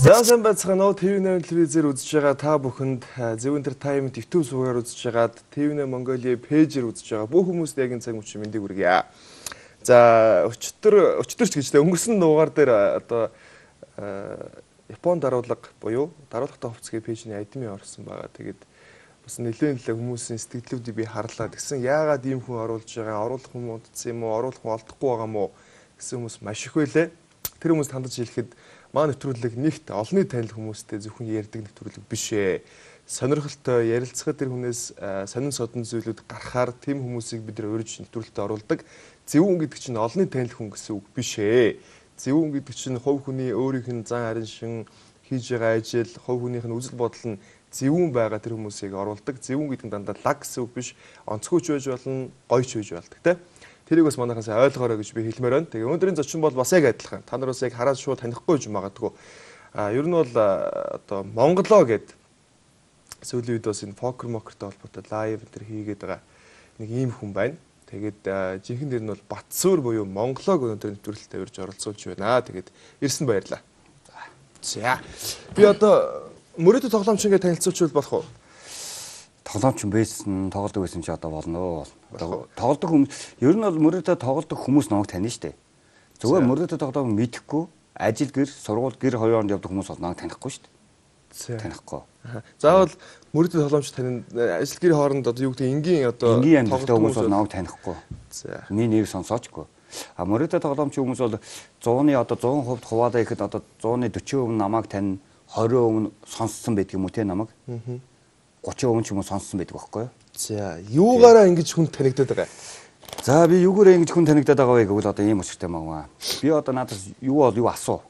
Сайн байцгаана уу? TV8 телевизээр үзэж байгаа та бүхэнд Зөв Entertainment YouTube сувгаар үзэж байгаад TV8 Mongolia пэйжээр үзэж байгаа бүх хүмүүст яг энэ цаг мөчийн мэндийг хүргье. За өчтөрч гэжтэй өнгөрсөн дугаар дээр одоо Японд даруулга буюу даруулгатай хувцсгийн пэйжний админ орсон байгаа. Тэгээд бас нэлээд хүмүүсийн сэтгэлдлүүдийг би харлаа. Тэгсэн яагаад ийм хүн оруулж байгаа? Оруулах хүн удсан юм уу? Оруулах хүн олдохгүй байгаа мó гэсэн хүмүүс маш их байлээ. Тэр хүмүүст хандаж хэлэхэд маа нэвтрүүлэг нэгт олонний танил хүмүүстэй зөвхөн ярьдаг нэвтрүүлэг биш ээ. Сонирхолтой ярилцахад тэр хүнээс сонин содон зүйлүүд гарахаар тэм хүмүүсийг бид нар урьж нэвтрүүлэгтээ оруулдаг. Зөвүүн гэдэг чинь олонний танил хүн гэсэн үг биш ээ. Зөвүүн гэдэг чинь хувь хүний өөрийнх нь зан харин шин хийж байгаа ажил, хувь хүнийх нь үзэл бодол нь зөвүүн байгаа тэр хүмүүсийг оруулдаг. Зөвүүн гэдэг нь дандаа лаг гэсэн үг биш. Онцгойч байж болно, гойч байж болдог тийм. Тэрийг бас манайхаас ойлгоорой гэж би хэлмээр байна. Тэгээ өнөөдрийн зочин бол бас яг адилхан. Та нар бас яг хараад шууд танихгүй ч магадгүй. Ер нь бол одоо Монголоо гэд сүүлийн үед бас энэ покер мокертэй холбоотой лайв энэ хийгээд байгаа нэг ийм хүн байна. Тэгээд жинхэнэ дээр нь бол Батсуур буюу Монголог өнөөдөр нэвтрүүлэлтэд урьж оролцуулж байна. Тэгээд ирсэн баярлаа. За. Би одоо мөрөөдө тоглоомч ингээд танилцуулчихвал болох уу? Тоглоомч байсан, тоглодог байсан ч одоо болно. Тоглодог хүмүүс ер нь бол мөрөөдө тоглодог хүмүүс намайг таних штэ. Зөвхөн мөрөөдө тоглодог мэдэхгүй, ажил гэр, сургууль гэр хоёронд явдаг хүмүүс бол намайг танихгүй штэ. Танихгүй. Заавал мөрөөдө тоглоомч тань ажил гэр хооронд одоо юу гэдэг энгийн одоо энгийн амьдралтай хүмүүс бол намайг танихгүй. За. Миний нэр сонсоочгүй. А мөрөөдө тоглоомч хүмүүс бол 100-ны одоо 100% хуваалаа ихэд одоо 100-ны 40% намайг тань 20% сонссон байдаг юм уу те намайг? 30% ч юм уу сонссон байдаг байхгүй юу? За, юугаараа ингэж хүн танигдаад байгаа? За, би юугаараа ингэж хүн танигдаад байгаа вэ гэвэл одоо ийм өчтэй маа. Би одоо надаас юу асуу.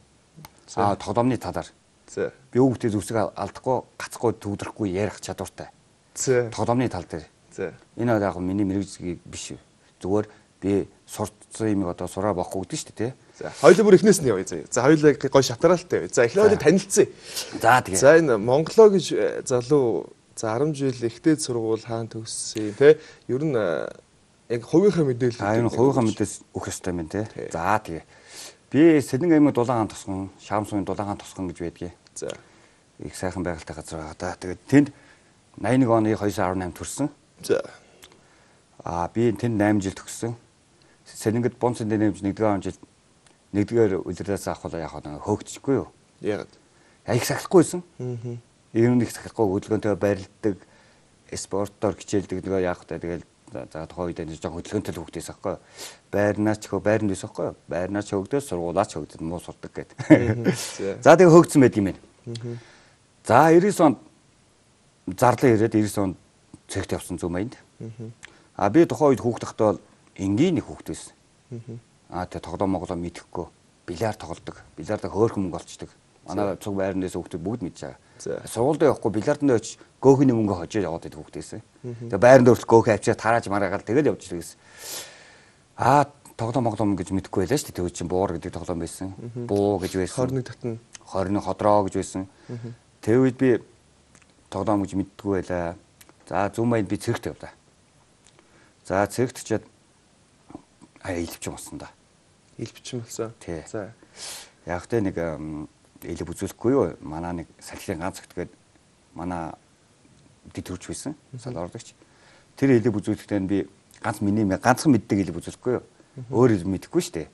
Тоглоомны талаар. За. Би хүүхдээ зүсэг алдахгүй, гацхгүй, төгдрөхгүй ярих чадвартай. За. Тоглоомны тал дээр. За. Энэ яг миний мэрэгжил биш. Зүгээр би сурцсан юм одоо сураа бохгүй гэдэг шүү дээ, тий. За, хоёулаа бүр эхнээс нь явъя. За, хоёулаа гой шатараалтай. За, эхлээд танилцъя. За, тэгээ. За, энэ Монголоо гэж залуу за 10 жил ихтэй сургууль хаан төгссөн тий. Ер нь яг хувийнхаа мэдээлэл. Энэ хувийнхаа мэдээлэл өгөх ёстой юм тий. За тэгээ. Би Сэлэн аймаг Дулаагаан тосгон, Шаамсууны Дулаагаан тосгон гэж байдгийг. За. Их сайхан байгальтай газар байгаа да. Тэгээд тэнд 81 оны 2/18 төрсөн. За. Би тэнд 8 жил төгссөн. Сэлэнгд Бонцын нэмж 1-р жил 1-р үлрээс авахлаа яг хөөгчихгүй юу? Ягаад? Их сахихгүйсэн. Ер нь их сахихгүй хөдөлгөөнтэй барилддаг, спортоор хичээлдэг нэг яах вэ? Тэгэл за тухайн үед энэ жоо хөдөлгөөнтэй л хөгдөөс аахгүй. Байрнаач хөө байранд байсан аахгүй. Байрнаач хөгдөөс сургуулаач хөгдөд муу сурдаг гэдэг. За тэгээ хөгдсөн байд юм байна. За 99 онд зарлаа ирээд 99 онд цэгт явсан зүм майнд. Би тухайн үед хүүхдахтай бол энгийн нэг хүүхд байсан. Тэгээ тоглоом моглоо мэдэхгүй. Бильярд тоглодог. Бильярдаа хөөрхөн мөнгө олцдог. Манай цуг байрнаас хүүхдүүд бүгд мэдж байгаа. Сургуульд явахгүй бильярданд очиж гоохны мөнгө хожиж яваад байдаг хүүхдээсэн. Тэгээ байранд өртөл гоохи авчираад тарааж мараагаад тэгэл явж ирсэн. Тоглоом гэж мэдэхгүй байлаа шүү дээ. Тэгвэл чинь буур гэдэг тоглоом байсан. Буу гэж байсан. 21 татна. 20 ходроо гэж байсан. Тэр үед би тоглоом гэж мэддэггүй байлаа. За зүм майнд би цэрэгт явлаа. За цэрэгт чад илвч болсон да. Илвч болсон. За. Яг тэ нэг элэг үзүүлэхгүй юу? Манай нэг салхилын ганц өгт гээд манай дэвтэрч байсан. Салоордогч. Тэр элэг үзүүлэхдээ би ганцхан мэддэг элэг үзүүлэхгүй юу? Өөр элэг мэдэхгүй шүү дээ.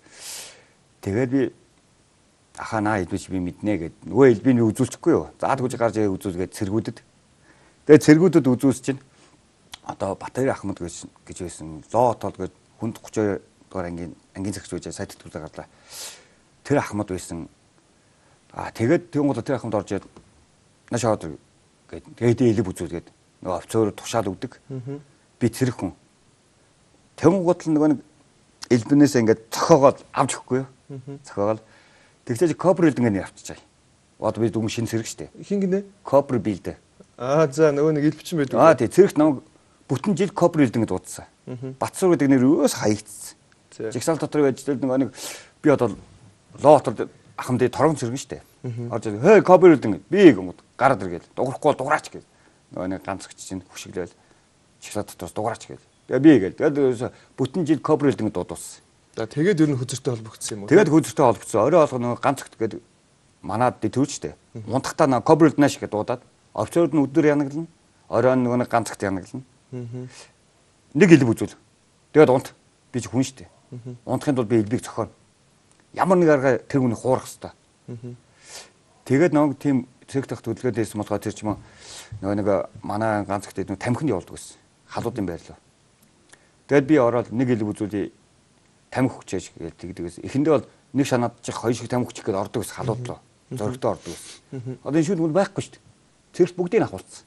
Тэгээд би аханаа элбэж би мэднэ гэд нөгөө элбийг үзүүлчихгүй юу? За тэгж гарч ирээ үзүүлгээд цэргүүдэд. Тэгээд цэргүүдэд үзүүлс чинь одоо Батбаяр Ахмад гэж байсан. Зоо отол гээд хүнд 32 дугаар ангийн цагч байж сайд төлөв гарлаа. Тэр Ахмад байсан. Тэгээд тэгвэл тэр Ахмад орж ирээд нашаад тэгээд элэг үзүүлгээд нөгөө офицер тушаал өгдөг. Би цэрэг хүн. Тэнгууд л нөгөө нэг элбэнээс ингээд цохоогоод авч өгөхгүй юу? Цохоогоод тэгсэж копр элбэн ингээд авчичаа. Одоо би дүн шинэ цэрэг штэ. Хин гинэ? Копр билдэ. За нөгөө нэг элбчин байдаг. Тий цэрэгт намайг бүтэн жил копр элбэн гэдээ дуудсан. Батсуур гэдэг нэр өөс хаягдсан. Жигсаал дотор ажиллаад нөгөө нэг би одоо лоотод ахмад торгон цэргэн штэ. Орж хөө копр элбэн би гэмэд гараад иргээд дуурахгүй бол дуураач гээд. Нөгөө нэг ганцгч чинь хөшиглээл жигсаал дотроос дуураач гээд. Тэгээ би гээд. Тэгээд бүтэн жил копр элбэн дуудсан. За тэгээд ер нь хөзөртэй холбогдсон юм уу? Тэгээд хөзөртэй холбогдсон. Орой олгоно ганц өгт гээд манад төрчтэй. Унтахтаа нэг кобрд нааш гэдэг дуудаад офицерууд нь өдөр янаглана. Оройн нэг ганцагт янаглана. Нэг элбэг үзүүл. Тэгээд унт. Би ч хүн штэ. Унтахын тулд би элбэг зохионо. Ямар нэг арга тэр хүний хуурах хэвээр. Тэгээд нэг тийм цэг тах төлөвлөгөөдөөс болохоор тэр ч юм нэг манай ганцагт нэг тамхинд явуулдаг байсан. Халуудын байрлал. Тэгээд би ороод нэг элбэг үзүүлээ тамхи хүчээж гэдэг. Эхэндээ бол нэг шанаачих хоёр шиг тамхи хүчих гээд ордог ус халууд руу. Зоригтой ордог ус. Одоо энэ шүүд мөн байхгүй шүү дээ. Цэгт бүгдийг авахулсан.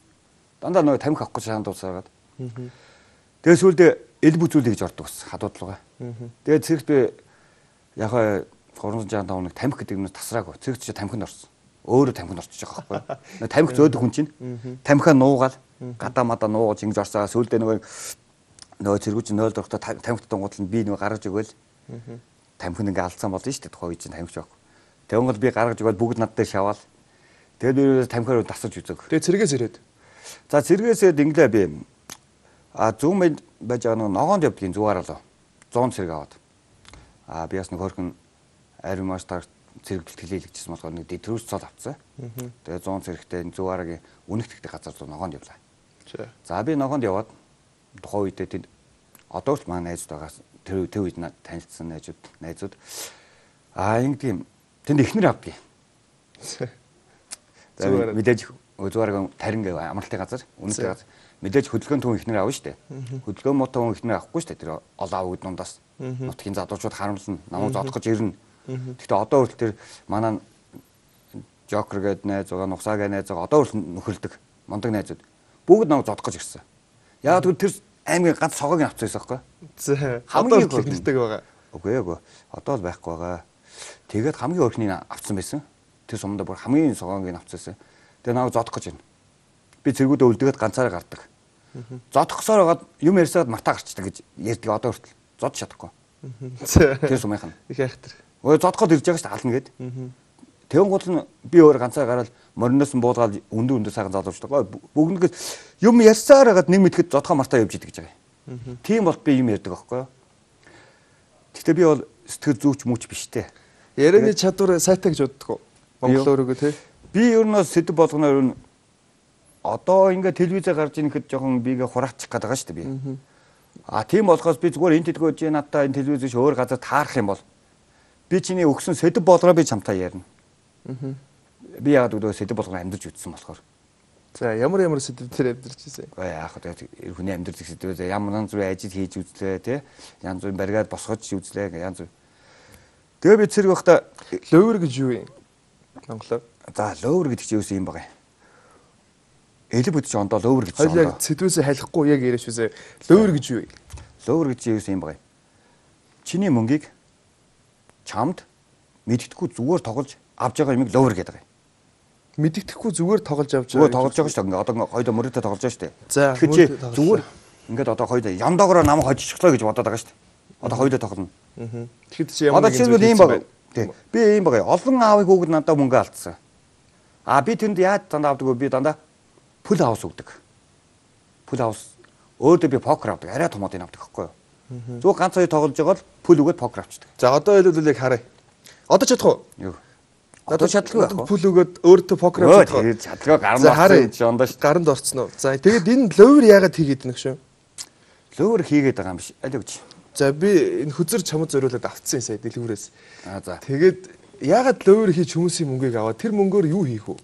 Дандаа нөгөө тамхи авахгүй шаанд дуусаад. Тэгээд сүүлдээ эл бүзүүлээ гэж ордог ус халууд руугаа. Тэгээд цэгт би яг 365 хоног тамхи гэдэг нь тасраагүй. Цэгт чи тамхинд орсон. Өөрөө тамхинд орчих жоох байхгүй. Тамхи зөөдөг хүн чинь тамхиа нуугаал гадаа мадаа нуугаж ингэж орсаа сүүлдээ нөгөө цэргүүч 0 дөрөвтө тамхи тунгууд нь би нөгөө гаргаж өгөөл. Тамхин ингээ алдсан болно шүү дээ тухайн үед чинь тамхич байхгүй. Тэгвэл би гаргаж өгöl бүгд над дээр шаваал. Тэгээд би тамхиар тасаж үзэг. Тэгээд цэргээс ирээд. За цэргээсээд инглээ би зүүн байж байгаа нэг ногоонд явдгийн зүгээр алуу. 100 цэрэг аваад. Би бас нэг хөрхөн ариун мастер цэрэг бэлтгэлээ хийлгэжсэн болохоор нэг дэтрүүс цол авцсан. Тэгээд 100 цэрэгтэй зүгээрээ үнэгтгэдэг газар руу ногоонд явлаа. За би ногоонд яваад тухайн үедээ тэнд одоо ч манай найзууд байгаас тэр үед танилцсан найзууд ингэдэм тэнд ихнэр авдгийг. Мэдээж зүгээр тарин гэв амралтын газар үнэтэй газар мэдээж хөдөлгөөний түн ихнэр авна штэ. Хөдөлгөөн муутай хүн ихнэр авахгүй штэ. Тэр олон авгууд дундаас нутгийн залуучууд харамлна намайг зодох гэж ирнэ. Гэхдээ одоо хүртэл тэр манай Жокер гээд найз байгаа нухсаа гээд найз байгаа одоо хүртэл нөхөрлөдөг мондөг найзууд бүгд намайг зодох гэж ирсэн. Яг тэр аймгийн ганц согоог нь авчихсан байхгүй. Хамгийн ихнэртэй байгаа. Үгүй. Одоо л байхгүй байгаа. Тэгээд хамгийн өрхнийг авцсан байсан. Тэр сумдаа бүр хамгийн согоог нь авцсан. Тэгээд намайг зодох гэж байна. Би цэргүүдээ үлдгээд ганцаараа гардаг. Зодохсоор байгаад юм ярьсаад мартаа гарчдаг гэж ярьдаг одоо хүртэл. Зодж чадахгүй. Тэр сумынхан. Их айхтар. Ой зодоход ирж байгаа шүү дээ ална гээд. Тэгэн гол нь би өөр ганцаа гараад мориноос нь буулгаад өндөр сайхан залуучдаг. Бүгд юм ярьсаар хагаад нэг мэтгэд зодхоо мартаа явж идэг гэж байгаа. Тийм бол би юм ярьдаг аахгүй юу. Гэхдээ би бол сэтгэл зүйч мүч биш те. Ярианы чадвар сайтай гэж боддог уу? Монгол өөрөөгөө те. Би ер нь сэдв болгоноор ер нь одоо ингээ телевизээр гарч ирэхэд жоохон бигээ хураачих гээд байгаа шүү дээ би. Тийм болохоос би зүгээр энэ тэдгөө жи надаа энэ телевизээс өөр газар таарах юм бол би чиний өгсөн сэдв болгоноо би чамтай ярина. Би яагаад өдөө сэдв болгон амьдарч үтсэн болохоор. За ямар сэдв дээр амьдарч ирсэн? Яг хөө хүний амьдарч сэдвээ ямар зүрх ажил хийж үзлээ тий. Янз бүрийн бариад босгож үзлээ янз бүр. Тэгээ би цэрэг байхдаа лөвөр гэж юу юм? Монголоор. За лөвөр гэдэг чинь юу юм бэ? Элэг бүдч ондоо лөвөр гэж. Хоёул яг сэдвээс халихгүй яг яриаш үзээ. Лөвөр гэж юу юм? Лөвөр гэж юу юм бэ? Чиний мөнгийг чамд мэддэхгүй зүгээр тоглож авж байгаа юмыг ловер гэдэг юм. Мэддэхгүй зүгээр тоглож авч байгаа. Зүгээр тоглож байгаа шүү дээ. Одоо хоёулаа мөрөдөө тоглож байгаа шүү дээ. Тэгэхээр зүгээр ингээд одоо хоёулаа яндаагаараа намайг хожчихлоо гэж бодоод байгаа шүү дээ. Одоо хоёулаа тоглоно. Тэгэхэд чи ямар нэг зүйл юм байна. Би ийм байгаа. Олон аавыг хүүхэд надад мөнгө алдсан. Би тэнд яаж дандаа авдаг вэ? Би дандаа пул хаус өгдөг. Пул хаус өөдөө би покер авдаг. Арай томоодыг авдаг байхгүй юу? Зүгээр ганц хоёр тоглож байгаа бол пул өгөөд покер авчдаг. За одоо хэлбэл яг харъя. Одоо чадах уу? Юу. Одоо чадлагүй байх. Пул өгөөд өөртөө покер авчих. Тэгээд чадлагүй гаранд орсон ондоо шүү. Гаранд орсон уу? За тэгээд энэ ловер яагаад хийгээд байна гэж шүү? Ловер хийгээд байгаа юм биш. Аль өгч. За би энэ хөзөр чамд зориулаад авцсан сая дэлгүүрээс. За. Тэгээд яагаад ловер хийж хүмүүсийн мөнгийг аваа? Тэр мөнгөөр юу хийх вэ?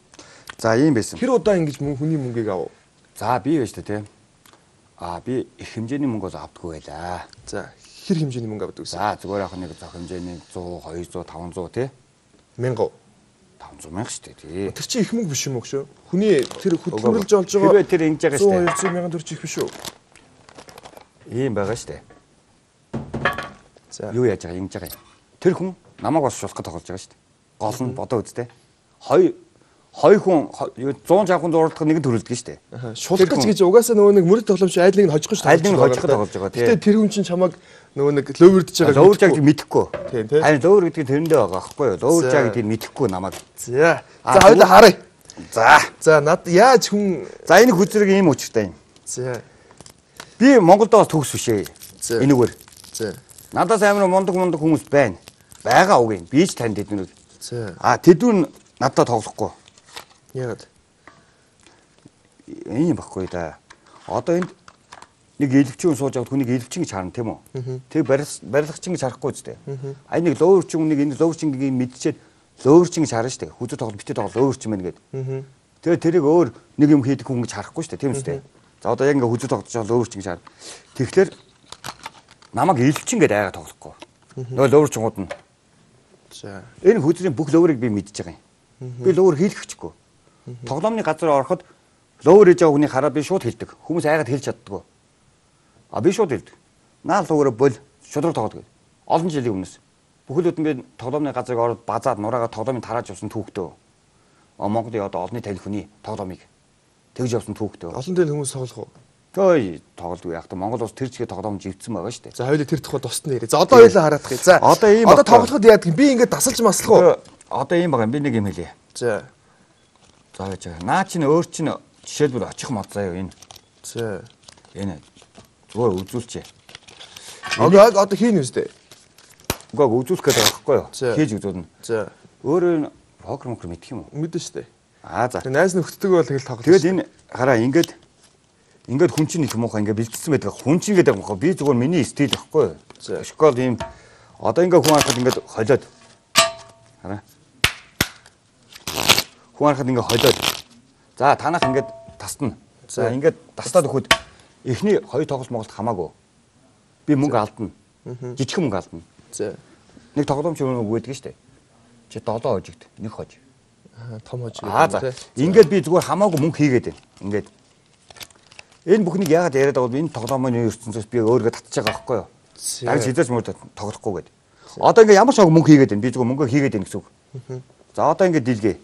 За ийм байсан. Тэр удаа ингэж хүний мөнгийг авав. За би байж тээ. Би их хэмжээний мөнгө авдаггүй байлаа. За хэр хэмжээний мөнгө авдаг вэ? За зүгээр яг нэг зах хэмжээний 100, 200, 500 тий. 1000. 500 мянга шүү дээ тий. Тэр чинь их мөнгө биш юм уу шүү? Хүний тэр хөдөлмөрлж олж байгаа. Хэрвээ тэр ингэж байгаа шүү дээ. 100 мянган төгрөг их биш үү? Ийм байгаа шүү дээ. За юу яаж байгаа ингэж байгаа юм. Тэр хүн намайг бас шулах гэж тоглож байгаа шүү дээ. Гол нь бодоо үзтээ. Хоёр хүн 160 хүн зурлах нэг төрөлдөг шүү дээ. Шулах гэж угаасаа нөгөө нэг мөрөд тоглоомч айлыг нь хожих шүү дээ. Айлыг нь хожих тоглож байгаа тий. Гэтэ тэр хүн чинь чамайг нөгөө нэг ловердж байгаа. Ловерж байгааг мэдэхгүй. Тийм тий. Харин ловер гэдэг нь тэрэндээ байгаа байхгүй юу? Ловерж байгааг тийм мэдэхгүй намайг. За хоёулаа харъя. За над яаж хүн энэ хүзрэг ийм учиртай юм. За би Монголд бас төгс биш ээ. Энэгээр. За надаас амар мундаг хүмүүс байна. Байгаа үг юм. Би ч танд тэднүүд. За тэдүүн надад тоглохгүй. Яагаад? Энэ юм баггүй да. Одоо энд нэг элвчин сууж аваад хүнийг элвчин гэж харна тийм үү? Тэг барилгачин гэж харахгүй үстэй. А нэг лөөвөрчин нэг энэ лөөвөрчингийн мэдчихэд лөөвөрчин гэж харна штэ. Хүзүү тоглолт битээ тоглолт лөөвөрчин байна гэдэг. Тэгээ тэрийг өөр нэг юм хийдэг хүн гэж харахгүй штэ тийм үстэй. За одоо яг ингээ хүзүү тоглож байгаа лөөвөрчин гэж харна. Тэгэхээр намайг элвчин гэдэг айгаа тоглохгүй. Нөгөө лөөвөрчингууд нь. За. Энэ хүзрийн бүх лөөврийг би мэдж байгаа юм. Би лөөвөр хийлгэхгүй. Тоглоомны газар ороход лөөвөр хийж байгаа хүнийг хараад би шууд хэлдэг. Хүмүүс айгаад хэлж чаддаггүй. А би шууд хэлдэг. Наа лөөврөө бол шудраг тоглоод. Олон жилийн өмнөөс. Бүхэл өдөн би тоглоомны газарыг ороод базаад нураагаа тоглоомыг тарааж явсан түүхтэй. Монголын одоо олонний танил хүний тоглоомыг тэгж явсан түүхтэй. Олон дээл хүмүүс тоглох уу? Той тоглодог яг та Монгол улс тэр чигээр тоглоом живцсэн байгаа шүү дээ. За хоёулаа тэр тухайд тусна яриа. За одоо хоёулаа хараад гэх. За одоо тоглоход яадаг юм? Би ингээд дасалж маслах уу? Одоо ийм байгаа юм. Би нэг юм хэлье. За. За гэж байгаа. Наа чинь өөр чинь жишээлбэл очих мод заяа энэ. За. Энэ зүгээр үзүүлчээ. Одоо хийн үстэй. Угааг үзүүлэх гэдэг байхгүй юу? Хийж үзүүлнэ. За. Өөрөө покер мэдэх юм уу? Мэдэн штэ. За. Найз нөхдөг бол тэгэл тоглох. Тэгэл энэ хараа ингээд хүн чинь их муухай ингээд бэлдсэн байдаг. Хүн чинь гэдэг муухай. Би зүгээр миний стил байхгүй юу? Школ ийм одоо ингээд хүн харахад ингээд холиод. Хараа. Хүн харахад ингээд холиод. За танах ингээд тасна. За ингээд тастаад өгөхөд эхний хоёр тоглолт Монголд хамаагүй. Би мөнгө алдна. Жижигхэн мөнгө алдна. За. Нэг тоглоомч өгөөг өгдөг штэ. Чи 7 хожигд нэг хож. Том хож. За. Ингээд би зүгээр хамаагүй мөнгө хийгээд байна. Ингээд энэ бүхнийг яагаад яриад байгаа вэ? Энэ тоглоомын ертөнцөөс би өөрийгөө татчих байгаа байхгүй юу? Дарж хизээч мөрөд тоглохгүй гээд. Одоо ингээд ямар ч мөнгө хийгээд байна. Би зүгээр мөнгө хийгээд байна гэсэн үг. За одоо ингээд дийлгээ.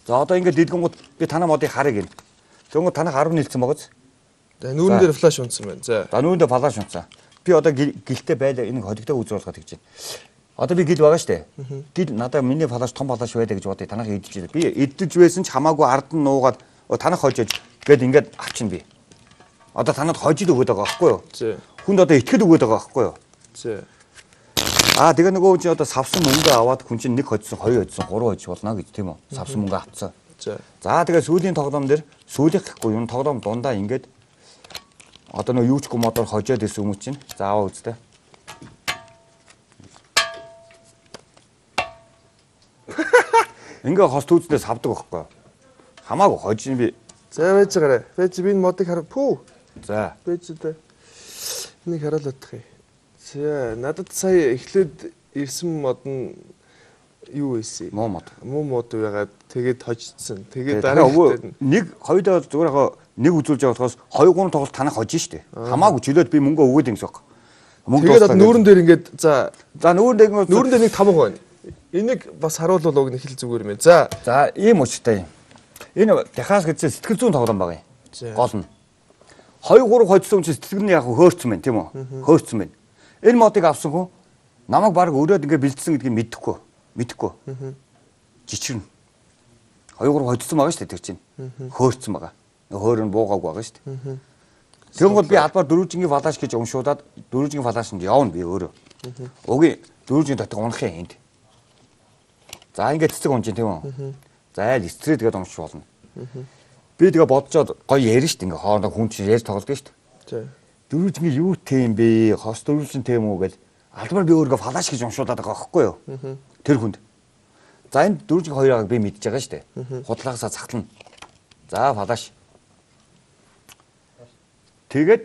За одоо ингээд дийлгэнгууд би танаа модыг харъя гин. Тэгвэл танах 10 нийлсэн байгааз. За нүүрэн дээр флаш унтсан байна. За. За нүүрэн дээр флаш унтсан. Би одоо гэлтэй байлаа энэ холигтой үзүүлэлт гэж байна. Одоо би гэл байгаа штэ. Гэл надаа миний флаш том флаш байдаг гэж бодъё. Танах идэж байна. Би идэж байсан ч хамаагүй ард нь нуугаад танах хожиж гээд ингээд авчин би. Одоо танад хожид өгöd байгаа байхгүй юу? Хүнд одоо итгэл өгöd байгаа байхгүй юу? Тэгээ нөгөө чи одоо савсан мөнгө аваад хүн чинь нэг хожсон, хоёр хожсон, гурван хожиж болно гэж тийм үү? Савсан мөнгө авцсан. За тэгээ сүүлийн тоглоом дээр сүүлийнх гэхгүй юу? Тоглоом дундаа ингээд одоо нөгөө юу ч гоо модоор хожоод исэн хүмүүс чинь зааваа үзтээ. Ингээ хос түүцдээс савдаг байхгүй юу? Хамаагүй хожиж би. За байж байгаарай. Байж би энэ модыг хараа. Пүү. За. Байж дээ. Энийг хараалах юм. За надад сая эхлээд ирсэн мод нь юу байсан? Муу мод. Муу мод байгаад тэгээд хожицсан. Тэгээд дараа нэг хоёудаа зүгээр хаа нэг үзүүлж байгаа болохоос 2 3 тоглолт танах хожиж штэ. Хамаагүй чөлөөд би мөнгө өгөөд ингэсэн баг. Тэгээд нүүрэн дээр ингээд за нүүрэн дээр нэг тамга байна. Энийг бас харуулвал уг нь хэл зүгээр юм. За ийм учиртай юм. Энэ Техас гэсэн сэтгэл зүйн тоглоом байгаа юм. Гол нь 2 3 хожсон чинь сэтгэл нь яг хөөрцөн байна тийм үү? Хөөрцөн байна. Энэ модыг авсан хүн намайг баг өрөөд ингээ бэлдсэн гэдгийг мэдэхгүй. Жичрэн. 2 3 хожсон байгаа шүү дээ тэр чинь. Хөөрцөн байгаа. Хөөр нь буугаагүй байгаа шүү дээ. Тэгвэл би албаар дөрвжингийн флаш гэж уншуулад дөрвжингийн флашнд явна би өөрөө. Өгийн дөрвжингийн дотор унах юм энд. За ингээ цэцэг унж тийм үү? За айл стрит гэдэг унш болно. Би тэгээ бодцоод гоё ярина шүү дээ. Ингээ хоорондоо хүн чинь ярьж тоглодог шүү дээ. Дөрвжингийн юу тийм бэ? Хос дөрвжин тийм үү гэж албаар би өөрийгөө флаш гэж уншуулад байгаа байхгүй юу? Тэр хүнд. За энэ дөрвжингийн хоёрыг би мэдж байгаа шүү дээ. Худлаасаа цагтлана. За флаш. Тэгээд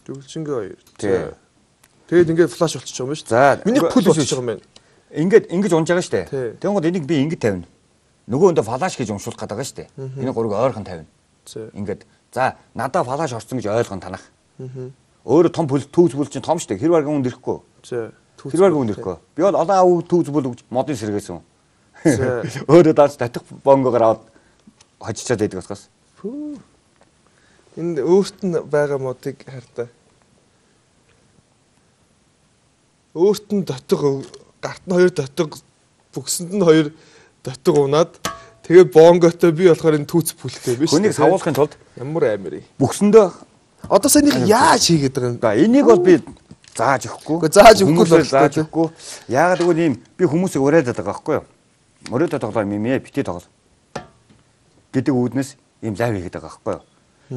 дөрвжингийн хоёр. Тэгээд ингээд флаш болчихж байгаа юм шүү дээ. За миний пул болчихж байгаа юм байна. Ингэж унж байгаа шүү дээ. Тэгвэл энийг би ингэж тавина. Нөгөө өндө флаш гэж уншуулах гэдэг байгаа шүү дээ. Энэ гурыг ойрхон тавина. Ингээд за надаа флаш орсон гэж ойлгон танах. Өөрөө том түүз бүл чинь том шүү дээ. Хэрвээ хүн ирэхгүй. Хэрвээ хүн ирэхгүй. Би бол олон түүз бүл гэж модын сэргээсэн. Өөрөө даач татах бонгоор аваад хожичаад байдаг басгаас. Энд өөрт нь байгаа модыг хартаа. Өөрт нь дотог гарт нь 2 дотог бүгсэнд нь 2 дотог унаад тэгээд бонготой би болохоор энэ түүц бүлтэй биш. Хүнийг савуулахын тулд ямар амир. Бүгсэндээ одоо санийх яаж хийгээд байгаа юм? Энийг бол би зааж өгөхгүй. Зааж өгөхгүй л зааж өгөхгүй. Яагаад гэвэл ийм би хүмүүсийг урайлаад байгаа байхгүй юу? Мөрөөдө тоглоо юм бити тоглоо. Гэдэг үүднээс ийм лайв хийгээд байгаа байхгүй юу?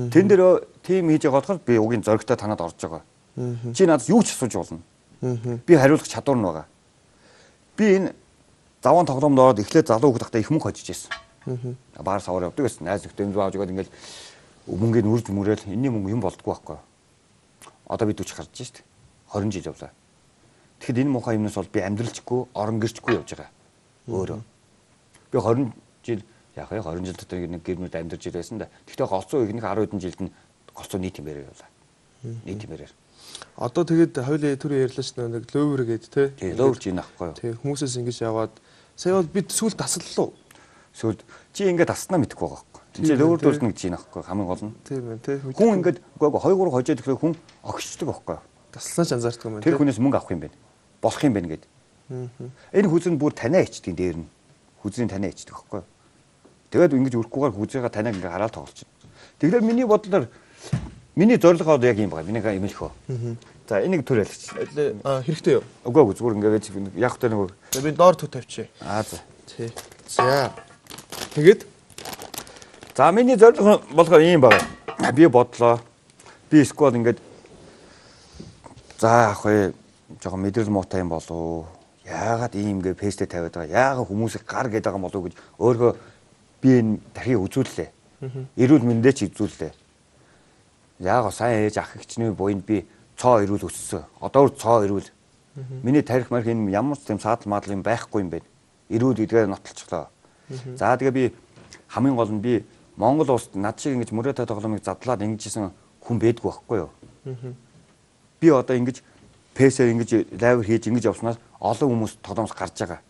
Тэн дээр тим хийж байгаа болохоор би угийн зоригтой танад орж байгаа. Чи надад юу ч асууж болно. Би хариулах чадвар нь байгаа. Би энэ заван тоглоомд ороод эхлээд залуу хүүхэд тахта их мөнгө хожиж ирсэн. Баар савар явдаг гэсэн. Найз нөхдөд юм зааж өгөөд ингээл мөнгөний үрж мөрөөл энэний мөнгө юм болдгоо байхгүй. Одоо би 40 гарч шít. 20 жил явлаа. Тэгэхэд энэ муухай юмнаас бол би амьдралчгүй, орон гэрчгүй явж байгаа. Өөрөө. Би 20 жил яг 20 жил дотор нэг гэрмүүд амьдарч ирсэн да. Гэхдээ голцоо ихнийх 10 хэдэн жилд нь голцоо нийт юмээр явлаа. Нийт юмээр. Одоо тэгээд хоёулаа түрүү ярьлаа ш нэг лөвөр гээд те. Лөвөр чинь ахгүй юу. Тэг хүмүүсээс ингэж яваад сая бол бид сүлд таслалуу. Сүлд чи ингээд таснаа мэдэхгүй байгаа байхгүй. Чи лөвөр дүүрс нэг чинь ахгүй хамгийн гол нь. Тийм ээ те. Хүн ингээд үгүй 2 3 хожоод ирэхэд хүн огшдог байхгүй юу. Таслаач анзаардаг юм байна. Тэр хүнээс мөнгө авах юм байна. Болох юм байна гэд. Энэ хүзэн бүр танаа ичдэг дээр нь. Хүзний танаа ичдэг байхгүй юу. Тэгээд ингэж өрөхгүйгээр хүзээгээ танаа ингээ хараад тоглож байна. Тэгэхээр миний бодлоор миний зорилгоо яг юм байна. Миний юм л хөө. За энийг төрөлч. Хэрэгтэй юу? Үгүй зүгээр ингээ яг хөтэ нэг. Би доор төв тавьчих. За. Тий. За. Тэгээд за миний зорилго болохоор ийм байна. Би бодлоо. Би сквад ингээд за ах жоохон мэдрэл муутай юм болов. Яагаад ийм ингээ пэстэ тавиад байгаа? Яагаад хүмүүсийг гар гээд байгаа юм болов гэж өөрөө би энэ дахин үзүүллээ. Эрүүл мэндээ ч үзүүллээ. Яагаад сайн ээж ах эгчний буйнд би цоо эрүүл өссөн. Одоо цоо эрүүл. Миний тарих марх энэ ямар ч тийм саадал маадал юм байхгүй юм байна. Эрүүл гэдгээр нотолцлоо. За тэгээ би хамгийн гол нь би Монгол улсад над шиг ингэж мөрөөдө тоглоомыг задлаад ингэжсэн хүн байдгүй байхгүй юу? Би одоо ингэж пэсээр ингэж лайв хийж ингэж явснаас олон хүмүүс тоглоомоос гарч байгаа.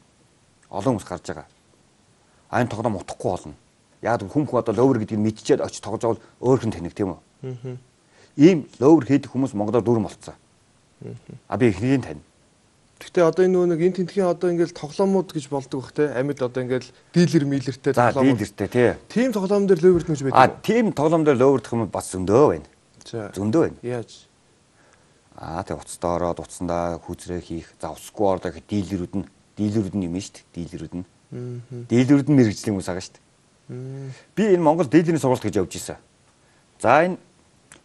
Олон хүмүүс гарч байгаа. Айн тоглоом утахгүй болно. Яг хүн одоо ловер гэдгийг мэдчихээд очиж тоглож байгаа бол өөр хэн таних тийм үү? Ийм ловер хийдэг хүмүүс Монголоор дүүрэн болцсон. А би ихнийг тань. Гэхдээ одоо энэ нэг энэ тентхийн одоо ингээл тоглоомууд гэж болдог бах те. Амьд одоо ингээл дилер милертэй тоглоом. Дилертэй тий. Тим тоглоом дээр ловерд нүж байдаг. А тим тоглоом дээр ловердох юм бас зөндөө байна. Зөндөө байна. Яаж? Тэг уцтаа ороод уцсандаа хүүзрээ хийх. За усгүй ороод их дилерүүд нь юм шүү дээ. Дилерүүд нь. Дилерүүд нь мэрэгжлийн хүмүүс байгаа шүү дээ. Би энэ Монгол дилерийн сургалт гэж явж исэн. За энэ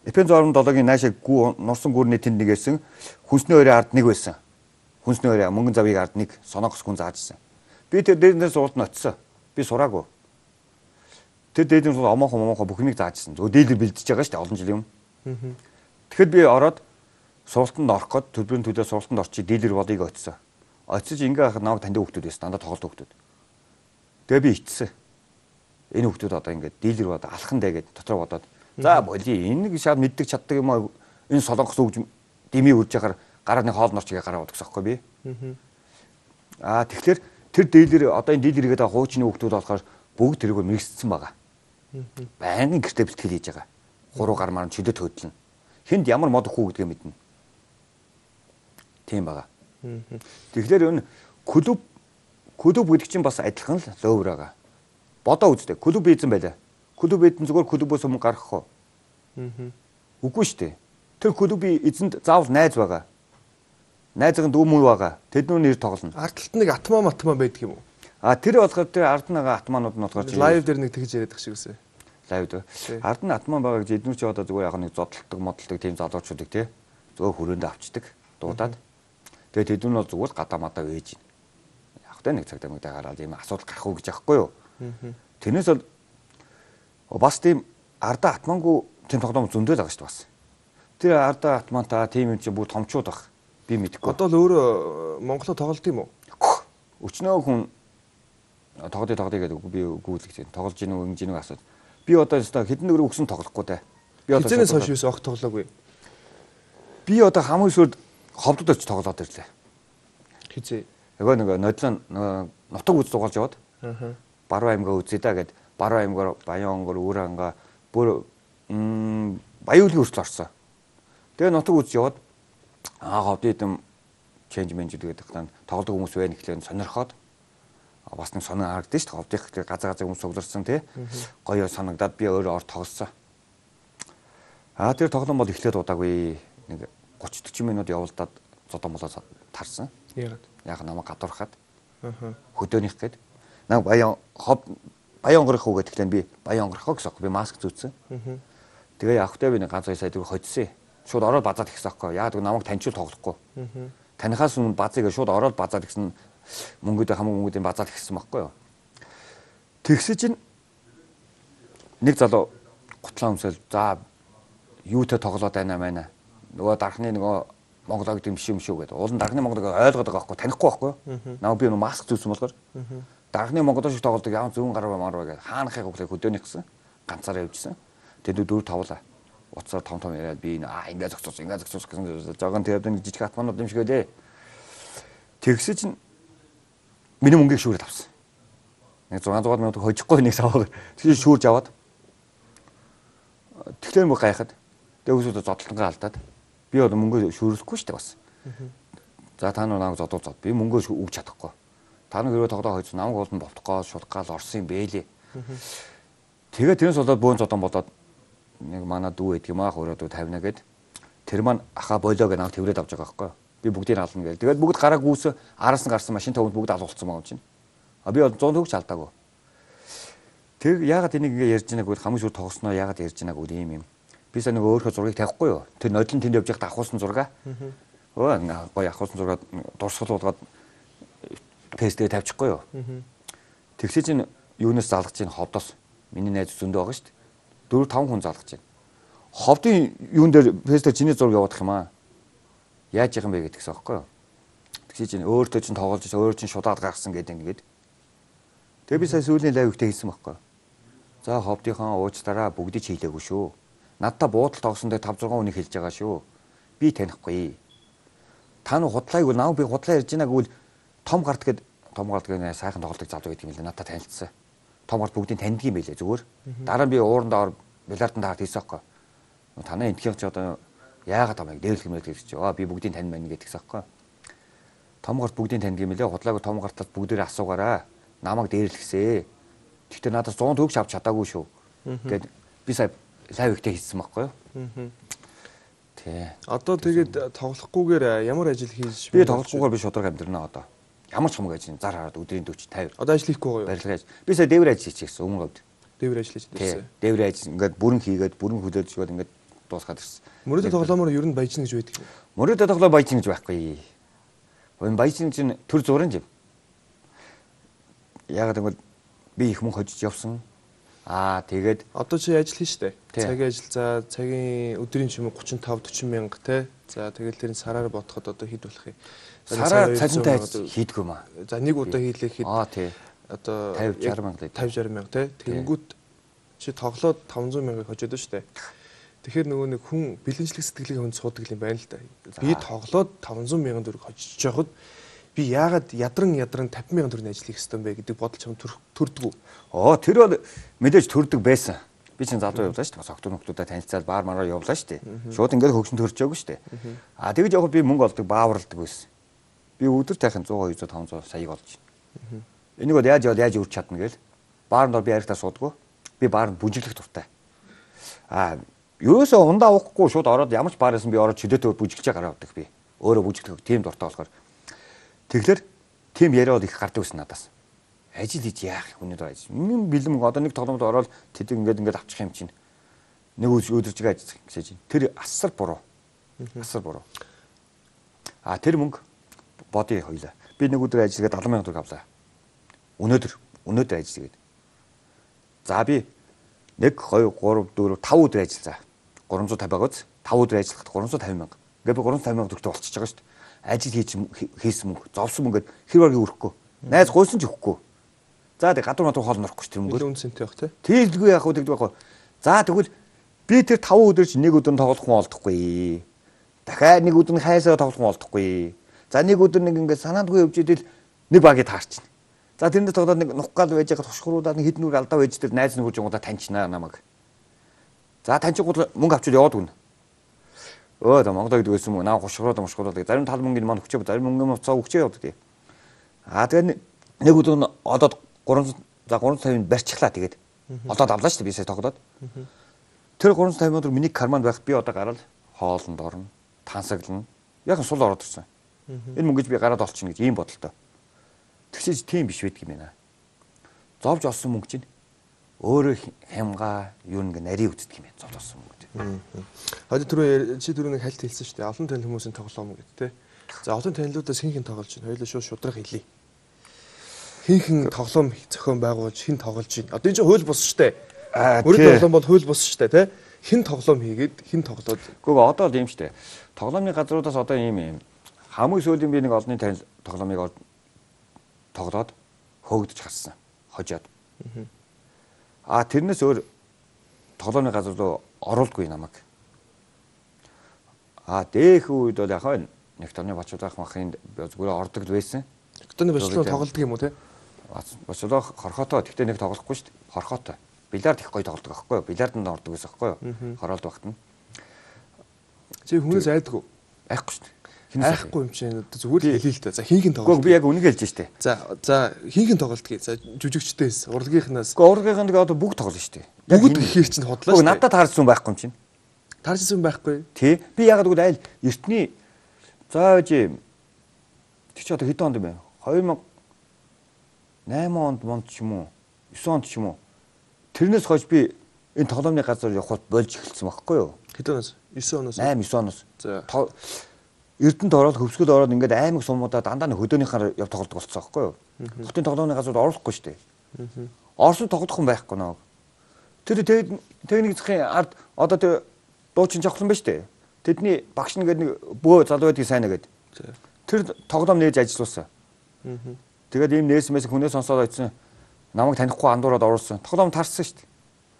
Эпен 67-гийн наашаа нурсан гүрний тэнд нэг байсан. Хүнсний өрөө ард нэг байсан. Хүнсний өрөө мөнгөн завыг ард нэг соногос хүн зааж исэн. Би тэр дээрнээс сургалт нь очсон. Би сураагүй. Тэр дээрнээс омоохоо бүхнийг зааж исэн. Зөв дилер бэлдэж байгаа шүү дээ олон жилийн өмнө. Тэгэхэд би ороод сургалтанд орох гээд төлбөрийн төлөө сургалтанд орчих дилер бодыг очсон. Очиж ингээ хахад намайг таньдаг хүмүүс байсан. Дандаа тоглолт хүмүүс. Тэгээ би ичсэн. Энэ хүмүүс одоо ингээ дилер бод алхан дэ гэд дотроо бодоод за боли энэ шууд мэддэг чаддаг юм аа энэ солонгос өгж дими үрж яхаар гараа нэг хоол норчгээ гараа бодгосоо байхгүй би. Тэгэхээр тэр дилер одоо энэ дилергээд байгаа хуучны хүмүүс болохоор бүгд тэрийг мэрэгссэн байгаа. Байнгын гэртээ бэлтгэл хийж байгаа. 3 гар маран чөдөд хөдлөн. Хүнд ямар мод хүү гэдгээ мэднэ. Тийм байгаа. Тэгэхээр энэ клуб гэдэг чинь бас адилхан л ловер байгаа. Бодоо үзтээ. Клуб эзэн байлаа. Клуб эзэн зүгээр клубоос өмнө гарах уу? Үгүй шүү дээ. Тэр клубын эзэнд заавал найз байгаа. Найзын дүү мүү байгаа. Тэднүү нэр тоглоно. Ард талд нэг атмаа байдаг юм уу? Тэр болохоор тэр ард нагаа атмаанууд нь болохоор лайв дээр нэг тэгж яриад шиг үсэ. Лайв дээр. Ард нь атмаа байгаа гэж эднүү чи одоо зүгээр яг нэг зодтолдог модтолдог тийм залуучуудыг тий зөв хүрээндээ авчдаг. Дуудаад. Тэгээд тэднүү нь бол зүгээр гадаа мадаа вээж байна. Яг тэ нэг цагтаа мэгдээ гараад ийм асуудал гарах уу гэж яахгүй юу? Тэрнээс бол бас тийм ардаа атмаангүй тийм тоглоом зөндөл байгаа шүү дээ бас. Тэр ардаа атмаантаа тийм юм чи бүгд томчууд баг. Би мэдэхгүй. Одоо л өөрөө Монголоо тоглолт юм уу? Өчнөө хүн тоглоё гэдэг би гүйлгэж тоглож гин үү ингэж гин үү асууд. Би одоо хэдэн нөр өгсөн тоглохгүй те. Би одоо хизэнээс хойш юус огт тоглоогүй. Би одоо хамгийн сүүлд ховдод очиж тоглоод ирлээ. Хизээ. Нөгөө нодлон нутаг үз дугаалж яваад. Баруун аймгаа үзье да гэд баруун аймгаар Баян онгор өөр ангаа бүр Баяулгийн хүртэл орсон. Тэгээ нутаг үз яваад ховдод юм change manager гэдэг тань тоглодог хүмүүс байна гэхлээр сонирхоод бас нэг сонин харагдсан шүү дээ. Ховдын газар хүмүүс цугларсан тий. Гоё санагдаад би өөрөө ор тоглосон. Тэр тоглоом бол эхлээд удаагүй нэг 30-40 минут явуулдаад зодон болоо тарсан. Яг намайг гадуурхаад. Хөдөөнийх гээд. Наа баян онгорох уу гэдэг нь би баян онгорох гэсэн. Би маск зүүцсэн. Тэгээ явахтай би нэг ганц 2 сая төгрөг хоцсон. Шууд ороод базаад ихсэн аахгүй. Яа гэвэл намайг таньчуул тоглохгүй. Танихаас өмнө базыг шууд ороод базаад ихсэн мөнгөдөө хамаг мөнгөдөө базаад ихсэн байхгүй юу. Тэгсэ чинь нэг залуу гутлаа өмсөл за юутай тоглоод байна маа. Нөгөө дархны нөгөө Монголог гэм биш юм шүү гэдэг. Уул нь дархны Монголог ойлгоод байгаа байхгүй танихгүй байхгүй. Намайг би маск зүүсэн болохоор дархны Монгол шиг тоглодог яам зүүн гараа марваа гэдэг. Хаанахыг хөдөөнийх гэсэн ганцаараа явжсэн. Тэгээд 4 5лаа. Уцаар том яриад би ингээ зогсоос гэсэн жогон тэгээд нэг жижиг хатманууд юм шиг байлээ. Тэгсэ чинь миний мөнгийг шүүрээд авсан. Нэг 600 минут хожихгүй нэг саваа. Тэгээд шүүрж аваад тэгэхээр мөн гайхаад тэгээд үсүүдээ зодтолтонгаа алдаад би одоо мөнгөө шүүрлэхгүй шүү дээ бас. За та нар намайг зодуулаад би мөнгөө өгч чадахгүй. Та нар хэрвээ тоглоо хойц намайг уулын болтгоо шулгаал орсон юм бэлээ. Тэгээд тэрнээс болоод бөөн зодон болоод нэг манай дүү гэдэг юм аа хөрөөдөө 50 гээд тэр маань аха болоо гэж намайг тэрврээд авч байгаа байхгүй. Би бүгдийг ална гээл. Тэгээд бүгд гараа гүйс араас нь гарсан машин тавд бүгд алуулсан байгаа юм чинь. А би 100 төгрөг ч алдаагүй. Тэр яагаад энийг ингэ ярьж байгааг бол хамгийн шууд тоглосноо яагаад ярьж байгааг үл юм. Би сая нэг өөрийнхөө зургийг тавихгүй юу. Тэр нодлон тэнд явж байхдаа авахулсан зураг. Өө гоё авахулсан зураг дурсгалуулгаад пэйстэд тавьчихгүй юу. Тэгсээ чинь юунаас залгаж чинь ховдоос миний найз зөндөө байгаа шүү дээ. 4 5 хүн залгаж байна. Ховдын юун дээр пэйстэд чиний зураг явуудах юм аа. Яаж яах юм бэ гэдгээс аахгүй юу. Тэгсээ чинь өөртөө чинь тоглож өөр чинь шудаад гаргасан гэдэг ингээд. Тэгээ би сая сүүлийн лайв ихтэй хийсэн байхгүй. За ховдынхаа уучтараа бүгдийг хийлээгүй шүү. Надтай буудал тогсон дээр 5 6 хүнийг хэлж байгаа шүү. Би танихгүй. Та нар худлааг нав би худлаа ярьж байгааг үл том гарт гээд сайхан тоглолтыг залуу гэдэг юм лээ. Надтай танилцсан. Том гарт бүгдийг таньдаг юм байлээ зүгээр. Дараа нь би уурандаа бильярдын таарт хийсэн байхгүй. Танай энтхийн ч одоо яагаад тамайг дээрлэх юм бэ гэж чи. Би бүгдийг тань байна гэдэгсэн байхгүй. Том гарт бүгдийг таньдаг юм лээ. Худлааг том гартад бүгдээрээ асуугаараа. Намайг дээрлэхсээ. Тэгтээ надад 100 төгрөг авч чадаагүй шүү. Гэт би сая лайв ихтэй хийсэн байхгүй юу? Тий. Одоо тэгээд тоглохгүйгээр ямар ажил хийж би тоглохгүйгээр би шударга амьдрнаа одоо. Ямар ч хамаг ажил зар хараад өдрийн 40 50. Одоо ажил хийхгүй гоё. Барилгын ажил. Би сая дээвэр ажил хийчихсэн өмнө говьд. Дээвэр ажил хийчихсэн. Дээвэр ажил ингээд бүрэн хийгээд бүрэн хүлээж өгөөд ингээд дуусгаад ирсэн. Мөрөдө тоглоомоор ер нь баяжна гэж байдаг юм. Мөрөдө тоглоо баяжна гэж байхгүй. Энэ баяжна чинь төр зуран юм. Яагаад гэвэл би их мөнгө хожиж явсан. Тэгээд одоо чи ажил хийн штэ. Цагийн ажил за цагийн өдрийн чимээ 35 40 мянга те. За тэгэл тэрийн сараар бодоход одоо хэд болох юм? Сараар цалинтай ажил хийдгүү маа. За нэг удаа хийлээ хэд тий. Одоо 50 60 мянга 50 60 мянга те. Тэгэнгүүт чи тоглоод 500 мянга хожоод штэ. Тэгэхээр нөгөө нэг хүн бэлэнчлэг сэтгэлийг хүн суудаг юм байна л да. Би тоглоод 500 мянган төгрөг хожиж явахад би яагаад ядран 50 мянган төгрөгийн ажил хийх ёстой юм бэ гэдэг бодол чам төрдгүү. Тэр бол мэдээж төрдөг байсан. Би чинь залуу явлаа шүү дээ. Бас октод нөхдүүдэд танилцаад баар мараа явлаа шүү дээ. Шууд ингээд хөгшин төрж байгаагүй шүү дээ. Тэгэж явах би мөнгө олдог бааварладаг байсан. Би өдөр тайхан 100 200 500 саяг олж байна. Энийг бол яаж өрч чадна гээл. Баарнд би харихтаа суудгүй. Би баарнд бүжиглэх дуртай. Ерөөсөө ундаа уухгүй шууд ороод ямар ч баар байсан би ороод чөлөөтөөр бүжиглэж гараа авдаг би. Өөрөө бүжиглэх тийм дуртай болохоор. Тэгэхээр тийм яриад их гардаг байсан надаас. Ажил хийж яах хүний дор ажил. Минь бэлэм одоо нэг тоглоомд ороод тэд ингээд авчих юм чинь. Нэг өдөржиг ажил гэж чинь. Тэр асар буруу. Асар буруу. Тэр мөнгө бодъё хоёлаа. Би нэг өдөр ажиллагаад 70 сая төгрөг авлаа. Өнөөдөр ажиллагээд. За би 1 2 3 4 5 өдөр ажиллаа. 350 байгаач 5 өдөр ажиллахад 350 мянга. Ингээд би 350 мянга төгрөгтэй болчихж байгаа шүү дээ. Ажил хийсэн мөнгө, зовсон мөнгөд хэр баргийг өрөхгүй. Найз гуйсан ч өгөхгүй. За тэг гадуур хоол норохгүй ч тэр мөнгө. Илүү үнцэнтэй байх тий. Тэгэлгүй яах вэ гэдэг байхгүй. За тэгвэл би тэр 5 өдөр чи нэг өдөр тоглох хүн олдохгүй. Дахиад нэг өдөр хайсаа тоглох хүн олдохгүй. За нэг өдөр нэг ингээд санаандгүй явж идэл нэг багийг таарчихна. За тэрэндээ тоглоод нэг нухгаал байж байгаа тушхруудаа нэг хіднүүр алдаа байж тэр найз нөхөж юмудаа таньчнаа намайг. За таньчихгүй мөнгө авчиж яваад гүн. Монголд гэдэг байсан мөн наа гушгроод зарим тал мөнгөний маань өгчөө зарим мөнгөний уцаа өгчөө явдаг тий. Тэгээд нэг өдөр одоод 350 барьчихлаа тэгээд одоод авлаа шүү дээ би сая тоглоод. Тэр 350 өдөр миний карманд байх би одоо гараад хоолнд орно. тансаглана. Яг сул ороод ирсэн. Энэ мөнгөж би гараад олчихно гэж ийм бодолтой. Тэгсэж тийм биш байдаг юм байна. Зовж олсон мөнгө чинь өөрөө хямгаа юу нэг нарийн үздэг юм байна. Зовж олсон мөнгө. Хойд түрүү чи түрүү нэг хальт хэлсэн шүү дээ. Олон танил хүмүүсийн тоглоом гэдэг те. За олон танилуудаас хин тоглож байна. Хоёулаа шудраг хэлье. Хин тоглоом зохион байгуулж хин тоглож байна. Одоо энэ чинь хууль бус шүү дээ. Өөрөөр тоглоом бол хууль бус шүү дээ те. Хин тоглоом хийгээд хин тоглоод. Гэхдээ одоо л юм шүү дээ. Тоглоомны газруудаас одоо ийм хамгийн сүүлийн би нэг олонний танил тоглоомыг тоглоод хөөгдөж хассан. Хожоод. Тэрнээс өөр тоглоомны газар руу оруулдгүй намайг. Дээх үед бол яхаа нэг тооны бочолоох махын зүгээр ордог л байсан. Тооны бочолоо тоглодог юм уу те? Бочолоо хорхотой. Тэгтээ нэг тоглохгүй шүү дээ. Хорхотой. Бильярд их гоё тоглодог аахгүй юу? Бильярданд ордог байсан аахгүй юу? Хороолт багт нь. Чи хүнээс айдгүй. Айхгүй шүү дээ. Айхгүй юм чинь зүгээр л хэлээ л та. За хинхэн тоглолт. Би яг үнийг хэлж штэ. За хинхэн тоглолтгийг. За жүжигчдээс урлагийнхнаас. Урлагийнх нь одоо бүгд тоглоно штэ. Бүгд гэхээр чинь хотлоо штэ. Надад таарсан байхгүй юм чинь. Таарсан байхгүй. Тий. Би ягаад гэвэл айл эртний зааж тэр чи одоо хэдэн онд юм бэ? 2008 онд ч юм уу? 9 онд ч юм уу? Тэрнээс хойш би энэ тоглоомны газар явхад болж эхэлсэн байхгүй юу? Хэдэн оноос? 9 оноос. 9 оноос. За. Эрдэнэт ороод хөвсгөл ороод ингээд аймаг сумуудаа дандаа хөдөөнийхаар яв тоглодог болцсон байхгүй юу? Хотын тоглоомны газрууд оруулахгүй шүү дээ. Орсон тоглох юм байхгүй нөө. Тэр техник засгийн ард одоо тэр дуучин жавхлан байна шүү дээ. Тэдний багш нэгээд нэг бөө залуу байдгийг сайн нэгээд. Тэр тоглоом нээж ажиллуулсан. Тэгээд ийм нээсмээс хүнээс сонсоод очсон. Намайг танихгүй андуураад оруулсан. Тоглоом тарсан шүү дээ.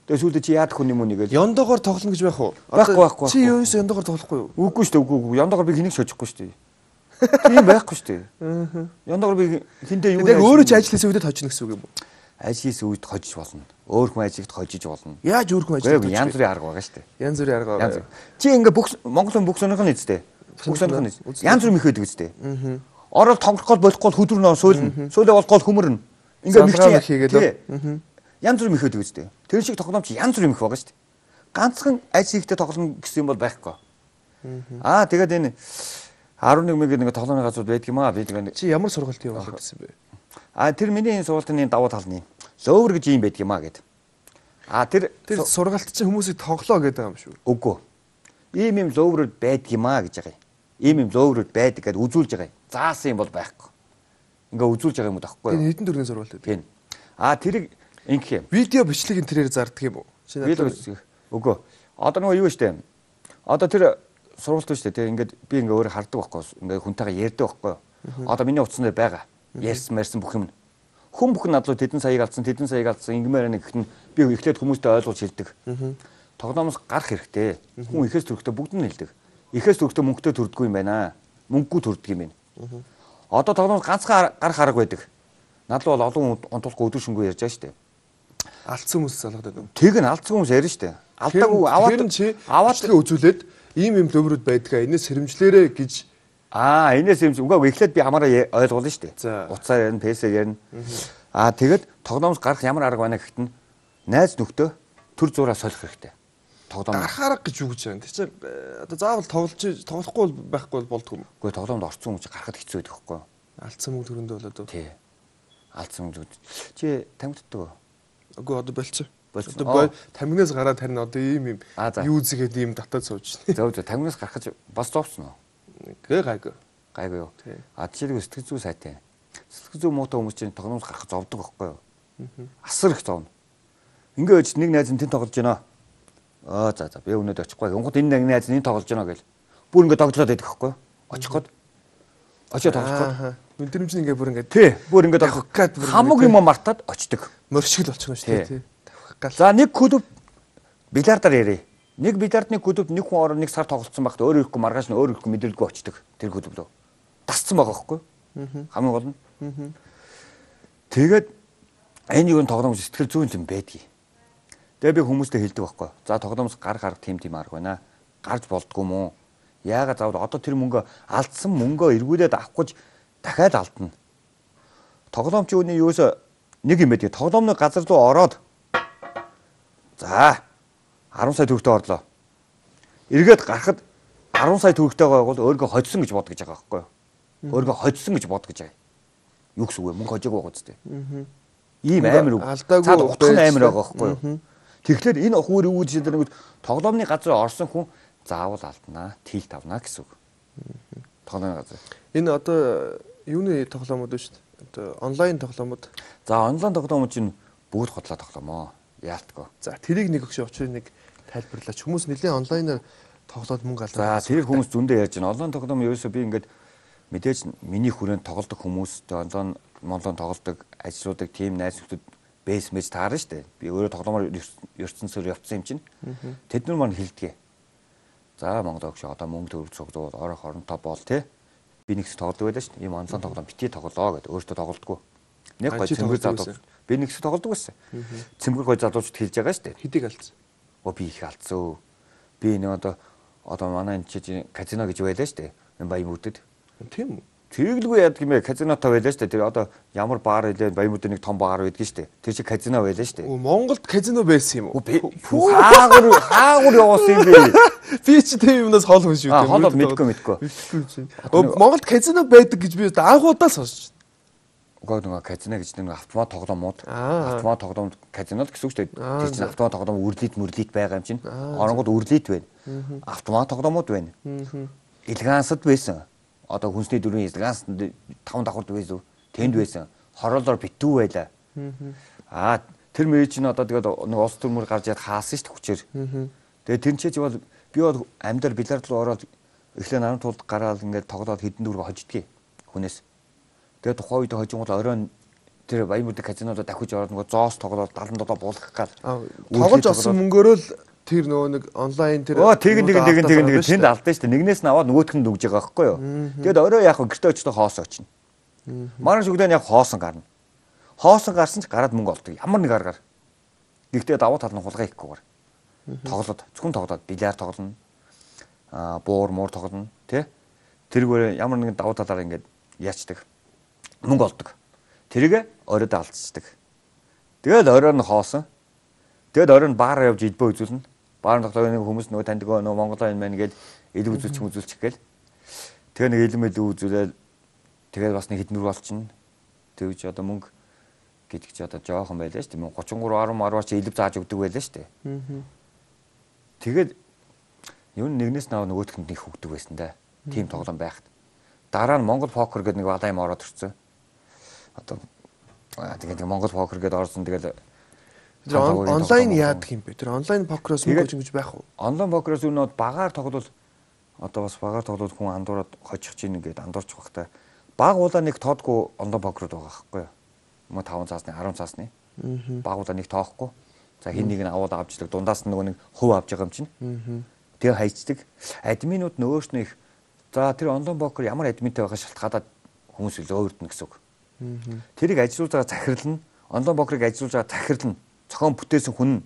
Тэгээ сүүлдээ чи яад хүн юм уу нэгээл. Яндогоор тоглоно гэж байх уу? Байхгүй. Чи юу юм яндогоор тоглохгүй юу? Үгүй шүү дээ, үгүй. Яндогоор би хэнийг шожихгүй шүү дээ. Тийм байхгүй шүү дээ. Яндогоор би хинтээ юу яг өөрөө ч ажил хийсэн үедээ хожно гэсэн үг юм уу? Ажил хийсэн үед хожиж болно. Өөр хүн ажилд хожиж болно. Яаж өөр хүн ажилд? Янз бүрийн арга байгаа шүү дээ. Янз бүрийн арга байгаа. Чи ингээ Монгол хүн бүх сонирхол нэзтэй. Бүх сонирхол нэз. Янз бүр мэхээд үстэй. Ороод тоглох гол болохгүй хөдөрнөө суйлна. Сүүлээ болгоод хөмөрнө. Ингээ мэгчээ хийгээд. Янз бүр мэхээд үстэй. Тэр шиг тоглоом чи янз бүр мэх байгаа шүү дээ. Ганцхан ажил хийхдээ тоглоно гэсэн юм бол байхгүй. Тэгээд энэ 11 мэг нэг тоглоомны газрууд байдаг юм аа. Би тэгээ чи ямар сургалт явуулах гэсэн бэ? Тэр миний энэ сургалтын давуу тал нь ловер гэж юм байдаг юм аа гэд. Тэр сургалт чинь хүмүүсийг тоглоо гэдэг юм шүү. Үгүй. Ийм ловер байдаг юм аа гэж байгаа юм. Ийм ловер байдаг гэд үзүүлж байгаа юм. Заасан юм бол байхгүй. Ингээ үзүүлж байгаа юм дахгүй юу? Энэ хэдэн төрлийн сургалт байдаг? Тийм. Тэрийг ингэх юм. Видео бичлэгийг тэрээр зардаг юм уу? Видео бичлэг. Үгүй. Одоо нөгөө юу штэ. Одоо тэр сургалт шүү дээ. Ингээд би ингээ өөрөө хардаг байхгүй. Ингээ хүнтэйгээ ярьдаг байхгүй. Одоо миний утасны байгаа. Ярьсан бүх юм. Хүн бүхэн надлуу тэдэн саяыг алдсан ингэмээр нэг гэхэд би эхлээд хүмүүстэй ойлгуулж хэлдэг. Тоглоомоос гарах хэрэгтэй. Хүн ихээс төрөхтэй бүгд нь хэлдэг. Ихээс төрөхтэй мөнгөтэй төрдгөө юм байна. Мөнгөгүй төрдөг юм байна. Одоо тоглоомоос ганцхан гарах арга байдаг. Надлуу бол олон онтолгүй өдөр шөнөгүй ярьж байгаа шүү дээ. Алдсан хүмүүс залгаад байна. Тэг нь алдсан хүмүүс ярьна шүү дээ. Алдаагүй аваад үзүүлээд ийм лөврүүд байдгаа. Энэс сэрэмжлээрэ гэж энэс юм үгүй эхлээд би хамаараа ойлгуулна шүү дээ. Уцаар ярина, пэсээр ярина. Тэгээд тоглоомоос гарах ямар арга байна гэхэд нь найз нөхдөө төр зураа солих хэрэгтэй. Тоглоом гарах арга гэж юу гэж байна. Тэр чинь одоо заавал тоглохгүй байхгүй болдгоо юм. Үгүй тоглоомд орцсон хүн чинь гарахад хэцүү байдаг байхгүй юу? Алдсан мөнгө төрөндөө болоод. Тий. Алдсан мөнгө. Чи тамигддаг уу? Үгүй одоо болчих. Одоо тамигнаас гараад харин одоо ийм юу зэгээд ийм татаад сууж байна. Зөв тамигнаас гарах бас зовцсон уу? Гайгүй. Гайгүй юу? Жишээлбэл сэтгэл зүй сайтай. Сэтгэл зүй муутай хүмүүс чинь тоглоомоос гарах зовдөг байхгүй юу? Асар их зовно. Ингээд нэг найз нь тэн тоглож байна. За би өнөөдөр очихгүй. Онгод энэ нэг найз нь тоглож байна гэл. Бүр ингээд тоглоод байдаг байхгүй юу? Очих гээд. Очоод тоглох гээд. Мэдрэмж нь ингээд бүр ингээд тий. Бүр ингээд тоглох гээд хамаг юм мартаад очдөг. Мөршгөл болчихно шүү дээ тий. За нэг клуб бильярдаар ярив. Нэг бильярдны клубд нэг хүн ороо нэг сар тоглолцсон байхад өөр ирэхгүй маргааш нь өөр ирэхгүй мэдрэлгүй очдөг. Тэр клуб лөө. Тасцсан байгаа байхгүй юу? Хамгийн гол нь. Тэгээд энэ юу тоглоом сэтгэл зүйн юм байдгийг. Тэгээ би хүмүүстэй хэлдэг байхгүй. За тоглоомоос гарах арга тийм арга байна. Гарч болдгоо мó. Яагаад заавал одоо тэр мөнгө алдсан мөнгөө эргүүлээд авах гэж дахиад алдна. Тоглоомч үүний юус нэг юм байдаг. Тоглоомны газар руу ороод за 10 сая төгрөгтэй орлоо. Эргээд гарахад 10 сая төгрөгтэй байгаа бол өөрийгөө хоцсон гэж бодож байгаа байхгүй юу? Өөрийгөө хоцсон гэж бодож байгаа. Юу гэсэн үг вэ? Мөнгө хожоог байгаа зү. Ийм амар үг. Цаад утгын амар байгаа байхгүй юу? Тэгэхээр энэ охвор юу гэж нэг тоглоомны газар орсон хүн заавал алднаа, тилт авнаа гэсэн үг. Тоглоомны газар. Энэ одоо юуны тоглоомод шүү дээ. Одоо онлайн тоглоомод. За онлайн тоглоомод чинь бүгд хотлоо тоглоомоо. Яалтгүй. За тэрийг нэг өгш очрыг нэг тайлбарлаач. Хүмүүс нэлээд онлайнаар тоглоод мөнгө алдаа. За тэр хүмүүс зөндөө ярьж байна. Онлайн тоглоом ерөөсөө би ингээд мэдээж миний хүрээнд тоглодог хүмүүс онлайн тоглодог ажлуудыг тим найз нөхдөд бейс мэж таарна шүү дээ. Би өөрөө тоглоомоор ертөнцөөр явцсан юм чинь. Тэд нар маань хэлдэг. За Монгол огш одоо мөнгө төгрөг цуглууд орох оронтой бол тий. Би нэгс тоглодог байлаа шүү дээ. Ийм онлайн тоглоом битгий тоглоо гэдэг өөртөө тоглодгоо. Нэг гой цэнгэр залуу. Би нэгс тоглодог байсан. Цэнгэр гой залуучд хэлж байгаа шүү дээ. Хэдийг алдсан. Би их алдсан. Би нэг одоо манай энэ чи казино гэж байлаа шүү дээ. Баямуудад. Тийм үү? Тэглгүй яадаг юм бэ? Казинотой байлаа шүү дээ. Тэр одоо ямар баар илээ Баямуудад нэг том баар байдаг шүү дээ. Тэр чи казино байлаа шүү дээ. Монголд казино байсан юм уу? Хаагур явуулсан юм бэ? Би ч тийм юмнаас хоол хүн шүү дээ. Хоол мэдгүй. Монголд казино байдаг гэж би анхудаа сонсч. Нөгөө казино гэж нэг автомат тоглоомууд. Автомат тоглоомд казинод гэсэн үг шүү дээ. Тэр чинь автомат тоглоом үрлийт байгаа юм чинь. Оронгод үрлийт байна. Автомат тоглоомууд байна. Элегансд байсан. Одоо хүнсний дөрвийн элегансд 5 давхард байсан. Тэнд байсан. Хороолоор битүү байла. Тэр мэй чинь одоо тэгээд нэг улс төрмөр гарч яд хаасан шүү дээ хүчээр. Тэгээд тэр чинь бол би бол амьдар билард руу ороод эхлээ наран тулд гараад ингээд тоглоод хэдэн дөрөв хождгийг хүнээс. Тэгээд тухайн үед хожингууд оройн тэр Баямуудын казинодо дахиж ороод нөгөө зоос тоглоод 77 буулгах гал. Тоглож авсан мөнгөөрөө л тэр нөгөө нэг онлайн тэр тэнд алдсан шүү дээ. Нэгнээс нь аваад нөгөөх нь өгж байгаа байхгүй юу. Тэгээд орой яах вэ? Гэртээ очиж хоос очно. Манай шүгдэн яг хоосон гарна. Хоосон гарсан ч гараад мөнгө олдог. Ямар нэг аргаар. Гэхдээ давуу тал нь хулгай хийхгүйгээр. Тоглоод зөвхөн тоглоод бильярд тоглоно. Буур муур тоглоно, тий? Тэргээр ямар нэгэн давуу талаар ингээд яачдаг. Мөнгө олдог. Тэрийг оройд алдчихдаг. Тэгээд оройн нь хоосон. Тэгээд оройн баараа явж илбөө үзүүлнэ. Баарны тоглоом нэг хүмүүс нөгөө таньдаг нөгөө Монголоо энэ маань гээд илүү үзүүлчих гээл. Тэгээ нэг илүү илүү үзүүлээд тэгээд бас нэг хэдэн нүр болчихно. Тэгвч одоо мөнгө гэдэг чи одоо жоохон байлаа шүү дээ. 33 10 чи илв зааж өгдөг байлаа шүү дээ. Тэгээд юу нэгнээс наваа нөгөөтгөнд нэг хөгдөг байсан да. Тим тоглоом байхад. Дараа нь Монгол покер гэдэг нэг балай юм ороод ирсэн. Одоо тэгээд Монгол покер гэдэг орсон тэгээд онлайн яадаг юм бэ? Тэр онлайн покероос мөнгө гэж байх уу? Онлайн покероос өнөө багаар тоглол одоо бас багаар тоглол хүн андуураад хожих чинь ингээд андуурч багтай. Баг уулаа нэг тоодгүй онлайн покерод байгаа байхгүй юу? Мо 5 цаасны 10 цаасны. Баг уулаа нэг тоохгүй. За хин нэг нь аваад авчдаг дундаас нь нөгөө нэг хөв авч байгаа юм чинь. Тэгээ хайцдаг. Админууд нөгөөш нь их за тэр онлайн покер ямар админтай байгаа шалтгаалаад хүмүүс илүү өөрдөн гэсэн үг. Тэрийг ажилуулж байгаа захирал нь онлайн покерыг ажилуулж байгаа захирал нь цохон бүтээсэн хүн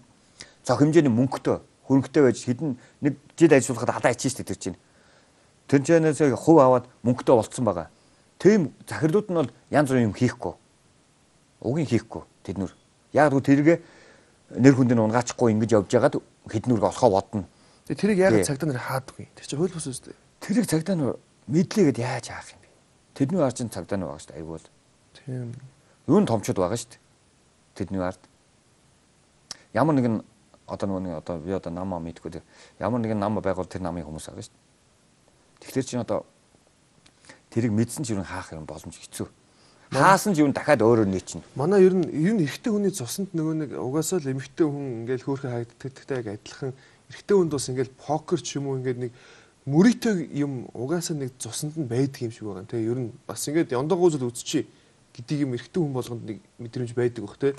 цог хэмжээний мөнгөтэй хөрөнгөтэй байж хэдэн нэг жил ажиллахад адаа ичсэн шүү дээ тэр чинь. Тэр чэнээс хувь аваад мөнгөтэй болцсон байгаа. Тийм захирлууд нь бол янз бүрийн юм хийхгүй. Угийн хийхгүй тэднүр. Яг л тэргээ нэр хүнд нь унгаачихгүй ингэж явж байгаад хэднүрг олохоо бодно. Тэрийг яг цагдаа нар хаадаггүй. Тэр чинь хууль бус үстэй. Тэрийг цагдаа нар мэдлээгээд яаж хаах юм бэ? Тэдний ард чинь цагдаа нар байгаа шүү дээ. Айгуул. Тийм. Юу н томчууд байгаа шүү дээ. Тэдний ард. Ямар нэгэн одоо нэг одоо би одоо нам мэдгүй тэр ямар нэгэн нам байгуул тэр намын хүмүүс байгаа шүү дээ. Тэгэхээр чинь одоо тэрийг мэдсэн ч юу хаах юм боломж хэцүү. Хаасан ч юу дахиад өөрөөр нээчихнэ. Манай ер нь эрэгтэй хүний цуснд нөгөө нэг угаасаа л эмэгтэй хүн ингээл хөөрхөн харагддаг яг адилхан эрэгтэй хүнд бас ингээл покер ч юм уу ингээд нэг мөрийтэй юм угаасаа нэг цуснд нь байдаг юм шиг байгаа. Тэгээ ер нь бас ингээд яндагуузл үзчихье гэдэг юм эрэгтэй хүн болгонд нэг мэдрэмж байдаг бох те.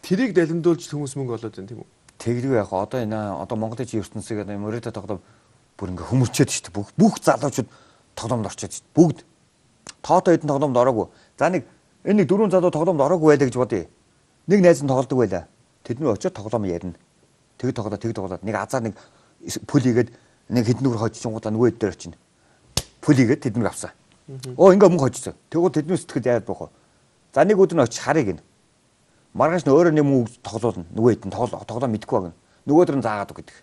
Тэрийг далимдуулж хүмүүс мөнгө олоод байна тийм үү? Тэглгүй яг одоо энэ одоо Монголын чи ертөнцийг одоо мөрөөдө тоглоом бүр ингээ хөмөрчөөд шүү дээ. Бүх залуучууд тоглоомд орчоод шүү дээ. Бүгд тоотой хэдэн тоглоомд ороогүй. За нэг энэ нэг 4 залуу тоглоомд ороогүй байлаа гэж бодъё. Нэг найз нь тоглодог байлаа. Тэдний очиод тоглоом ярина. Тэг тоглоод нэг азар нэг пүл игээд нэг хэдэн нүр хожчихгуудаа нөгөө хэд дээр очино. Пүл игээд тэднийг авсан. Ингээ мөнгө хожчихсон. Тэгвэл тэдний сэтгэл яад бохоо. За нэг өдөр нь очиж харъя гин. Маргааш нь өөрөө нэг мөнгө тоглоулна. Нөгөө хэд нь тоглоо мэдгүй байна. Нөгөөдөр нь заагаад үг гэдэг.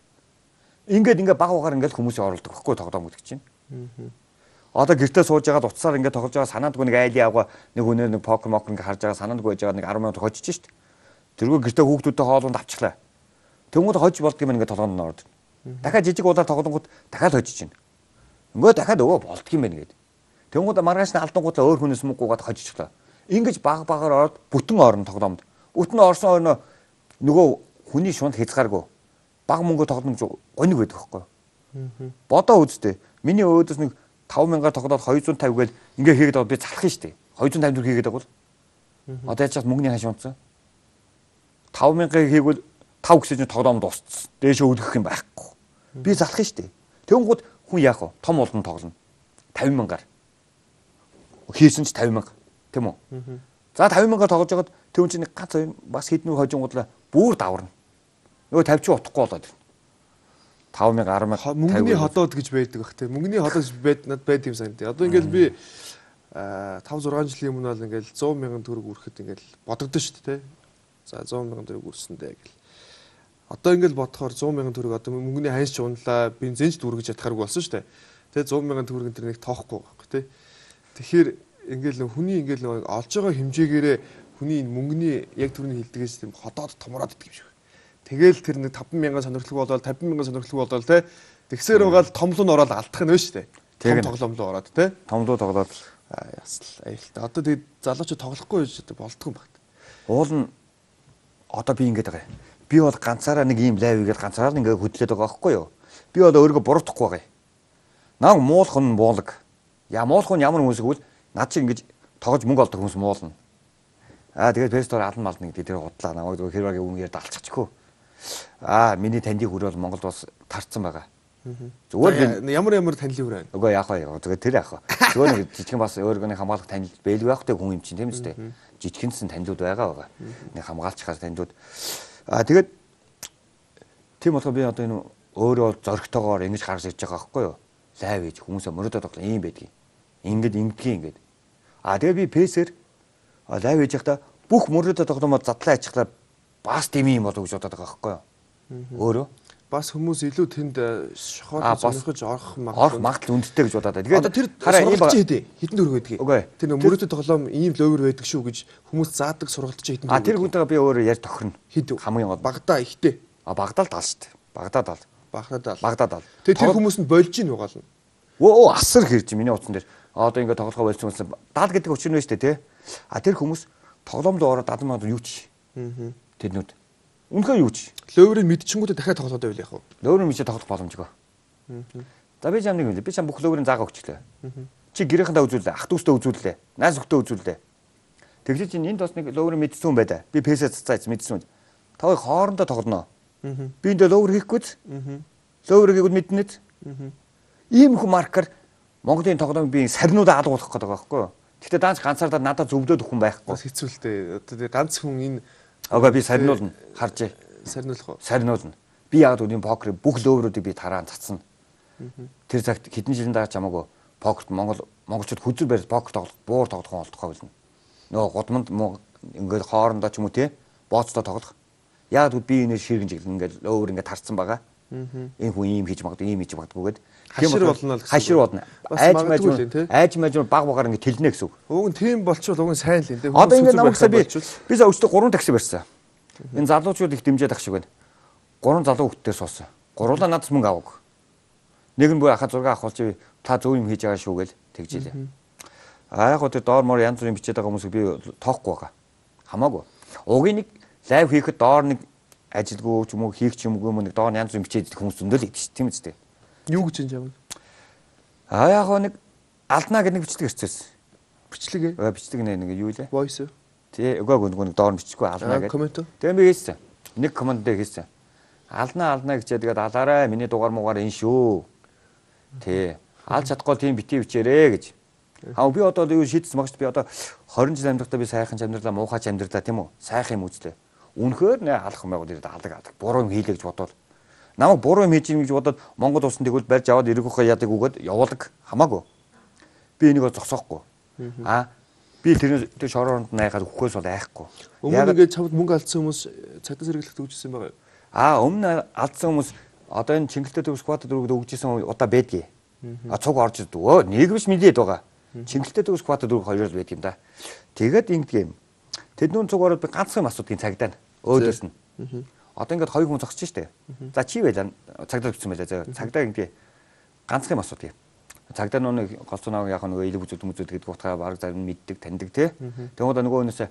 Ингээд баг багаар ингээд хүмүүсийн оролдог байхгүй тоглоом гэдэг чинь. Одоо гэртээ сууж байгаа утсаар ингээд тоглож байгаа санаандгүй нэг айлын авгаа нэг өнөө нэг покер мокер ингээд харж байгаа санаандгүй байж байгаа нэг 10 минут хожиж шít. Тэргүй гэртээ хүүхдүүдтэй хоолунд авчихлаа. Тэнгууд хожиж болдгийм ингээд тоглоонд ордог. Дахиад жижиг удаар тоглонгууд дахиад хожиж чинь. Ингээд дахиад өвөө болдгийм байх гээд. Тэнгууд маргааш нь алдангуудлаа өөр хүнээс мөнгөгүйгээд хожижглаа. Ингэж баг багаар ороод бүтэн орно тоглоомд. Бүтэн орсон орно нөгөө хүний шунд хязгааргүй. Баг мөнгө тоглоно гэж гониг байдаг байхгүй. Бодоо үзтээ. Миний өөдөөс нэг 5,000-аар тоглоод 250 гээл ингээ хийгээд аваад би залах нь штэ. 254 хийгээд авал. Одоо яаж ч мөнгөний хаш унтсан. 5,000-ыг хийгвэл 5 гэсэн чинь тоглоомд дууссан. Дээшээ өдгөх юм байхгүй. Би залах нь штэ. Тэнгууд хүн яах вэ? Том олон тоглоно. 50,000-аар. Хийсэн ч 50,000. Тэм үү? За 50,000-аар тоглож байгаад тэвэн чинь ганц бас хэднүү хожингуудлаа бүр даварна. Нөгөө 50 ч утахгүй болоод. 5,000 10,000 мөнгөний ходоод гэж байдаг бах те. Мөнгөний ходоод байд юм санагдав. Одоо ингээл би 5 6 жилийн өмнө бол ингээл 100,000 төгрөг үрэхэд ингээл бодогдсон шүү дээ те. За 100,000 төгрөг үрсэндээ гэл. Одоо ингээл бодохоор 100,000 төгрөг одоо мөнгөний ханьж унлаа, бензинч дүүргэж ятхааргүй болсон шүү дээ. Тэ 100,000 төгрөг энэ нэг тоохгүй байхгүй те. Тэгэхээр ингээл хүний ингээл олж байгаа хэмжээгээрээ хүний мөнгөний яг түрүүний хэлдгээс тийм ходоод томроод идэх юм шиг. Тэгэл тэр нэг 5,000 сонирхлог болоод 50,000 сонирхлог болоод те. Тэгсээр байгаа л томлуу нь ороод алдах нь вэ штэ. Том тоглоом руу ороод те. Томлуу тоглоод ясал аюултай. Одоо тэгээд залуучууд тоглохгүй байж болдгоо юм байна. Уул нь одоо би ингэж байгаа. Би бол ганцаараа нэг ийм лайв игээд ганцаараа ингээ хөдлөөд байгаа байхгүй юу? Би бол өөрийгөө буруутгахгүй байгаа. Наа муулах нь муулаг. Муулах нь ямар хүмүүс гэвэл над чи ингэж тоглож мөнгө олдог хүмүүс муулна. Тэгээд фестор алан мална гэдэг дээр худлаа. Намайг зөв хэрвээ үнээр далчихчихгүй. Миний таньдын хүр бол Монголд бас тарцсан байгаа. Зүгээр ямар танилын хүр байна? Үгүй яах вэ? Зүгээр тэр яах вэ? Зүгээр нэг жижигэн бас өөргөний хамгаалах танил бэлгүй байх гэдэг хүн юм чинь тийм үстэй. Жижигэнсэн танилуд байгаа. Нэг хамгаалчихаас танилуд. Тэгээд тийм болохоор би одоо энэ өөрөө зоригтойгоор ингэж гаргаж ирж байгаа байхгүй юу? Лайв хийж хүмүүсээ мөрөдөд тоглох юм байдгийг. Ингэдгийг. Тэгээд би пэсээр лайв хийж байхдаа бүх мөрөдөд тоглоомод задлаа ачглаа бас тийм юм болов гэж бодоод байгаа байхгүй юу? Өөрөө бас хүмүүс илүү тэнд шохоод сонирхож орох магадлал өндөртэй гэж бодоод байна. Тэгээд тэр сургалт чи хэдэн төгрөг байдгийг. Тэр мөрөдөд тоглоом ийм логер байдаг шүү гэж хүмүүс заадаг сургалт чи хэдэн төгрөг. Тэр хүнтэйгээ би өөрөө ярьж тохирно. Хамгийн гол багадаа ихтэй. Багадаа л даал шүү дээ. Багадаа даал. Тэгээд тэр хүмүүс нь болж ийн угаална. Асар хэрж миний утсан дээр. Одоо ингэ тоглохоо болсон хүмүүс даал гэдэг учир нь шүү дээ, тий. Тэр хүмүүс тоглоомд ороод дадмаад юу ч. Тэднүүд үнэхээр юу ч. Ловерыг мэдчихэнгүүтээ дахиад тоглоод байвал яах вэ? Ловерыг мэдчихээ тоглох боломжгүй. За би чам нэг юм. Би чам бүх ловерын заагаа өгчлээ. Чи гэрээхэндээ үзүүлээ, ах дүүстэй үзүүлээ, найз өхтөө үзүүлээ. Тэгж чинь энд бас нэг ловерыг мэдсэн хүн байдаа. Би пэсэ цацаач мэдсэн хүн. Та хоёр хоорондоо тоглоно. Би энэ ловер хийхгүйз. Ловерыг мэднэт. Ийм хүн маркер Монголын тоглоомыг би сарнуудаа алгуулах гэдэг байгаа байхгүй юу? Гэхдээ даанч ганцаардаа надад зөвлөд өгөх хүн байхгүй. Бас хэцүүлтэй. Одоо ганц хүн энэ би сарниулна харж. Сарниулах уу? Сарниулна. Би яг үний покер бүх ловеруудыг би тараан цацсан. Тэр цагт хэдэн жилийн дараа ч хамаагүй покерт монголчууд хүзэр барьж покер тоглох, буур тоглох олдохоо болно. Нөгөө гудамд ингээд хоорондоо ч юм уу тий бооцтой тоглох. Яг би энэ ширгэн жиглэн ингээд ловер ингээд тарцсан байгаа. Энэ хүн ийм хийж магадгүй, ийм хийж магадгүйгээд хашир болно л хашир болно. Айж мэж баг багаар ингээд тэлнэ гэсэн үг. Уг нь тийм болчихвол уг нь сайн л юм тий. Одоо ингээд намайгсаа би за өчтө 3 такси барьсан. Энэ залуучууд их дэмжиж ах шиг байна. 3 залуу хүүхдтэй суусан. Гурлаа надаас мөнгө аваагүй. Нэг нь бүр ахаа зураг авах болж та зөв юм хийж байгаа шүү гээл тэгжилээ. Яг гоо тэр доор мор янз бүрийн бичээд байгаа хүмүүсийг би тоохгүй байгаа. Хамаагүй. Угийн нэг лайв хийхэд доор нэг ажилгүй ч юм уу хийх ч юм уу нэг доор янз бүрийн бичээд хүмүүс зөндөл идэв ш тийм үстэй. Юу гэж юм? Яг гоо нэг алднаа гэдэг нэг бичлэг ирчихсэн. Бичлэг ээ? Бичлэг нэг юу лээ? Voice. Тий, үгүй нэг доор бичихгүй алднаа гэдэг. Коммент. Тэгээ би хийсэн. Нэг коммент дээр хийсэн. Алднаа гэчээ тэгээд алаарай миний дугаар муугаар энэ шүү. Тий. Алж чадахгүй тийм битгий бичээрээ гэж. Би одоо юу шийдсэн багш би одоо 20 жил амьдрахтаа би сайхан амьдралаа муухайч амьдралаа тийм үү? Сайхан юм үзлээ. Үнэхээр нэ алах юм байгууд ирээд алдаг. Буруу юм хийлээ гэж бодвол намайг буруу юм хийж ийн гэж бодоод Монгол улсанд тэгвэл барьж аваад ирэхөө яадаг үгээд явуулаг хамаагүй. Би энийг зогсоохгүй. Би тэр шороонд найгаад өгөхөөс бол айхгүй. Өмнө ингээд чамд мөнгө алдсан хүмүүс цагдаа сэргэлэх төгжсөн байгаа юу? Өмнө алдсан хүмүүс Одоо энэ Чингэлтэй төвс квадр дөрөвд өгжсэн удаа байдгийг. Цуг орж ирдэг. Нэг биш мэдээд байгаа. Чингэлтэй төвс квадр дөрөв хоёроор байдаг юм да. Тэгээд ингэдэг юм. Тэднүүн цуг ороод би ганцхан асуудгийн цагдаа нь өөдөөс нь. Одоо ингээд хоёр хүн зогсож штэ. За чи байлаа цагдаа өгсөн байлаа. Цагдаа ингэдэг ганцхан асуудаг юм. Цагдаа нүг голцооноо яг нөгөө илэг үзүүд гэдэг утгаа баг зарим мэддэг таньдаг тий. Тэгвэл нөгөө өнөөсөө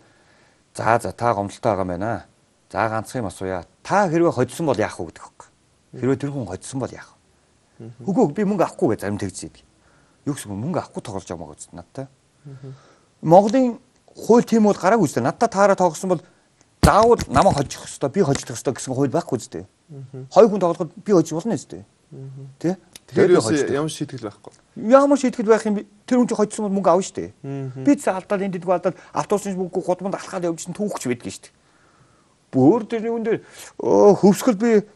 за та гомдолтой байгаа юм байна. За ганцхан юм асууя. Та хэрвээ хоцсон бол яах вэ гэдэг хөөх. Хэрвээ тэр хүн хоцсон бол яах вэ? Үгүй би мөнгө авахгүй гэж зарим тэгж идэг. Юу гэсэн мөнгө авахгүй тоглож байгаа мó гэж надтай. Монголын хууль тийм бол гараагүй үстэй. Надтай таараа тоглосон бол заавал намайг хожих ёстой, би хожих ёстой гэсэн хууль байхгүй үстэй. Хоёр хүн тоглоход би хожих болно үстэй. Тэ? Тэр ямар шийтгэл байхгүй. Ямар шийтгэл байх юм тэр хүн чинь хожсон бол мөнгө авна штэ. Би цаа алдаад энд дэггүй алдаад автобусны мөнгө гудамд алхаад явж чинь түүхч байдаг штэ. Бүр тэрний үн дээр хөвсгөл би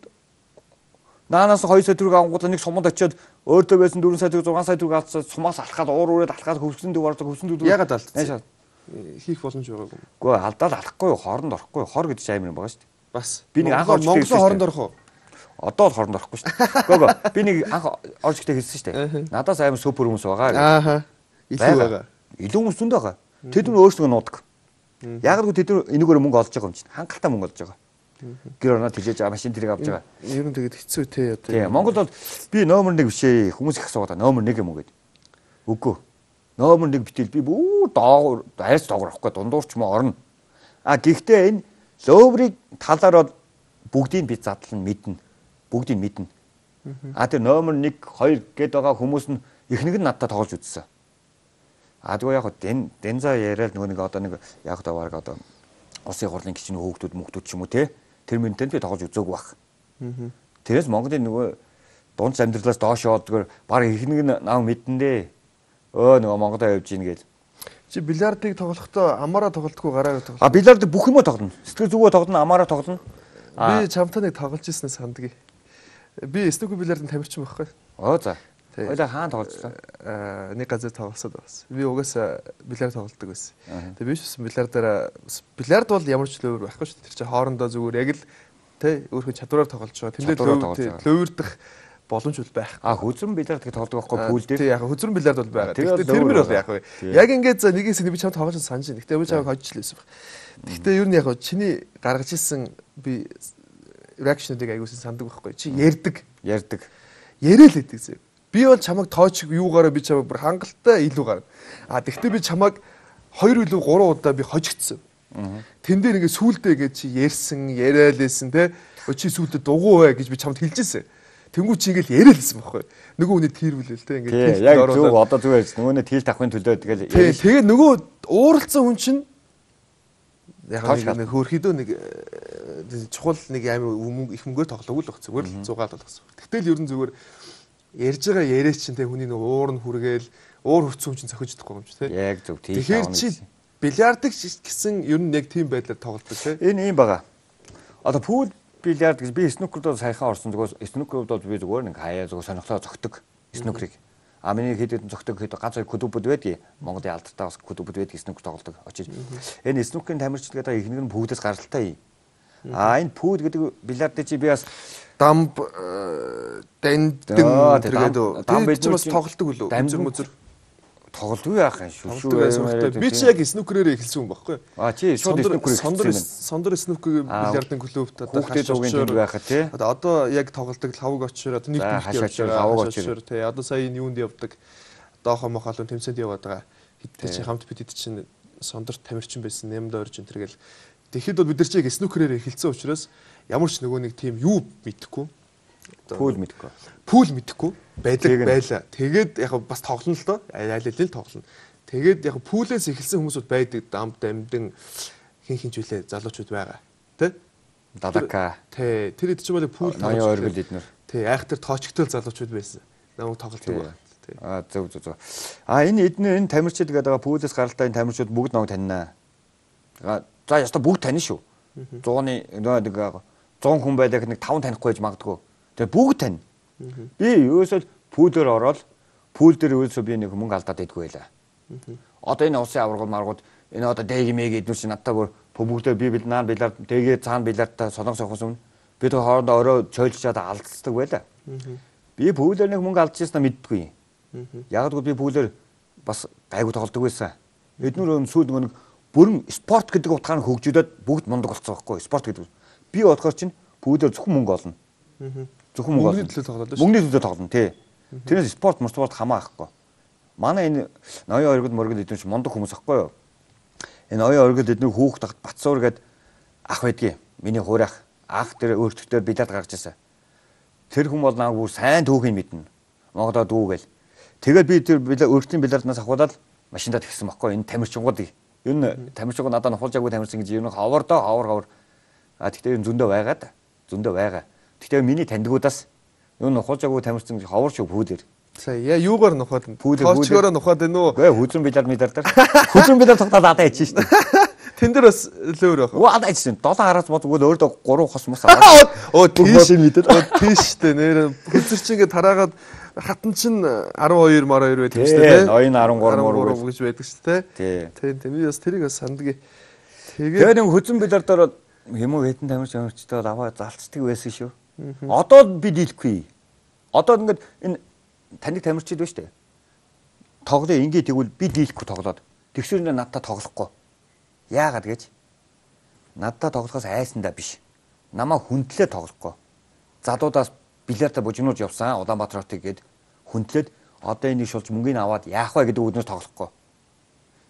наанаас 2 сая төгрөг авангуудаа нэг суманд очиод өөртөө байсан 4 сая төгрөг 6 сая төгрөг авцаа сумаас алхаад уураад алхаад хөвсгөн дөв ордог хөвсгөн дөв ягаад алдсан? Хийх боломж байгаагүй. Үгүй алдаад алахгүй хооронд орохгүй хор гэдэг чинь амар юм байгаа шүү дээ. Бас би нэг анх Монголын хооронд орох уу? Одоо л хооронд орохгүй шүү дээ. Гөө би нэг анх орж ихтэй хэлсэн шүү дээ. Надаас амар супер хүмүүс байгаа. Ааха. Илүү байгаа. Илүү хүмүүс зөндөө байгаа. Тэд нар өөрсдөө нуудаг. Яг л тэд нар энэгээр мөнгө олж байгаа юм чинь хангалттай мөнгө олж байгаа. Гэр орноо тэлж машин тэрэг авч байгаа. Ер нь тэгээд хэцүү те одоо. Тийм Монгол бол би номер 1 биш ээ. Хүмүүс их асуугаад номер 1 юм уу гэдэг. Үгүй. Номер 1 битэл би бүр доогуур айс доогуур авахгүй дундуурч мө орно. Гэхдээ энэ ловрыг талаар бүгдийг би задлан мэднэ. Бүгдийг мэднэ. Тэр номер 1 2 гээд байгаа хүмүүс нь эхнэг нь надтай тоглож үзсэн. Тэгвэл яг денза яриад нэг одоо нэг яг таваарг одоо улсын хурлын гişний хөөгтүүд мөхтүүд ч юм уу те тэр мөнтөнд би тоглож үзээгүй баг. Тэрээс Монголын нөгөө дунд амьдралаас доош яваадгаар баг эхнэг нь нав мэднэ. Нөгөө Монголоо явж ийн гээл. Чи бильярдыг тоглохдоо амаараа тоглодгоо гараараа тоглох. Бильярд бүх юмоо тоглоно. Сэтгэл зүгөө тоглоно, амаараа тоглоно. Би чамтай нэг тоглож ирсэн сандгийг. Би снукер бильярдын тамирчин байхгүй. За. Хоёлаа хаана тоглолцлоо? Нэг газар тоглосод байсан. Би угаасаа бильярд тоглодог байсан. Тэгээ би ч бильярдаараа бильярд бол ямар ч лөвөр байхгүй шүү дээ. Тэр чинь хоорондоо зүгээр яг л тэ өөрхөн чадвараар тоглож байгаа. Тэндээ лөвөрдөх боломж бол байх. Хөзрөн бильярд гэж тоглодог байхгүй пүүл дээр. Тий яг хөзрөн бильярд бол байгаа. Гэхдээ тэрмэр бол яг вэ. Яг ингээд за нэгээс би чамд тоглож санаж байна. Гэхдээ би чамд хожижлээсэн баг. Гэхдээ ер нь яг чиний гаргаж ирсэн би реакшнуудыг аягуулсан санддаг байхгүй. Чи ярддаг. Яриа л хэдэг зэ. Би бол чамайг тоочих юугаараа би чамайг бүр хангалттай илүү гарна. Тэгвэл би чамайг 2 илүү 3 удаа би хожигдсон. Тэн дээр ингээд сүулдэ гэж чи ярьсан, яриалээсэн те. Чи сүулдэ дугуй бай гэж би чамд хэлжсэн. Тэнгүү чи ингээд яриалээсэн байхгүй. Нөгөө хүний тэрвэлэл те ингээд яг зөв одоо зүгээр ярьж. Нөгөөний тэгэл тавхын төлөө тэгэл яриалсан. Тэгээ нөгөө ууралцсан хүн чинь яг нэг хөөрхөдөө нэг чухал нэг амар их мөнгөөр тоглоогүй л баг зүгээр л 100 гаал болгосон. Тэгтэл ер нь зүгээр ярьж байгаа яриач чинь те хүний нэг уур нь хүргээл уур хөвцөн чинь зохиж чадахгүй юм чи те. Яг зөв тийм. Тэгэхээр чи бильярдыг гэсэн ер нь яг тийм байдлаар тоглодог те. Энэ юм байгаа. Одоо пул бильярд гэж би снукерд сайхан орсон зүгээр снукерд бол би зүгээр нэг хаяа зүгээр сонирхлоо зогтдог снукерыг. Миний хэд зогтдог хэд ганц хоёр клубуд байдгийг Монголын алдартай бас клубуд байдгийг снукер тоглодог очиж. Энэ снукерын тамирчилгээд ихнэг нь бүгдээс гаралтай. Энэ пул гэдэг бильярд чи би бас дамб дэндэн тэгээд дамб байж бас тоглолдог үлээ. Үзэр тоглолтгүй яах юм шүү. Би чи яг снукерээр эхэлсэн хүн байхгүй. Чи шууд снукерээр сондор снукер бильярдын клубт одоо хашаач байхад тий. Одоо яг тоглолдог лавг очоор одоо нэг хашаач тий. Одоо сая юунд явдаг доохоо мохолон тэмцээнд яваад байгаа. Хэдтэй чи хамт бид чинь сондор тамирчин байсан 8 дөрж энэ тэргээл тэгэхэд бол бид нар чи яг снукерээр эхэлсэн учраас ямар ч нөгөө нэг тийм юу мэдэхгүй. Пул мэдэхгүй. Пул мэдэхгүй байлаа. Тэгээд яг бас тоглоно л доо. Айл тоглоно. Тэгээд яг пулээс эхэлсэн хүмүүсүүд байдаг. Дамд амдэн хин зүйлээ залуучууд байгаа. Тэ? Дадака. Тэ. Тэр хэд ч юм бол пул ноён ойргол эднэр. Тэ. Айхтар тоочгтой залуучууд байсан. Намайг тоглолдог. Зөв. Энэ эднэр энэ тамирчид гэдэг байгаа пулээс гаралтай энэ тамирчид бүгд намайг таньнаа. За яста бүгд таньна шүү. 100-ны нэг 100 хүн байлаа нэг 5 танихгүй байж магадгүй. Тэгээ бүгд тань. Би ерөөсөө пүүлээр ороод пүүл дээр ерөөсөө би нэг мөнгө алдаад идэггүй байлаа. Одоо энэ усын аваргууд маргууд энэ одоо дэги мэги эднүр чи надтай бүр бүгдээ би бил наан билаар дэгээ цаана билаартаа солонгос явахсан өмнө бид хоорондоо орой чойлчаад алдцдаг байлаа. Би пүүлээр нэг мөнгө алдчихсан мэддэггүй. Ягдгүй би пүүлээр бас гайгүй тоглодог байсан. Эднэр сүүл нэг бүрэн спорт гэдэг утгаар нь хөгжүүлээд бүгд мундаг болцсон байхгүй. Спорт гэдэг. Би бодохоор чинь пүүлээр зөвхөн мөнгө олно. Зөвхөн мөнгө олно. Мөнгөний төлөө тоглоно тий. Тэрнээс спорт хамаахгүй. Манай энэ ноён оргил мөргөл эдгээр чинь мундаг хүмүүс ахгүй юу? Энэ ноён оргил эдгээр хүүхд Батсуур гээд ах байдгийг. Миний хуурах ах тэр өөртөө билет гаргаж ирсэн. Тэр хүн бол наа бүр сайн түүхийг мэднэ. Монголоо дүүгээл. Тэгээд би тэр өөртөө билетнаас авахудаад машиндаа тэгсэн байхгүй энэ тамирчингуудыг. Энэ тамирчингууд надад нухалжаагүй тамирчин гэж юм ховор. А тэгтээ зөндөө байгаа. Тэгтээ миний тандгуудаас юу нухалжаагүй тамирчин ховор шүү пүүдэр. Сая юугаар нухаад тоочгоороо нухаад байна уу? Гэ хүзрэн билет дээр. Хүзрэн билет тогтоод адаа ичсэн шүү дээ. Тэн дээр бас лөөр байх. Оо адаа ичсэн. 7 хараас бодгоо өөртөө 3 хос мос аваад. Оо тийш мэдээд. Тийш дээ нэр хүзэр чи ингээд тараагаад хатан чин 12 12 байдаг шүү дээ. Ноён 13 гэж байдаг шүү дээ. Тийм. Би бас тэрийг бас санддаг. Тэгээд нэг хүзрэн билет дээр юм уу хэдэн тамирчтай аваа залцдаг байсан шүү. Одоо би дийлэхгүй. Одоо ингээд энэ таныг тамирчид байна шүү дээ. Тоглоо ингээд тэгвэл би дийлэхгүй тоглоод. Тэгшүүр надтай тоглохгүй. Яагаад гэж? Надтай тоглохоос айсандаа биш. Намаа хүндлээ тоглохгүй. Задуудаас билетаа бужигнуулж явсан Улаанбаатар хотыг гээд хүндлээд одоо энийг шулж мөнгөний аваад яах вэ гэдэг үднээс тоглохгүй.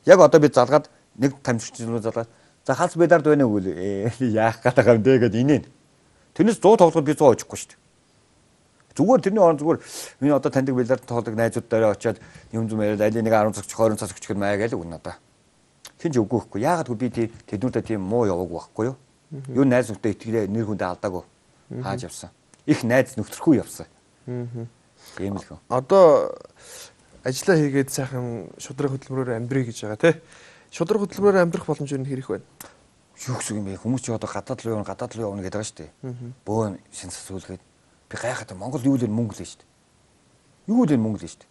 Яг одоо би залгаад нэг тамирчид залгаад за халс бедард байна уу гэлээ. Яах гээд байгаа юм бэ гэд инээ. Тэрнээс 100 тоглоход би 100 очихгүй шүү дээ. Зүгээр тэрний орон зүгээр миний одоо таньдаг билет тоглодог найзуудаараа очиад юм зүм яриад аль нэг 10 цаг 20 цаг өчгөл маяг л үн надаа. Тинж үгүй хэвгүй. Яагаад би тэднүүдэд тийм муу яваагүй байхгүй юу? Юу найз нөхдөд итгэлээ нэр хүндээ алдаагүй. Хааж явсан. Их найз нөхдөхгүй явсан. Тийм л хөө. Одоо ажиллаа хийгээд сайхан шудраг хөтөлбөрөөр амьдрий гэж байгаа тий. Шудраг хөтөлбөрөөр амьдрах боломж юу хэрэг байна? Юу гэсэн юм бэ? Хүмүүс ч одоо гадаад руу явна гэдэг байгаа шүү дээ. Бөөн шин сасуулгээд би гайхаад Монгол юу л мөнгө л шүү дээ. Юу л мөнгө л шүү дээ.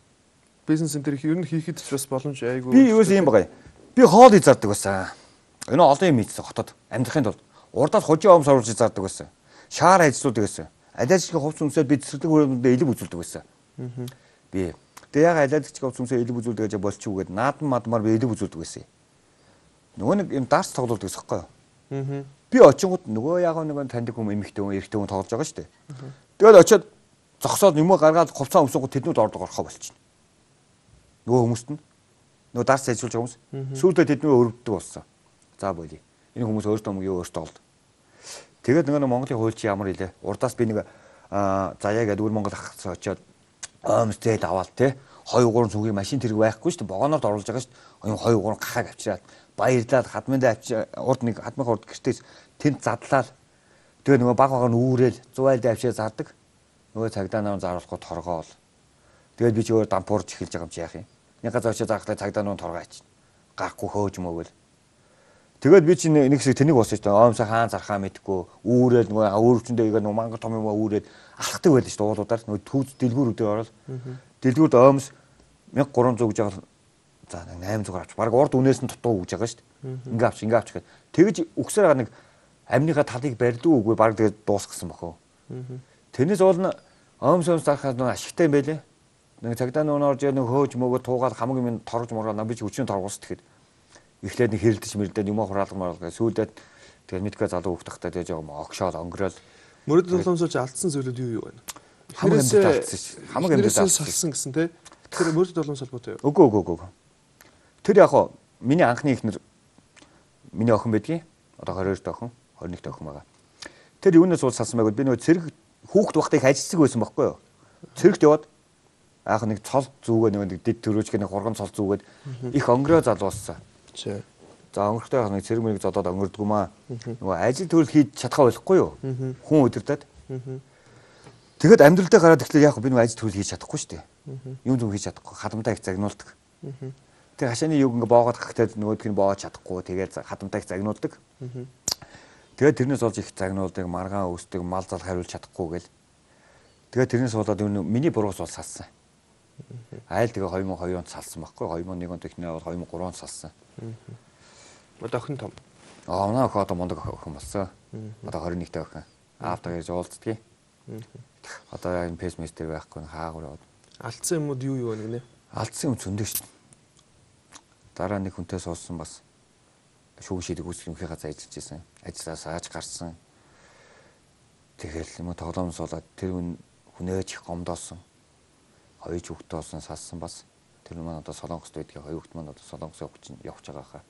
Бизнес энэ ер нь хийхэд ч бас боломж айгүй. Би юус юм байгаа. Би хоол зардаг байсан. Энэ олон юм ийдсэн хотод амьдрахын тулд урдаас хожим омс оруулж зардаг байсан. Шаар ажилладаг байсан. Алиажгийн хувц өмсөд би цэцэрлэг хөрөндөө элэг үзүүлдэг байсан. Би тэгээ яг алиажгийн хувц өмсөд элэг үзүүлдэг гэж болчихгүй гээд наадам мадмаар би элэг үзүүлдэг байсан. Нөгөө нэг юм дарс тоглолдог гэсэн хэвхэв. Би очингууд нөгөө яг нэг таньдаг хүн эмэгтэй хүн эрэгтэй хүн тоглож байгаа шүү дээ. Тэгээд очиод зогсоод юм гаргаад хувцас өмсөнгөө тэднүүд орохоо болчихно. Нөгөө хүмүүст нь нөгөө дарс ажиллаж байгаа хүмүүс сүүлдээ тэднээ өрөвддөг болсон. За болий. Энэ хүмүүс өөртөө мөнгө өөртөө олд. Тэгээд нөгөө Монголын хуульч ямар илээ. Урдаас би нэг заяа гэдэг үр Монгол ахсан очиод омстэйд аваад те 2 3 цүнгийн машин тэрэг байхгүй шүү дээ. Богоноор оруулж байгаа шүү дээ. 2 3 гахааг авчираад баярлаад хадмандаа урд нэг хадмын урд гэртээс тэнд задлаад тэгээ нөгөө баг багаар нь үүрэл 100 айлд авчираа зардаг. Нөгөө цагдаа нарыг заруулахгүй торгоол. Тэгээд би ч өөр дампуурж эхэлж байгаа юм чи яах юм. Нэг газар очиж заахлаа цагдаа нарыг торгоо ач. Гарахгүй хөөж мөгөл. Тэгээд би чи нэг хэсэг тэнийг босч та оомсоо хаан зархаа мэдгүй үүрэл нөгөө өөрчөндөө игээ нөгөө мангар том юм үүрээд алхдаг байл шүү дээ уулуудаар нөгөө түүз дэлгүүрүүдээр орол. Дэлгүүрд оомс 1300 гэж байгаа. За 800 авч баг урд үнээс нь дутуу гэж байгаа шүү дээ. Ингээ авч гэхэд тэгж өгсөөр нэг амныхаа талыг барьдгүй үгүй баг тэгээд дуусгасан бохоо. Тэрнээс уул нь оомсоос зархаад нөгөө ашигтай юм байлээ. Нэг цагдаа нөгөө орж нэг хөөж мөгөө туугаад хамаг юм торгож моргоо би ч хүчний торгоос тэгэхэд эхлээд нэг хэрэлдэж мэрдээд юм хураалга сүүлдээд тэгээд мэдгүй залуу хөвтөхтэй тэгээд жоо огшоод онгорол мөрөд толомсооч алдсан зүйлүүд юу байна? Хамаг амьд алдсан ш. Хамаг амьд салсан гэсэн тий. Тэр мөрөд толомс холбоотой юу? Үгүй. Тэр яг хоо миний анхны ихнэр миний охин байдгийн одоо 22 дэх охин 21 дэх охин байгаа. Тэр юунаас уул салсан байгаад би нөгөө цэрэг хүүхд бахтыг ажилласаг байсан байхгүй юу? Цэрэгт яваад аах нэг цол зүүгээ нэг дэд төрөөчг нэг хурган цол зүүгээд их онгороо залууссан. За онгортой нэг цэрэг мэрэг зодоод онгордгүй маа. Нөгөө ажил төрөл хийж чадхаа болохгүй юу? Хүн өдөртөд. Тэгэхэд амьдралдаа гараад ихлээр яг би нөгөө ажил төрөл хийж чадахгүй шүү дээ. Юм зүг хийж чадахгүй. Хадамтаа их загнуулдаг. Тэгээ хашааны юг ингээ боогоод гахтаад нөгөөдг нь боогож чадахгүй. Тэгээд хадамтаа их загнуулдаг. Тэгээд тэрнээс болж их загнуулдаг, маргаан өсдөг, мал зал хариулж чадахгүй гэл. Тэгээд тэрнээс болоод миний буруус бол салсан. Айл тэгээ 2002 онд салсан байхгүй 2001 онд ихнээ бол 2003 онд салсан. Одоо охин том. Манай охин одоо мундаг охин болсон. Одоо 21 дэх охин. Аавтайгаа ирж уулздгийг. Одоо энэ пейсмейстер байхгүй хаагур яваад. Алдсан юмуд юу вэ гинэ? Алдсан юм зөндөө шүү дээ. Дараа нэг хүнтэй суулсан бас шүүх шийдэг үүсгэмхий газар ажиллаж байсан. Ажлаас ааж гарсан. Тэгэл юм тоглоом суулаад тэр хүнээж их гомдоосон. Хоёр хүүхдтэй болсон салсан бас. Тэр маань одоо Солонгост байдгийг хоёр хүүхд маань одоо Солонгос явж байгаа хаа.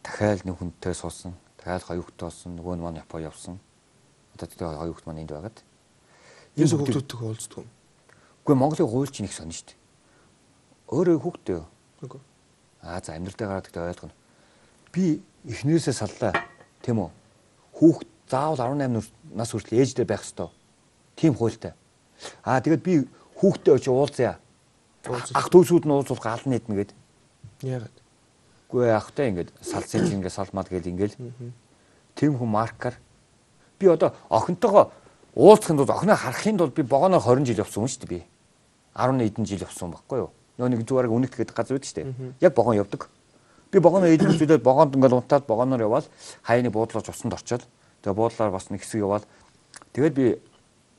Дахиад нэг хүнтэй суулсан. Дахиад хоёр хүүхдтэй болсон. Нөгөө нь маань Япон явсан. Одоо тэр хоёр хүүхд маань энд байгаад. Энэ хүүхдүүдтэй уулздаг юм. Үгүй Монголын хууль чинь их сонь шүү дээ. Өөрөө хүүхдтэй юу? Үгүй. За амьдралдаа гараад гэдэг ойлгоно. Би эхнээсээ саллаа. Тийм үү? Хүүхд заавал 18 нас хүртэл ээждээ байх ёстой. Тийм хуультай. Тэгээд би хүүхдтэй очиж уулзъя. Ах дүүсүүд нь уулзвал гал нийтнэ гээд. Яагаад? Үгүй ахтай ингээд салцын ингээд салмаад гээл ингээл. Тийм хүн маркаар би одоо охинтойгоо уулзахын тулд охиноо харахын тулд би богоноор 20 жил явсан хүн шүү дээ би. 10 эдэн жил явсан байхгүй юу? Нөө нэг зүгээр үнэт гэдэг газар үүд шүү дээ. Яг богон явдаг. Би богоноо эдэн зүйлээд богонд ингээд унтаад богоноор яваал хаяны буудлаач усанд орчоод тэгээ буудлаар бас нэг хэсэг яваал тэгээд би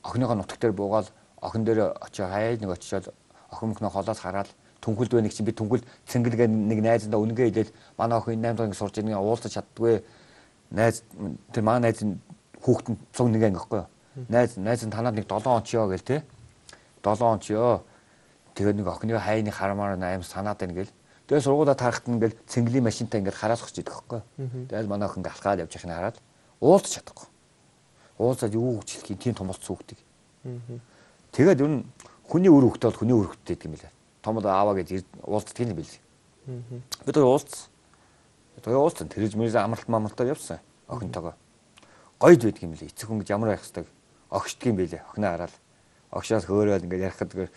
охиныхоо нутаг дээр буугаал охин дээр очиж хаяа нэг очиод охин мөхнөө холоос хараад түнхэлд байна гэж би түнхэл цэнгэлгээ нэг найзандаа үнгээ хэлээд манай охин 8 дахь сурж байгаа уулзаж чаддгүй найз тэр манай найз хүүхдэн цуг нэг анги байхгүй юу найз нь танаад нэг 7 он ч ёо гээл те 7 он ч ёо тэгээд нэг охины хайны харамаар аим санаад байна гээл тэгээд сургуулаа тарахт ингээл цэнгэлийн машинтай ингээд хараас өгч идэх байхгүй юу тэгээд манай охин галхаад явж байхыг хараад уулзаж чадахгүй уулзаад юу гэж хэлэх юм тийм томолц хүүхдийг тэгээд ер нь хүний өр хөвгтэй бол хүний өр хөвгтэй гэдэг юм билээ. Том ааваа гэж уулздаг юм билээ. Бид уулзсан. Тэгээ уулзсан. Тэрж мэрзэ амралтаар явсан. Охинтойгоо. Гойд байдаг юм билээ. Эцэг хүн гэж ямар байх хэвээр огшдг юм билээ. Охиноо хараад. Огшоос хөөрөөл ингээд ярих гэдэг.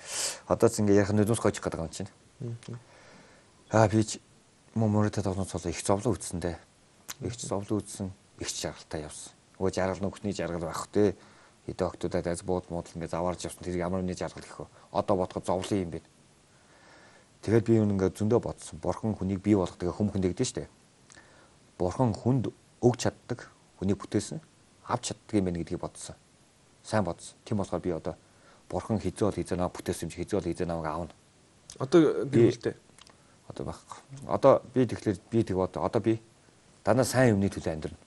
Одоо ч ингээд ярих нүднээс гойчих гэдэг юм чинь. Би ч мөрөдө тоглоом цолоо их зовлон үтсэндээ. Их зовлон үтсэн. Их жаргалтай явсан. Өө жаргал нөхний жаргал байх вэ? Хэдэн октодад аз бууд муудал ингээд заваарж явсан. Тэр ямар нэгэн жаргал гэх вэ? Одоо бодоход зовлон юм бэ. Тэгээд би ингээд зөндөө бодсон. Бурхан хүнийг бий болгох тэгээ хүм хүн дэгдэн штэ. Бурхан хүнд өгч чаддаг, хүнийг бүтээсэн, авч чаддаг юм байна гэдгийг бодсон. Сайн бодсон. Тийм болохоор би одоо бурхан хизээ бол хизээ намайг бүтээсэн юм чи хизээ бол хизээ намайг аавна. Одоо гэрэлтэй. Одоо байхгүй. Одоо би тэгэхээр би тэг бод. Одоо би дандаа сайн юмны төлөө амьдрна.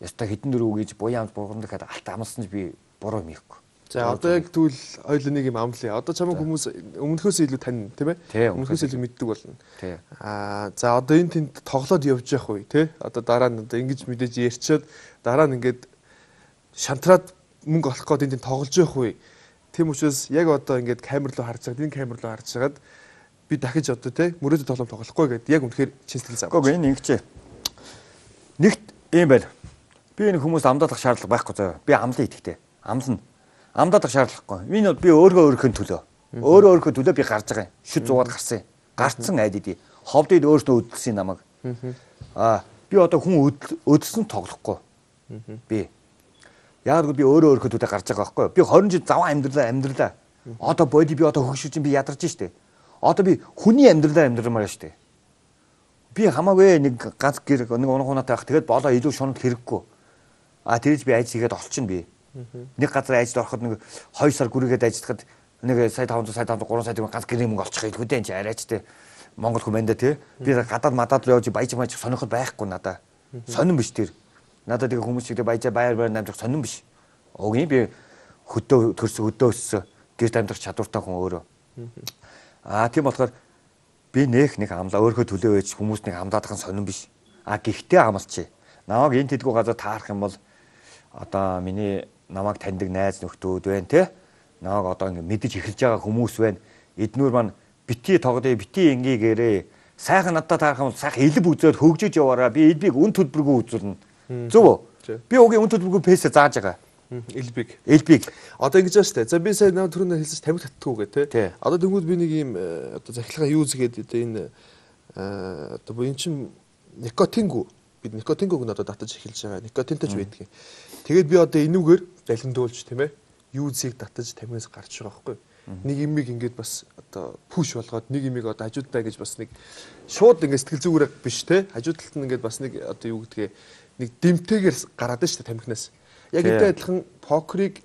Яста хитэн дөрөв гэж буяамд бурган дахиад алт амлсан ч би буруу юм ихгүй. За одоо яг тэгвэл хоёул нэг юм амлая. Одоо чамайг хүмүүс өмнөхөөс илүү тань, тийм ээ? Өмнөхөөс илүү мэддэг болно. За одоо энэ тэнд тоглоод явж явах үе, тий? Одоо дараа нь одоо ингэж мэдээж ярьчаад дараа нь ингээд шантраад мөнгө олох гээд энэ тэнд тоглож явах үе. Тийм учраас яг одоо ингээд камер руу харж байгаа, энэ камер руу харж хагаад би дахиж одоо тий мөрөөдө тоглоом тоглохгүй гэдэг яг үнэхээр чин сэтгэл зав. Гэхдээ энэ ингэчээ. Нэгт юм байна. Би энэ хүмүүс амдаадах шаардлага байхгүй заяа. Би амлаа идэхтэй. Амлна. Амдаадах шаардлагагүй. Би өөрийнхөө төлөө. Өөрийнхөө төлөө би гарч байгаа юм. Шүд зугаад гарсан юм. Гарцсан айд идэ. Ховдод өөртөө өдөлсөн намайг. Би одоо хүн өдөлсөн тоглохгүй. Би. Яг би өөрийнхөө төлөө гарч байгаа байхгүй. Би 20 жил заван амьдралаа. Одоо боди би одоо хөгшиж би ядарч штэ. Одоо би хүний амьдралаа амьдрмаар штэ. Би хамаагүй нэг ганц гэр нэг унахунаатай байх. Тэгээд болоо илүү шунал хэрэггүй. Тэрж би айж игээд олчихно би. Нэг газар айжд ороход нэг 2 сар гүрийгээд ажиллахад нэг сая 500 сая 3 сая төгрөг ганц гэрээ мөнгө олчих хэлгүй дээ энэ арайчтай Монгол хүмүүндээ тий. Би гадаад мадаад руу явж баяж сонирхол байхгүй надаа. Сонирн биш тэр. Надад тэгээ хүмүүс чигдээ баяжаа байр намжих сонирн биш. Өгийн би хөдөө төрсөн хөдөө өссөн гэрт амьдрах чадвартай хүн өөрөө. Тийм болохоор би нэг амлаа өөрхөө төлөө байж хүмүүс нэг амдаадах сонирн биш. Гэхдээ амлчих. Намайг энэ тэдгүү газар таарах юм бол одоо миний намайг таньдаг найз нөхдүүд байна те. Намайг одоо ингэ мэдэж эхэлж байгаа хүмүүс байна. Эднүр маань бити тоглоё, бити ингээгээрээ. Сайхан надад таарах юм бол сайхан элб үзээд хөгжиж яваараа. Би элбийг үн төлбөргүй үзүүлнэ. Зөв үү? Би угийн үн төлбөргүй пэсэ зааж байгаа. Элбиг. Одоо ингэж байна штэ. За би сая наа түрүүнд хэлсэн тамхи татдаггүй гэ те. Одоо тэнгууд би нэг юм одоо захилгаа юу згээд одоо энэ одоо энэ чин никотингүй. Бид никотингүйг нь одоо татаж эхэлж байгаа. Никотинтэй ч байдаг. Тэгээд би одоо энүүгээр залгиндуулж тийм ээ. Юузыг татаж тамхинаас гарч байгаа байхгүй. Нэг имийг ингээд бас одоо пүш болгоод нэг имийг одоо хажуудаа гэж бас нэг шууд ингээд сэтгэл зүгээрээ биш те. Хажуудалт нь ингээд бас нэг одоо юу гэдгээ нэг дэмтэйгээр гараад нь шүү дээ тамхинаас. Яг энэ адилхан покерыг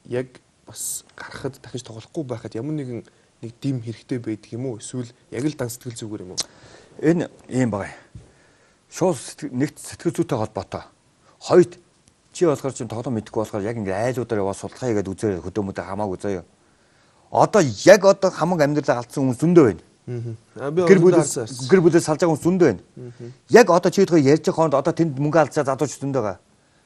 яг бас гарахад дахиж тоглохгүй байхад ямар нэгэн нэг дэм хэрэгтэй байдаг юм уу? Эсвэл яг л дан сэтгэл зүгээр юм уу? Энэ ийм байгаа. Шууд нэгт сэтгэл зүйтэй холбоотой. Хоёрт чи болохоор чинь тоглоом мэдэхгүй болохоор яг ингээд айлуудаар яваа судалгаа хийгээд үзээ хөдөөмөдөө хамаагүй заяа. Одоо яг хамаг амьдралаа алдсан хүмүүс зөндөө байна. Гэр бүлээс салж байгаа хүмүүс зөндөө байна. Яг чи өөртөө ярьж байгаа хонд тэнд мөнгө алдсаа залууч зөндөө байгаа.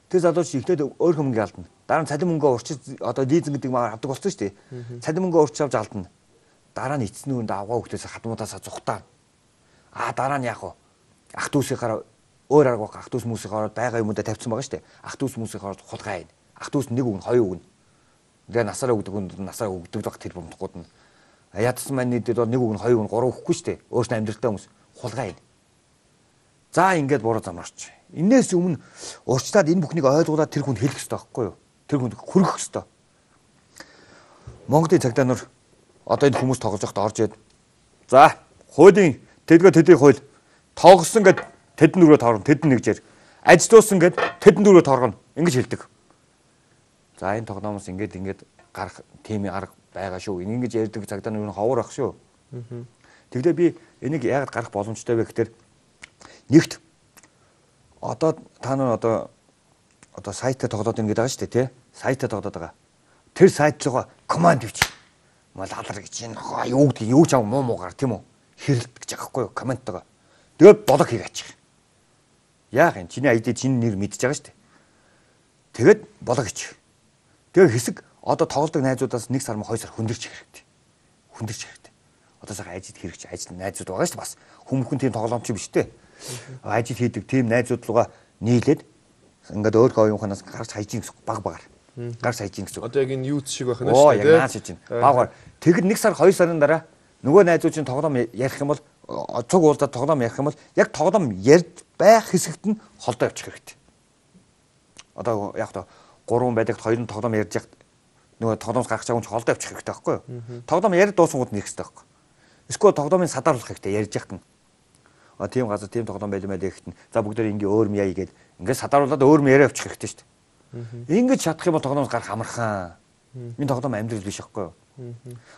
Тэр залууч ихтэй өөр мөнгө алдна. Дараа нь цалин мөнгөө урчиж лизинг гэдэг маа авдаг болсон шүү дээ. Цалин мөнгөө урчиж авч алдна. Дараа нь эцсийн үүнд авгаа хөлтөөс хадмуудаасаа зүхтаа. Дараа нь яах вэ? Ах дүүсийнхаараа өөр арга ах дүүс хүмүүсийнхаараа байгаа юмудаа тавьсан байгаа шүү дээ. Ах дүүс хүмүүсийнхаараа хулгай байна. Ах дүүс нэг үг, хоёр үг. Тэгээ насаараа өгдөг хүнд насаараа өгдөг байх тэр бомдгууд нь. Ядсан маань нийтэд нэг үг, хоёр үг, гурав өгөхгүй шүү дээ. Өөрснөө амьдралтай хүмүүс хулгай байна. За ингээд буруу замаарч. Инээс өмнө урчлаад энэ бүхнийг ойлгуулад тэр хүнд хэлэх хэрэгтэй байхгүй юу? Тэр хүнд хүргэх хэрэгтэй. Монголын цагдаа нар энэ хүмүүс тоглож байхдаа орж ирэд. За, хуулийн тэдний хууль тоглосон гэд тэдэн дөрөв тоорно, тэдэн нэгжээр. Ажилтуулсан гэд тэдэн дөрөв тоорно. Ингэж хэлдэг. За энэ тоглоомоос ингээд гарах тимийн арга байгаа шүү. Ингэж ярьдаг цагдаа нар ховор ах шүү. Тэгвэл би энийг яагаад гарах боломжтой вэ гэхээр нэгт та нар сайтаа тоглоод ингэж байгаа шүү дээ, тий? Сайтаа тоглоод байгаа. Тэр сайт руугаа команд ивч. Мал алар гэж энэ юу гэдэг юу ч аа муугаар тийм үү? Хэрэлдэж байгаа байхгүй юу? Комменттойгоо. Тэгээд болог хийгээч. Яах юм? Чиний ID чиний нэр мэдчихэж байгаа шүү дээ. Тэгээд болог хийчих. Тэгээд хэсэг тоглодог найзуудаас 1 сар 2 сар хүндэрч хэрэгтэй. Хүндэрч хэрэгтэй. Сайхан ажид хэрэгч ажил найзууд байгаа шүү дээ бас. Хүмүүхэн тийм тоглоомч биш дээ. Ажид хийдэг тийм найзууд руугаа нийлээд ингээд өөр оюунханаас гарч хайж гэсэн баг. Гарч хайж гэсэн. Яг энэ юуц шиг байх нь шүү дээ. Яг наач хийж байна. Багаар. Тэгэд 1 сар 2 сарын дараа нөгөө найзууд чинь тоглоом ярих юм бол цуг уулзаад тоглоом ярих юм бол яг тоглоом ярьж байх хэсэгт нь холдоо явчих хэрэгтэй. Яг 3 байдаг 2 нь тоглоом ярьж яхад нөгөө тоглоомс гаргаж байгаа хүн холдоо явчих хэрэгтэй байхгүй юу? Тоглоом яриад дуусангууд нь ирэх хэрэгтэй байхгүй. Эсвэл тоглоомын садаарлах хэрэгтэй ярьж яхад нь. Тийм газар тийм тоглоом байлмаа гэхэд нь за бүгдээр ингээ өөр юм яа гээд ингээ садааруулаад өөр юм яриа явчих хэрэгтэй шүү дээ. Ингэж чадах юм бол тоглоомс гарах амархан. Энэ тоглоом амьдрал биш байхгүй юу?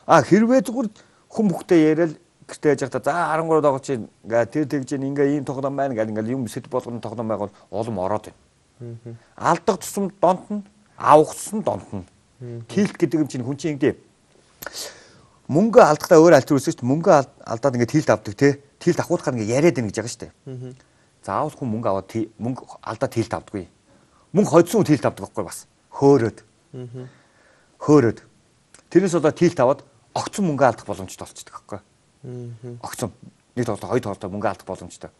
Хэрвээ зүгээр хүн бүхтэй яриад гэртээ яж хата за 13 дагууч ингээ тэр тэгж ингээ ийм тоглоом байна гэл ингээ юм сэт болгоно тоглоом байгаад улам ороод байна. Алдах тусам донтно, авах тусам донтно. Тилт гэдэг юм чинь хүн чинь ингээ мөнгө алдахтаа өөр аль төрөөс шүү дээ. Мөнгө алдаад ингээ тилт авдаг тий. Тилт авахудахаар ингээ яриад байна гэж байгаа шүү дээ. Заавал хүн мөнгө аваад мөнгө алдаад тилт авдаггүй. Мөнгө хоцсон тилт авдаг байхгүй бас. Хөөрөөд. Тэрнээс болоо тилт аваад огцон мөнгө алдах боломжтой болчихдог байхгүй. Огцон нэг тоглолт хоёр тоглолт мөнгө алдах боломжтой.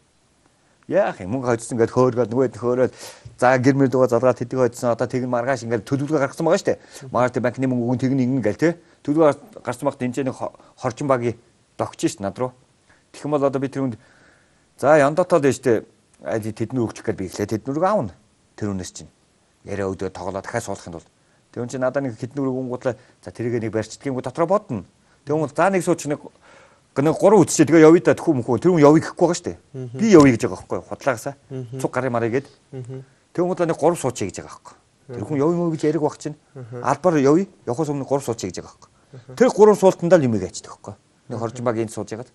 Яах юм мөнгө хоцсон ингээд хөөргөөд нөгөөд хөөрөөд за гэр мэр дуугаа залгаад тэдэг хоцсон тэгэн маргааш ингээд төлөвлөгөө гаргасан байгаа шүү дээ. Маргааш банкны мөнгө өгөн тэгнэ ингэн гээл тий. Төлөвлөгөө гарсан багт энэ нэг хорчин багийн догч шүү над руу. Тэгэх юм бол би тэр хүнд за яндатаад байж тээ тэдний өгчих гээд би ихлээ тэднүрийг аавна. Тэр үнээс чинь яриа өдөө тоглоо дахиад суулгахын тулд тэр хүн чинь надад нэг хэднүрийг өнгөтлээ за тэрийг нэг барьцдгийн дотроо бодно. Тэр хүн за нэг сууч нэг 3 үтсчээ тэгээ явъя да тхүү мөхөө тэр хүн явъя гэхгүй байгаа шүү дээ. Би явъя гэж байгаа байхгүй худлаагасаа цуг гарын марыг гээд тэр хүн нэг 3 суучээ гэж байгаа байхгүй. Тэр хүн явъя мөө гэж яриг баг чинь албаар явъя явахаас өмнө 3 суучээ гэж байгаа байхгүй. Тэр 3 суултандаа л юм гээчдэг байхгүй. Нэг хоржин баг энд сууж ягаад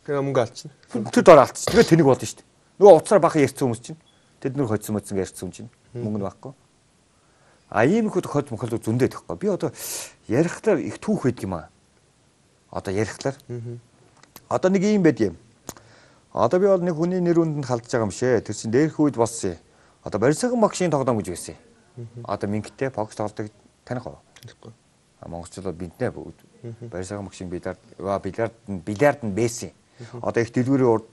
тэгээ мөнгө алдчихна. Тэр дор алдчих. Тэгээ тэнийг болно шүү дээ. Нөгөө уцаар бахан ярьсан хүмүүс чинь тэд нөр хоцсон мөцсөн ярьсан юм чинь мөнгө нь байхгүй. Ийм их хот мохол зөндөө тэгэхгүй. Би ярихлаар их түүх байдаг юм аа. Ярихлаар. Нэг юм байд юм. Би бол нэг хүний нэр үндэнд халдж байгаа юм шээ. Тэр чинь дээрх үед болсон юм. Барьсаган багшийн тоглоом гэж байсан. Мингтэй бокс тоглодог таних уу? Танихгүй. Монголчууд бинтнэ бүгд. Барьсаган багшийн бильярд нь байсан. Их дэлгүүрийн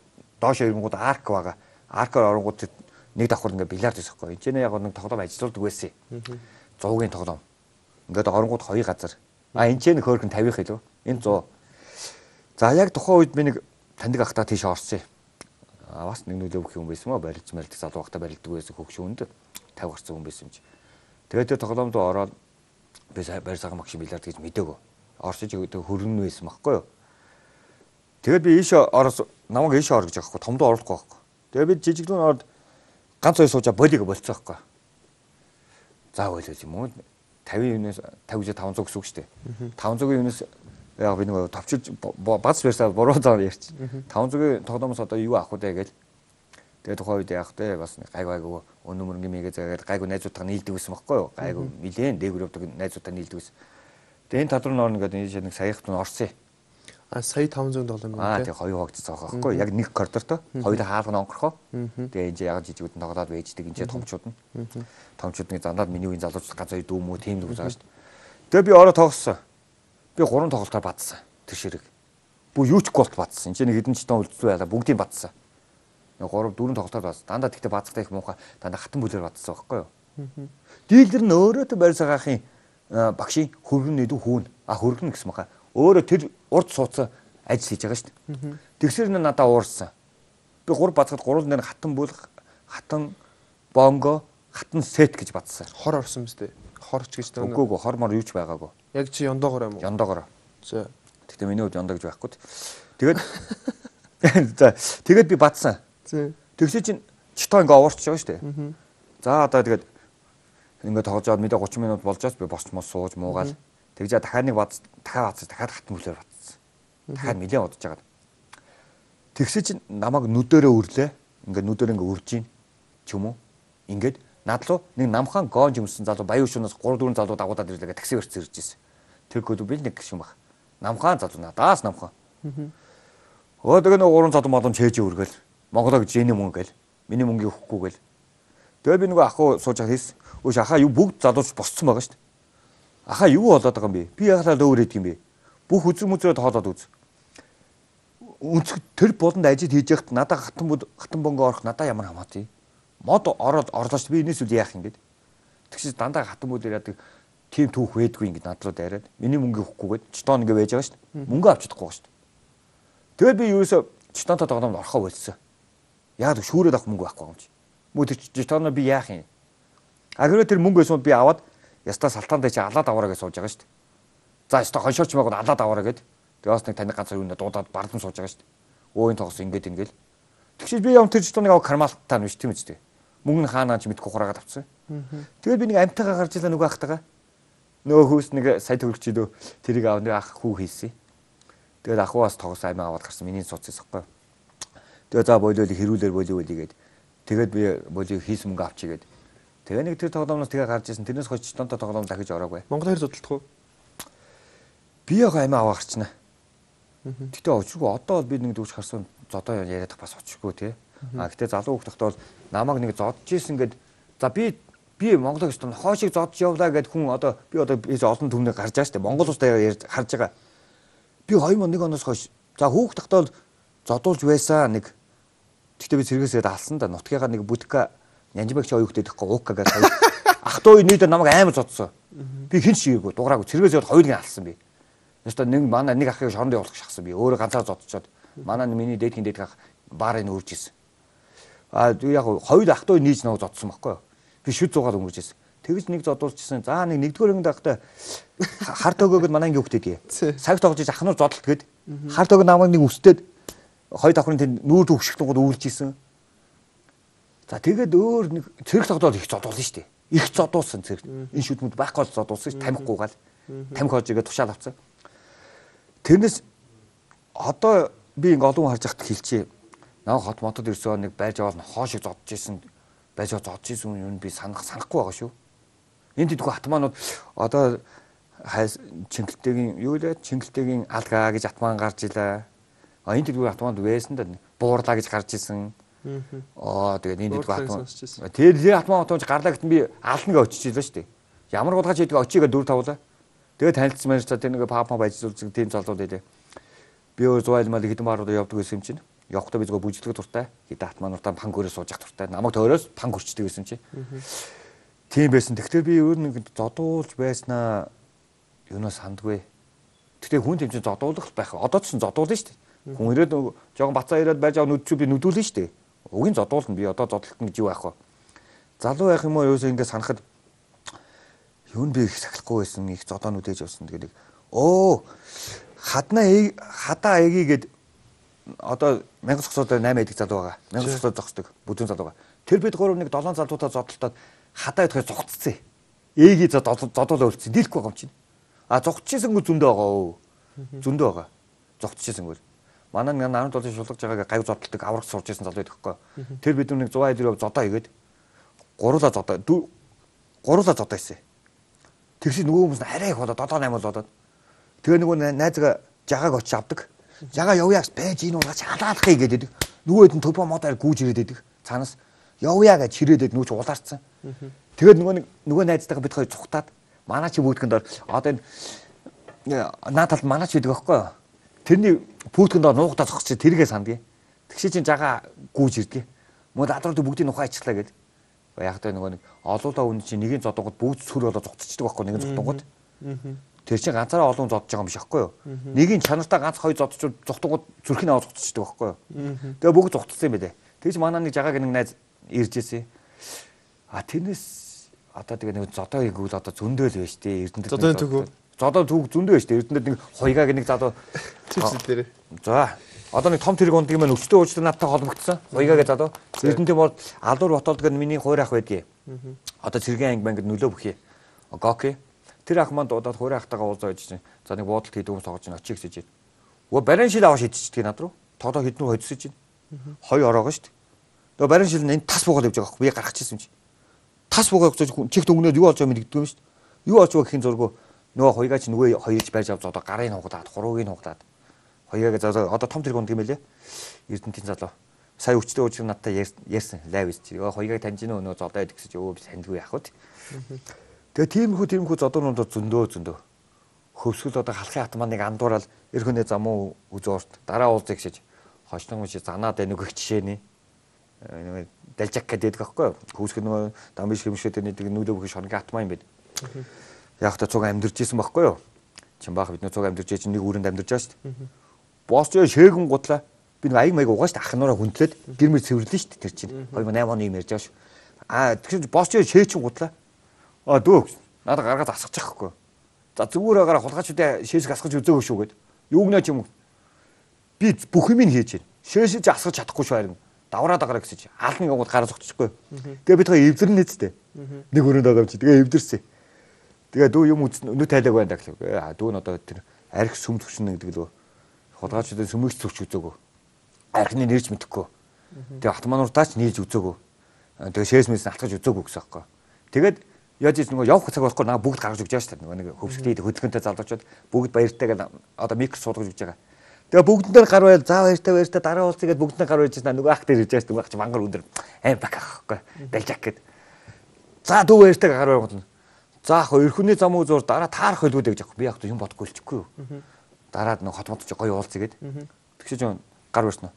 доош ирэнгууд арк байгаа. Аркаар оронгууд нэг давхар ингээ бильярд хийхгүй. Энд яг нэг тоглоом ажиллаулдаг байсан. 100-гийн тоглоом. Ингээд оронгууд 2 газар. Энд ч нэг хөөрхөн 50 илүү. Энэ 100. За яг тухайн үед би нэг таньдаг ахтаа тийш орсон. Бас нэг нөлөө өгөх юм байсан мó барилж мэлдэг залуу ахтаа барилдаг байсан хөгшөөнд 50 гарсан хүн байсан юм чи. Тэгээд тэр тоглоомд ороод би барьсаган багш бильярд гэж мдэгөө. Орсож өгдөг хөргөн байсан байхгүй юу. Тэгээд би ийш ороос намайг ийш ор гэж аахгүй томдоо оруулахгүй байхгүй. Тэгээд би жижигдүүн ороод ганц хоёр суужаа болиг болцоо байхгүй. За болоо юм уу? 50 юунаас 50 500 гэсэн үг шүү дээ. 500-ийн юунаас яг би нэг товчилж бац версаа буруу зав ярьчих. 500-ийн тоглоомоос одоо юу авах вэ гэж. Тэгээд тухайн үед яах вэ? Бас гайгүй өнөө мөрөнгө мэйгээ заагаад гайгүй найзуудтайгаа нийлдэг байсан байхгүй юу? Гайгүй нилээн дээгүүр явдаг найзуудтай нийлдэг байсан. Тэгээд энэ татвар норн гэдэг энэ нэг саяхт нь орсон. Сая 500 доллар мөн тийм. Тэгээ хоёр хогц цаах байхгүй юу? Яг нэг коридортой. Хоёулаа хаалга онгорхоо. Тэгээ энэ яг жижигүүд нь тоглоод байждаг энэ томчууд нь. Томчуудны зандаад миний үеийн залууч ганц хоёр дүү мүү тийм дүү байгаа шүү дээ. Тэгээ би ороо тоглосон. Би 3 тоглолтоор бадсан. Тэр ширэг. Бүү юу ч голт бадсан. Энд чинь нэг хэдэн ч тон үлдсэн байлаа. Бүгдийг бадсан. 3 4 тоглолтоор бадсан. Дандаа тэгтээ бадцахтай их муухай. Дандаа хатан бүлээр бадсан байхгүй юу? Дийлдэр нь өөрөөдөө барь цагаахын багшийн хөргөн нэдүү хүүн. Хөргөн гэсэн махаа. Өөрөө тэр урд суудсан ажил хийж байгаа шүү дээ. Тэгсэр нь надаа уурсан. Би 3 бацгаад 3 дээр хатан бүл, хатан бонго, хатан сет гэж бадсан. Хор орсон мэт. Хорч гэж таа. Үгүй хор мор юу ч байгаагүй. Яг чи ёндоогоор юм уу? Ёндоогоор. За. Тэгтээ миний хувьд ёндоо гэж байхгүй. Тэгээд за тэгээд би бадсан. Тэгсээ чинь читоо ингээ уурч байгаа шүү дээ. За одоо тэгээд ингээ тоглож аваад мэдээ 30 минут болж байгаа би босч мос сууж муугаал. Тэгжээ дахиад нэг дахиад хатан бүлээр бадсан. Дахиад нэлээд удаж жагаад. Тэгсээ чинь намайг нүдэрээ үрлээ. Ингээ нүдээр ингээ үрж ийн ч юм уу. Ингээд над руу нэг намхан гоонж өмсөн залуу баян шунаас 3 4 залуу дагуудаад ирлээ такси өрц ирж ирсэн. Тэр гол би нэг гişүн баг. Намхан залуу надаас намхан. Тэгээ нэг 3 залуу малон чээж өргөөл. Монголоо гэж энэ мөнгө гэл. Миний мөнгийг өгөхгүй гэл. Тэгээ би нөгөө ахуу сууж хийсэн. Өөш ахаа юу бүгд залууч босцсон байгаа шүү дээ. Ахаа юу болоод байгаа юм бэ? Би ягалаа өөр идэг юм бэ? Бүх үзэг мүзрээ тоолоод үз. Үнцэг тэр болонд ажил хийж яхад надаа хатан бонго орох надаа ямар хамаатай. Мод ороод орлоо шүү. Би энэс үл яах юм гээд. Тэгшээ дандаа хатан бүлээр яадаг тим түүх байдгүй ингэ над руу дайраад. Миний мөнгийг өгөхгүйгээд читон ингэ байж байгаа шүү. Мөнгө авч чадахгүй шүү. Тэгээд би юусоо читонтой тоглоомд орохоо болсон. Яг шүүрээд авах мөнгө байхгүй юм чи. Мөн тэр читоноо би яах юм? Агроо тэр мөнгө өсөнд би аваад ястаа салтаандаа чи алаад аваараа гэж сууж байгаа шүү. За ястаа хоншоорч байгаад алаад аваараа гээд. Тэгээд бас нэг таны ганцаар юунаа дуудаад бардам сууж байгаа шүү. Өөний тогс ингэж ингээл. Тэгшээ би юм тэр читоныг авах кармалтаа нь биш тийм үстэй. Мөнгө нь хаанаа ч мэдгүй хураагаад авсан. Тэгээд би нэг амтайгаа гарч илаа нөгөө ахтайгаа. Нөгөө хүүс нэг сая төгрөгч идөө тэрийг аав нэг ах хүү хийсэн. Тэгээд ахуус тогс аймаа аваад гарсан миний цуцсан байхгүй. Тэгээд за болиол хэрүүлэр болио гээд. Тэгээд би болио хийсэн мөнгө авчий гээд. Тэгээ нэг тэр тоглоомноос тэгээ гарч ирсэн. Тэрнээс хойш читонтой тоглоом дахиж ороогүй. Монгол хэр зодтолдох уу? Би яг аймаа аваа гарчна. Гэтэ очиргүй одоо бол би нэг дүүч харсан зодоо яриадах бас очиргүй тий. Гэтэ залуу хүүхдтэй бол намайг нэг зодж ийсэн гээд за би Монголыг өстөн хоошиг зодж явлаа гэд хүн одоо би олон түвнээ гарч байгаа шүү дээ. Монгол улстай харж байгаа. Би 2001 оноос хойш за хүүхдтэй бол зодуулж байсан нэг. Гэтэ би цэргээсээ алсан да нутгийнхаа нэг будка Нянжбагч оюуттай гэхгүй уука гэж ах トゥ нийтээр намайг амар зодсон. Би хэн шийгээгүй дугаараагүй цэргээсээ хоёулыг алсан би. Ястаа нэг манай нэг ахыг шоронд явуулах шахсан би. Өөрөө ганцаар зодчоод манай миний дээдхийн дээд ах баарыг өөрж исэн. Яг хоёул ах トゥ нийж нэг зодсон байхгүй юу? Би шүд зугаад өнгөрч исэн. Тэгж нэг зодуулчихсан. За нэг нэгдүгээр ангид ахтай харт өгөөд манай анги хөхтэй. Цаг тоглож иж ахнууд зодолт гээд харт өгөө намайг нэг үстээд хоёр давхрын тэнд нүүр төвшгтөнгөд үйлж исэн. За тэгээд өөр нэг цэрэг тоглоод их зодуулсан шүү дээ. Их зодуулсан цэрэг. Энэ шүдмүүд байхгүй бол зодуулсан шүү. Тамхиггүйгаал. Тамхи хожигээ тушаал авцсан. Тэрнээс одоо би ингээ олон харж хахад хэлчихье. Наа хот мотод ирсэн нэг байж аваад хоошиг зодж исэн. Байж зодж исэн юм би санахгүй байгаа шүү. Энд идэггүй атмаанууд одоо Чингэлтэйгийн юу лээ? Чингэлтэйгийн алгаа гэж атмаан гарч илаа. Энд идэггүй атмаанд байсан да буурлаа гэж гарч исэн. Тэгээд энэ дэд батмаа. Тэр атмаа отомж гарлаа гэтэн би ална гэж очиж илаа шүү дээ. Ямар гудгаж идэг очигээ 4 тавлаа. Тэгээд танилцсан маань тэр нэг папа байжуулсан тийм залууд байлаа. Би өөр зуйл мал хэдэн баарууд явдаг гэсэн юм чинь. Явахдаа би зөв бүжиглэх дуртай. Хэдэн атмаануудаа пангөрөө сууж явах дуртай. Намайг тойроос панг хүрчдэг гэсэн чинь. Тийм байсан. Тэгэхээр би өөр нэг зодуулж байснаа юунаас сандгүй. Тэгтээ хүн тийм чинь зодуулах байх. Одоо ч зодуулна шүү дээ. Хүн ирээд жоохон бацаа ирээд байж байгаа нүд чи би нүдүүлнэ шүү дээ. Угийн зодуулна би одоо зодтолтно гэж юу байх вэ? Залуу байх юм уу юусаа ингэ санахад юу нь би их сахилахгүй байсан, их зодоо нүдээж явсан гэдэг. Хадаа эгийг гээд одоо 1000 зогсоод 8 эдэг залуу байгаа. 1000 зогсоод зогсдог бүдүүн залуу байгаа. Тэр бид 3-1 7 залуутаа зодтолтоод хадаа идэхээр зогцсон. Ээги зодоолоо үлдсэн. Дийлэхгүй байгаа юм чинь. А зогтчихсангүй зөндөө байгаа өө. Зөндөө байгаа. Зогтчихсангүй. Манай 17 шулгаж байгааг гав зодтолдог авраг сурж исэн залуу байдаг хгүй. Тэр бид нэг 100 эдрөө зодоо игээд гуруула зодоо хийсэн. Тэгсэн нөгөө хүмүүс арай их болоод 7 8 болоод. Тэгээ нөгөө найзгаа жагааг очиж авдаг. Жагаа явъяас байж энэ уугаач халаалахыг гэдэг. Нөгөө хэд нь төбөө модаар гүүж ирээд байдаг. Цаанаас явъя гэж чирээдээд нүүч улаарцсан. Тэгээд нөгөө найзтайгаа бид хоёр цухтаад манай чи бүүтгэнд дор одоо энэ нааталд манай чи гэдэг байхгүй юу? Тэрний пүүтгэнд дор нуугдаа зогсож тэргээ сандгийг. Тэгшээ чинь жагаа гүүж ирдэг. Мод адрууд бүгдийн ухаан ичглаа гэдэг. Яг тэ нөгөө нэг олуулаа үн чинь нэгийн зодонгод бүгд сүр болоо зогцчихдаг байхгүй нэгэн зодонгод. Тэр чинь ганцаараа олон зодж байгаа юм биш байхгүй юу? Нэгийн чанартаа ганц хоёр зодч зогтонгод зүрхний аваа зогцчихдаг байхгүй юу? Тэгээ бүгд зогтцсон юм байлээ. Тэгж манай нэг жагааг нэг найз ирж ирсэн. А тэрнээс одоо тэгээ нэг зодоо игүүл одоо зөндөө л байж тээ Эрдэнэт. Зодоо түүх зөндөө байж тээ Эрдэнэт нэг хоёгааг нэг залуу чипсэл дээр. За одоо нэг том тэрэг ундгийн маань өвчтөө уучтай надтай холбогдсон. Хоёгааг залуу Эрдэнэт бол алуур ботолдог нь миний хоёр ах байдгийг. Одоо цэргийн анги мангад нөлөө бүхий. Гоки. Тэр ах маань дуудаад хоёр ахтайгаа уулзаа гэж чинь. За нэг буудалд хийдэг юм согож байна очиж гэж. Өө барин шил аваа шидчихдэг над руу. Тоодоо хэднүү хоцсож байна. Хоёр ороогоо шүү дээ. Тэгээ барин шил нь энэ тас буугаад явж байгаа байхгүй. Би гаргачихсан юм чи. Тас буугаад чихт өнгнөөд юу болж байгаа мэддэг юм шүү дээ. Юу болж байгаа гэхийн зургуу нөгөө хоёгаа чи нөгөө хоёрч байж авч одоо гарын хугадаад хуруугийн хугадаад хоёгааг одоо том тэрэг унд юм байлээ. Эрдэнтийн залуу. Сая өвчтөө ууж надтай ярьсан лайв хийж. Хоёгааг таньж нөө зодоо идэх гэж өө би сандгүй яах вэ? Тэгээ тиймэрхүү зодоонууд зөндөө. Хөвсгөл одоо халахын хат маань нэг андуурал эрхөнөө замуу үзөөрт дараа уулзъя гэж хожног мөч занаад байна нэг жишээний. Далжак гэдэг байхгүй юу? Хөвсгөл нөгөө дамбиш хэмшээд нэг нүүлээ бүхий шорнгийн хатмаа юм байна. Яг та цуг амьдэрч исэн байхгүй юу? Чин баах бид нөө цуг амьдэрч чинь нэг үүрэнд амьдэрч байгаа шүү дээ. Босч шээгэн гутлаа. Би нэг аяг маяг угаа шүү дээ. Ахнаараа хүндлээд гэрмэр цэвэрлэн шүү дээ тэр чинь. 2008 оны юм ярьж байгаа шүү. Тэгэхээр босч шээчин гутлаа. Дөө надад гаргаад асгаж байхгүй. За зүгээр агаар хулгайчдаа шээсг асгаж үзээгүй шүү гэд. Юугнаа ч юм уу. Би бүх юм хийж байна. Шээсэж асгаж чадахгүй шүү харин. Давраад агараа гэсэн чи хаалны гууд гараа зогтчихгүй. Тэгээ бид хоёр эвдэрнэ нэцтэй. Нэг өрөөнд байгаа юм чи. Тэгээ эвдэрсэн. Тэгээ дүү юм нүд тайлаг байна гэхлээ. Дүү нь одоо тэр арх сүм төвшин гэдэг лөө. Хулгайчдаа сүмэгч төвч үзээгөө. Архины нэрч мэдэхгүй. Тэгээ автомануудаач нийлж үзээгөө. Тэгээ шээс мэс алтгаж үзээгөө гэсэн аахгүй. Тэгээд яаж ийм нөгөө явах цаг байхгүй наа бүгд гаргаж өгч байгаа шүү дээ. Нэг хөвсгөлтэй хөдөлгөөнтэй залуучууд бүгд баяртай гэдэг одоо микро суулгаж өгч байгаа. Тэгээ бүгдэндээ гар байл заа баяртай дараа уулзъя гэд бүгдэндээ гар байжсэн нөгөө ах дээр ирж байгаа шүү дээ. Мангар өндөр аим бак ахгүй. Далжак гэд. За дүү баяртай гар байгуул. За ах эрхүний зам үзүүр дараа таарах хэлгүүд гэж аахгүй. Би яг юм бодохгүй болчихгүй юу. Дараад нэг хотмод чи гоё уулзъя гэд. Тэгшээ жоо гар барьснаа.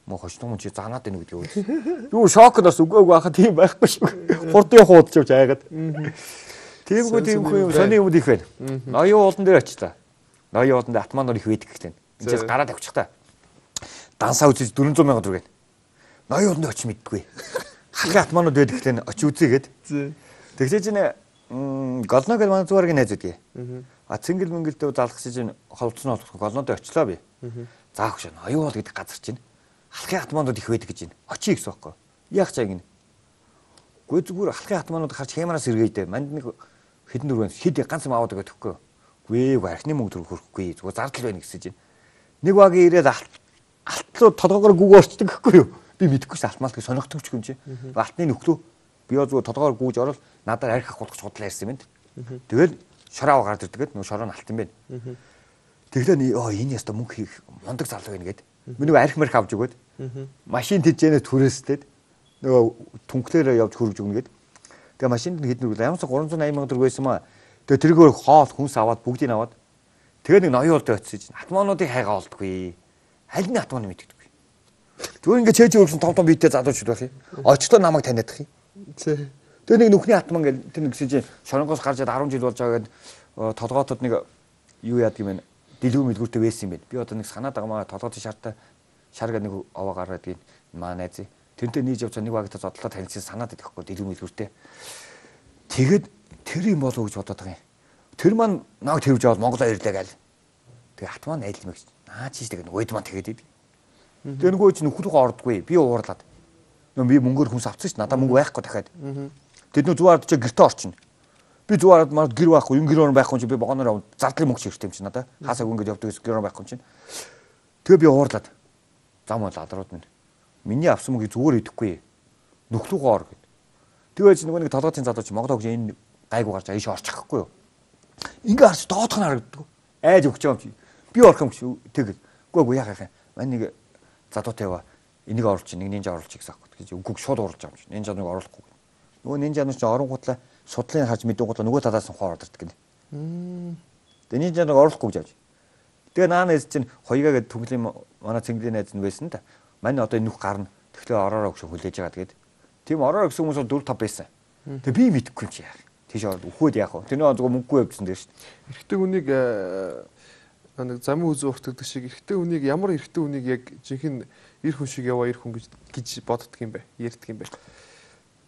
Мөн хожног мөн чи заанаад байна гэдэг үү. Юу шокноос үгөөг байхад тийм байхгүй шүү. Хурдын хуудч явж айгаад. Тиймгүй юм сони юм их байна. Ноён уулан дээр очилаа. Ноён ууланд атманор их байдаг гэхтэн. Эндээс гараад авчих та. Дансаа үзэж 400 сая төгрөг. Ноён ууланд очиж мэдгүй. Халахын атманууд байдаг гэхтэн очиж үзье гэд. Тэгсээ чинь голно гэж манай зуургийн найз үдгээ. Цэнгэл мөнгөлдөө залгах чинь холбоцсон голнодоо очлоо би. За хөшөө ноён уул гэдэг газар чинь халахын атманууд их байдаг гэж байна. Очие гэсэн байхгүй. Яах чаа гинэ. Гүй зүгээр халахын атманууд харж хямараас сэргээдэ. Манд нэг хэдэн дөрвөн хэд ганц юм аваад байгаа төхгүй. Гүй архины мөнгө төр хөрөхгүй. Зүгээр зардал байна гэсэн чинь. Нэг багийн ирээд алтлуу толгоогоор гүг орчдөг гэхгүй юу. Би мэдэхгүй ш алтмаалт гэж сонирхдаг ч юм чи. Алтны нөхлөө би зүгээр толгоогоор гүүж орол надаар арх авах худлаа ярьсан юм байна. Тэгэл шороо гараад ирдгээд нөгөө шороо нь алт юм байна. Тэглээ энэ яста мөнгө хийх мундаг залуу байна гэд. Би нөгөө арх марх авч өгөөд машин тэжээнэ түрээстэд нөгөө түнхлээрээ явж хөргөж өгнө гэд. Тэгээ машинд нь хэдэн үргэлээ 380 сая төгрөг байсан маа. Тэгээ тэргээр хоол хүнс аваад бүгдийг аваад тэгээ нэг ноён улд очиж атмануудыг хайгаа олдгүй. Аль нь атманы мэддэггүй. Зүгээр ингээ чэйж өргөсөн том биетэй залуучууд байх юм. Очлоо намайг таниадах юм. Тэгээ нэг нүхний атман гэл тэр нэг гэсэн чинь шоронгоос гарч яд 10 жил болж байгаа гэд толгоотод нэг юу яадаг юм бэ? Дэлгүү мэлгүүртэй байсан юм байна. Би одоо нэг санаад байгаа маа толгоотын шартай шарга нэг аваа гараад ийн маа найз. Тэрнтэй нийж явж нэг багтаа зодлоо танилцсан санаад идэхгүй дэлгүү мэлгүүртэй. Тэгэд тэр юм болов гэж бодоод байгаа юм. Тэр маань нааг тэрвж аваад Монголоо ирлээ гээл. Тэгээ хат маань айл мэгч наа чийж тэгээд уйд маань тэгээд идэв. Тэгээ нөгөө чинь нөхрөөгөө ордгүй. Би уурлаад. Нөө би мөнгөөр хүнс авчихсан ш. Надаа мөнгө байхгүй дахиад. Тэд нөө зүгээрд чи гэрте орчин. Би зүгээрд маа гэр байхгүй, энэ гэр байхгүй чи би богоноор зардлын мөнгө хэрэгтэй юм чи надаа. Хаасаг ингээд явдаг гэсэн гэр байхгүй юм чи. Тэгээ би уурлаад. Зам бол адрууд минь. Миний авсан мөнгөийг зүгээр идэхгүй. Нөхрөөгөө ор гэд. Тэгээ чи нөгөө нэг толгойн залуу чи Монгол хөгж энэ гайгүй гарч ааш орчихгүй юу. Ингээ харж доодох нь харагддаг. Айж өгч байгаа юм чи. Би орох юм чи тэгэл. Үгүй яах юм. Мань нэг залуутай яваа. Энийг оруулчих, нэг нинжа оруулчих гэсэн аахгүй. Гэж үгүй шууд оруулж байгаа юм чи. Нинжа нэг оруулахгүй. Нөгөө нинжа нь чи оронгуутлаа судлын харж мэдээнгуутлаа нөгөө талаас нь хоо ордорт гэнэ. Тэгээ нинжа нэг оруулахгүй гэж авч. Тэгээ наанаас чинь хоёгаа гээд түглийн манай цэнглийн найз нь байсан да. Мань одоо энэ нүх гарна. Тэгэхээр ороороо гэж хүлээж байгаа тэгээд. Тийм ороороо гэсэн хүмүүс 4 5 байсан. Тэгээ би мэдэхгүй юм чи яах. Тийш өгөхөд яах вэ? Тэр нэг зөвхөн мөнгөгүй явдсан дээр шүү дээ. Эрэгтэй хүнийг нэг замын үзүү уртдаг шиг эрэгтэй хүнийг ямар эрэгтэй хүнийг яг жинхэнэ эр хүн шиг яваа эр хүн гэж боддог юм бэ? Ярьдаг юм бэ?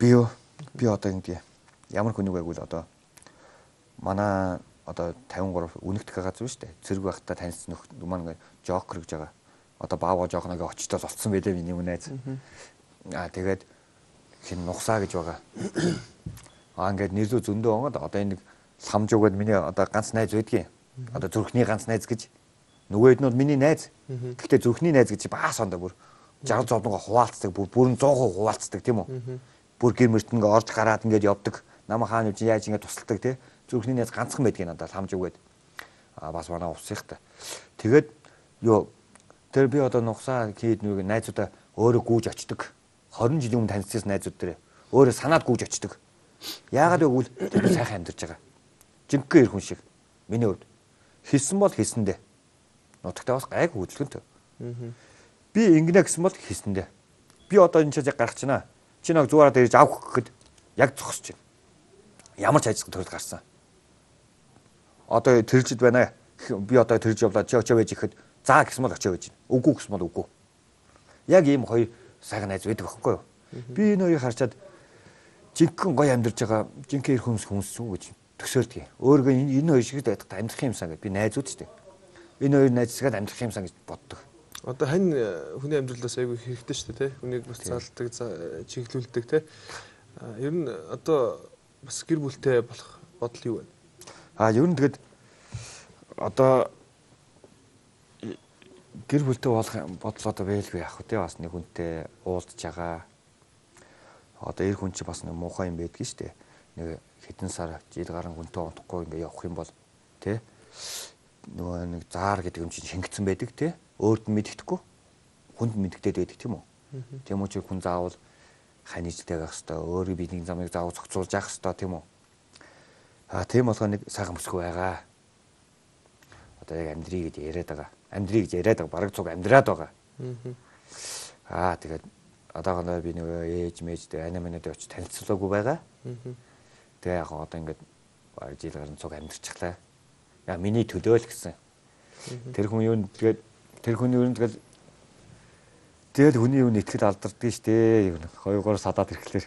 Би одоо ингэ ямар хүнийг байгуул одоо манай одоо 53 үнэгдэх газар шүү дээ. Цэрэг байхдаа танилцсан нөх маань жокер гэж байгаа. Одоо баава жокногийн очтоос олцсон байлээ миний үнэз. Тэгээд хин нухсаа гэж байгаа. Ингээд нэрлүү зөндөө онгод одоо энэ нэг самжуугаад миний одоо ганц найз байдгийн. Одоо зүрхний ганц найз гэж нөгөөд нь миний найз. Гэхдээ зүрхний найз гэж баас ондоо бүр 60 зовдгоо хуваалцдаг бүрэн 100% хуваалцдаг тийм үү. Бүр гэр мөрт ингээ орж гараад ингээд явдаг. Намаа хаан үгүй яаж ингээ тусалдаг тий. Зүрхний найз ганцхан байдгийн надад самжуугаад. Бас манай усыхтай. Тэгээд тэр би одоо нухсаа хийд нэг найзуудаа өөрөө гүүж очдөг. 20 жилийн өмнө танилцсан найзууд дээр өөрөө санаад гүүж очдөг. Яагаад гэвэл тэр сайхан амьдарч байгаа. Жинхэнэ эр хүн шиг. Миний хувьд хийсэн бол хийсэндээ. Нутагтаа бас гайг хөдөлгөнтэй. Би ингэнэ гэсэн бол хийсэндээ. Би одоо энэ чиг гарах чина. Чи нэг зуураад ирж авах гэхэд яг зогсож байна. Ямар ч ажил төрөл гарсан. Одоо тэржид байна. Би одоо тэрж явлаа чи очоо байж ихэд заа гэсэн бол очоо байж байна. Үгүй гэсэн бол үгүй. Яг ийм хоёр сайхан найз байдаг байхгүй юу? Би энэ хоёрыг харчаад жинхэнэ гоё амьдарч байгаа жинхэнэ эр хүмүүс шүү гэж төсөөлдөг. Өөргөө энэ хоёр шиг байдаг амьдрах юмсан гэж би найзууд шүү дээ. Энэ хоёр найзсгаад амьдрах юмсан гэж боддог. Одоо хань хүний амьдралаас айгүй хэрэгтэй шүү дээ, тэ. Хүнийг бас залдаг, чиглүүлдэг, тэ. Ер нь одоо бас гэр бүлтэй болох бодол юу вэ? Ер нь тэгэд одоо гэр бүлтэй болох бодол одоо байлгүй яах вэ? Бас нэг хүнтэй уулзж байгаа. Одоо эр хүн чи бас нэг муухай юм байдгийг шүү дээ. Нэг хэдэн сар жил гарan хүнтэй унтахгүй ингээ явах юм бол тий нөгөө нэг заар гэдэг юм чинь шингэцэн байдаг тий өөрт нь мэддэхгүй хүнд мэддэгдээд байдаг тийм үү. Тийм учраас хүн заавал ханижтай байх хэвээр өөрийн бидний замыг заавал зохицуулж явах хэвээр тийм үү. Тийм болгоо нэг сайхан бүсгүй байгаа. Одоо яг амьдрий гэж яриад байгаа. Амьдрий гэж яриад байгаа. Бараг цуг амьдраад байгаа. Тэгээд одоогоо би нөгөө ээж мэжтэй ана манад очиж танилцуулаагүй байгаа. Тэгээ яг одоо ингээд бараг жил гарan цуг амьдрчихлаа. Яа миний төлөө л гэсэн. Тэр хүн юу тэгээд тэр хүний юу тэгэл хүний юу итгэл алдардгийг штэ. Хоёроор садаад ирэхлээр.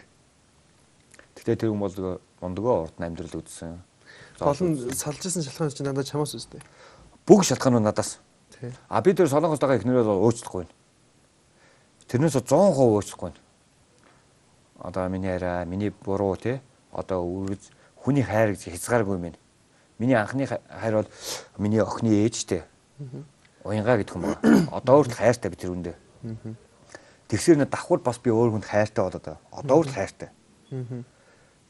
Тэгтээ тэр хүн бол мондгоо урд нь амьдрал үзсэн. Гол нь салжсэн шалхаан чинь надад чамаас үстэй. Бүх шалтгаан нь надаас. Би тэр солонгос байгаа ихнэрээ өөчлөхгүй. Тэрнээс 100% өөчлөхгүй. Одоо миний арай, миний буруу тий. Одоо хүний хайр гэж хязгааргүй юм. Миний анхны хайр бол миний охины ээжтэй. Уянгаа гэдэг юм байна. Одоо өөрт хайртай би тэр үндэ. Тэгсэр нэ давхар бас би өөр хүнд хайртай болоод байгаа. Одоо өөрт хайртай.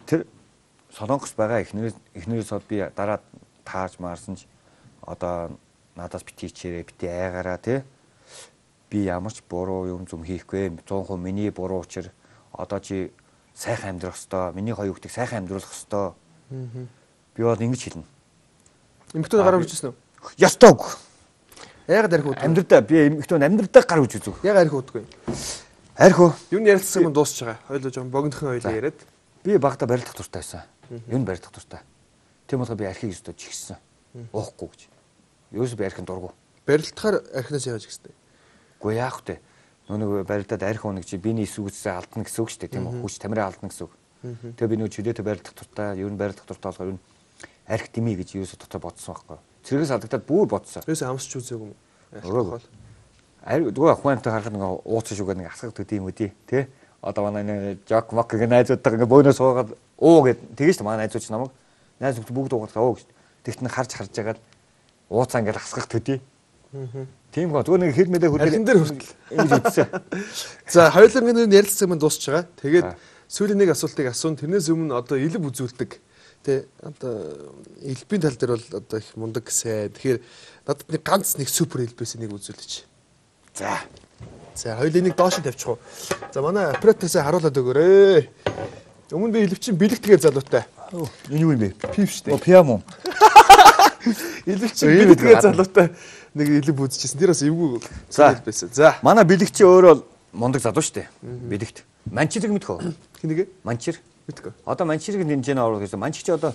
Тэр солонгос байгаа эхнэрээс би дараа тааж маарсан ч одоо надаас бити хичээрээ бити айгаараа тий. Би ямар ч буруу юм зүм хийхгүй. 100% миний буруу учир одоо чи сайхан амьдрах хэвээр. Миний хоёр хүүхдийг сайхан амьдруулах хэвээр. Би бол ингэж хэлнэ. Эмэгтэй гар үржсэн үү? Ястаг. Яагаад арх уудгүй? Амьдрдаа би эмэгтэй амьдрдаа гар үрж үзв. Яагаад арх уудгүй? Арх уу? Юу н ярилцсан юм дуусч байгаа. Хойлоо жоон богинохон хойлоо яриад. Би багада барилдах дуртай байсан. Юу н барилдах дуртай. Тийм болохоор би архийг өстө чигсэн. Уухгүй гэж. Юус би архин дургу. Барилдахаар архинаас яаж ихстэй? Үгүй яах вэ? Нүг барилдаад арх унаг чи биений эсвүүцээ алдна гэсэн үг шүү дээ тийм үү? Хүч тамираа алдна гэсэн үг. Тэгээ би нэг чөлөөтэй барилдах дуртай, ер нь барилдах дуртай болохоор ер нь арх дими гэж юусо дотор бодсон байхгүй. Цэргээс алдагдаад бүр бодсон. Юусо амсч үзээгүй юм. Өөрөө. Зүгээр ахмантай харахад нэг ууцсан шүүгээ нэг асгах төдий юм үдий тий. Одоо манай жок мок гэх найзуудтайгаа ингээ бөөнөөс суугаад гэд тэгэж шүү манай найзууч намайг найз бүгд уугаад гэж. Тэгт нь харж байгаад ууцаа ингээ асгах төдий. Тийм гоо зүгээр нэг хэл мэлээ архин дээр хүртэл ингэж үтсэн. За хоёулаа ингэ ярилцсан юм дуусч байгаа. Тэгээд сүүлийн нэг асуултыг асуун. Тэрнээс өмнө одоо илб үзүүлдэг. Тэ одоо илбийн тал дээр бол одоо их мундаг сайн. Тэгэхээр надад нэг ганц нэг супер илбээс нэг үзүүлээч. За хоёул энийг доош нь тавьчих уу. За манай операторсаа харуулад өгөөрэй. Өмнө би илвчин бэлэгтгээ залуутай. Энэ юу юм бэ? Пив штэ. Пиам уу? Илвчин бэлэгтгээ залуутай нэг илб үзчихсэн. Тэр бас эвгүй илбээс. За манай бэлэгч өөрөө мундаг залуу штэ. Бэлэгт. Манчирыг мэдхөө. Хинэгэ? Манчир. Мэдгүй. Одоо манчирыг дэмжээнэ оруулах гэсэн. Манчир чи одоо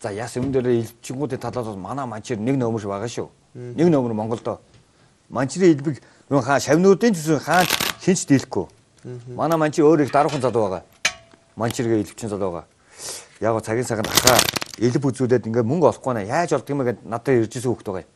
за яс юм дээр илбчгүүдийн талаас манай манчир нэг нөмөр байгаа шүү. Нэг нөмөр Монголдо. Манчирын илбэг шавнуудын төсөө хаан хинч дийлэхгүй. Манай манчир өөр их даруухан залуу байгаа. Манчиргээ илбчин залуу байгаа. Яг го цагийн цагаан хахаа илб үзүүлээд ингээ мөнгө олохгүй наа. Яаж олдг юм бэ гэд надад иржсэн хөхт байгаа.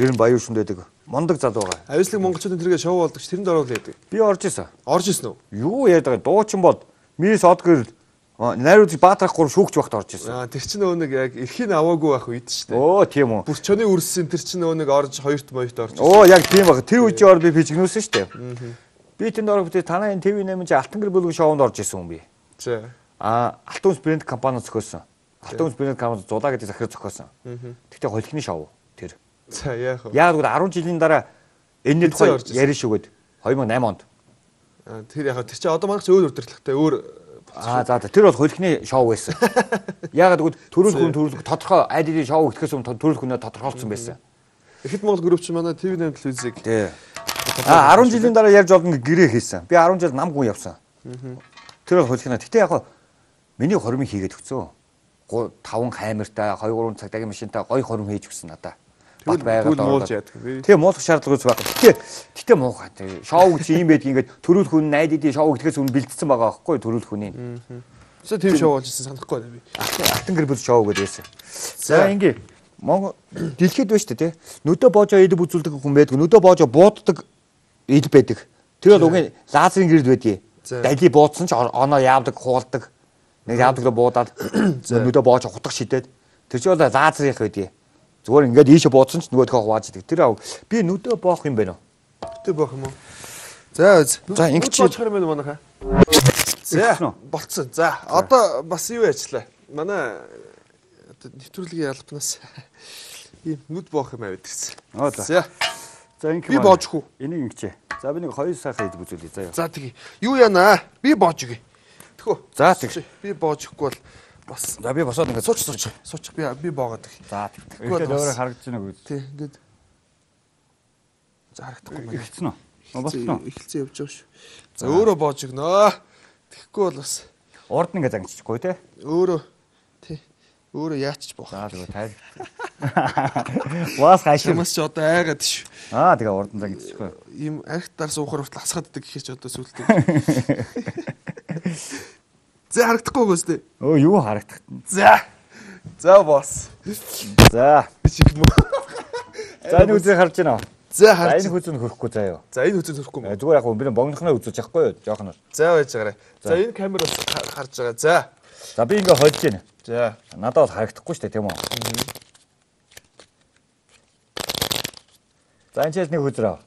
Ер нь баян шүнд байдаг. Мондог залуу байгаа. Авислаг монголчуудын тэргээ шоу болдог ш тэрэнд оруулаад байдаг. Би орж исэн. Орж исэн үү? Юу яриад байгаа дуучин бод мис одгэр найруудыг баатрахгүй шүүгч багт орж исэн. Тэр чинь нөгөө нэг яг эрхийн аваагүй байх үед шүү дээ. Оо тийм үү. Бүр чоны үрссэн тэр чинь нөгөө нэг орж хоёрт моёрт орж. Оо яг тийм баг. Тэр үеийн ор би пижгнүүлсэн шүү дээ. Би тэнд орох бүтээ танаа энэ ТV8 чи Алтан гэр бүлгийн шоунд орж исэн хүн би. За. Алтан брэнд компани зохиосон. Алтан брэнд компани зулаа гэдэг захирал зохиосон. Тэгтээ холихны шоу тэр. За яах вэ? Яг л 10 жилийн дараа энэний тухай ярина шүүгээд 2008 онд. Тэр яг тэр чи одоо манайх өөр удирдлагатай өөр за тэр бол холихны шоу байсан. Ягаад гэвэл төрөлх тодорхой айдын шоу өгөхөөс өмнө төрөлх хүнээ тодорхойлцсон байсан. Ихэд Монгол групп чи манай ТV8 телевизийг 10 жилийн дараа ярьж олно гэрээ хийсэн. Би 10 жил нам гүн явсан. Тэр бол холихна. Гэтэ яг миний хоримыг хийгээд өгцөө. 5 камертай 2-3 цагтаагийн машинтай гоё хорим хийж өгсөн надаа. Бат байгаад ороод. Тэгээ муулах шаардлагагүй байх. Гэтэ муухай. Шоу чи юм байдаг ингээд төрөл хүн найдын шоу гэхээс өмнө бэлдсэн байгаа байхгүй төрөл хүний. За тийм шоу болж ирсэн санахгүй байна би. Алтан гэр бүл шоу гэдэг байсан. За ингээ Монгол дэлхийд байна шүү дээ тий. Нүдэ боожоо идэ үзүүлдэг хүн байдаг. Нүдэ боожоо бууддаг ид байдаг. Тэр бол угийн лазерын гэрд байдгийг. Дали буудсан ч оноо яавдаг хуулдаг. Нэг яавдаг буудаад нүдэ боожоо хутгах шидэд. Тэр чинь бол лазерынх байдгийг. Зүгээр ингээд ийшээ буудсан ч нөгөөдхөө хувааж идэг. Тэр би нүдэ боох юм байна уу? Нүдэ боох юм уу? За ингэ чи боочих юм байна манайхаа. За болцсон. За одоо бас юу ярьчлаа. Манай нэвтрүүлгийн албанаас ийм нүд боох юм аваад ирсэн. За. За ингэ би боожих уу? Энийг ингэчээ. За би нэг 2 сайхан хэд үзүүлье заяа. За тэгье. Юу яана? Би боож өгье. Тэхүү. За тэг. Би боожихгүй бол бас. За би босоод ингээд суучих. Би боогоод их. За тэгэхгүй өөрөө харагдаж байна уу? Тий, ингээд. За харагдахгүй байна. Эхэлсэн үү? Болсон уу? Эхэлсэн явж байгаа шүү. За өөрөө боож өгнө. Тэгэхгүй бол бас урд нь ингээд зангичихгүй те. Өөрөө яачих боох. За тэгээ тайр. Вас хашиг. Ямаас ч одоо айгаад шүү. Тэгээ урд нь зангичихгүй. Ийм архитаар суухаар хүртэл хасгааддаг гэхэр ч одоо сүултээ. За харагдахгүй гүйс тээ. Юу харагдах. За босс. За. Чиг мө. За энэ үзээ харж байна уу? За харж. Энэ хүзэн хөрөхгүй заяа. За энэ хүзэн хөрөхгүй мө. Зүгээр яг би богнохноо үзүүлж яахгүй юу? Жоохноор. За байж байгаарай. За энэ камераас харж байгаа. За би ингээ хольж байна. За. Надад бол харагдахгүй шүү дээ, тийм үү? За энэ ч нэг хүзрээ.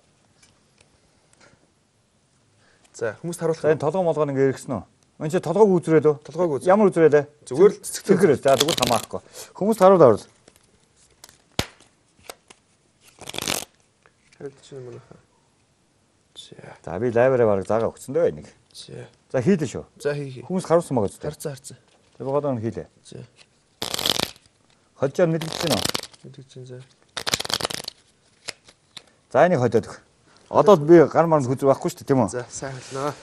За хүмүүст харуулах. За энэ толгой молгоо ингээ эргэсэн үү? Энд чи толгойг үзрээд үү? Толгойг үз. Ямар үзрээд вэ? Зүгээр л цэцгэрээ. За тэгвэл хамаахгүй. Хүмүүст харуулаад. Харилч юм байна. За би лайвараа бараг заагаа өгсөн дээ нэг. За хийлээ шүү. За хий. Хүмүүс харуулсан байгаа зү. Харцсан. За богоо нь хийлээ. За. Хожоор мэдчихэж байна уу? Мэдчихэж за. За энийг хойдоод өг. Одоо би гар марнд хүзэр байхгүй шүү дээ тийм үү? За сайн хэлнэ.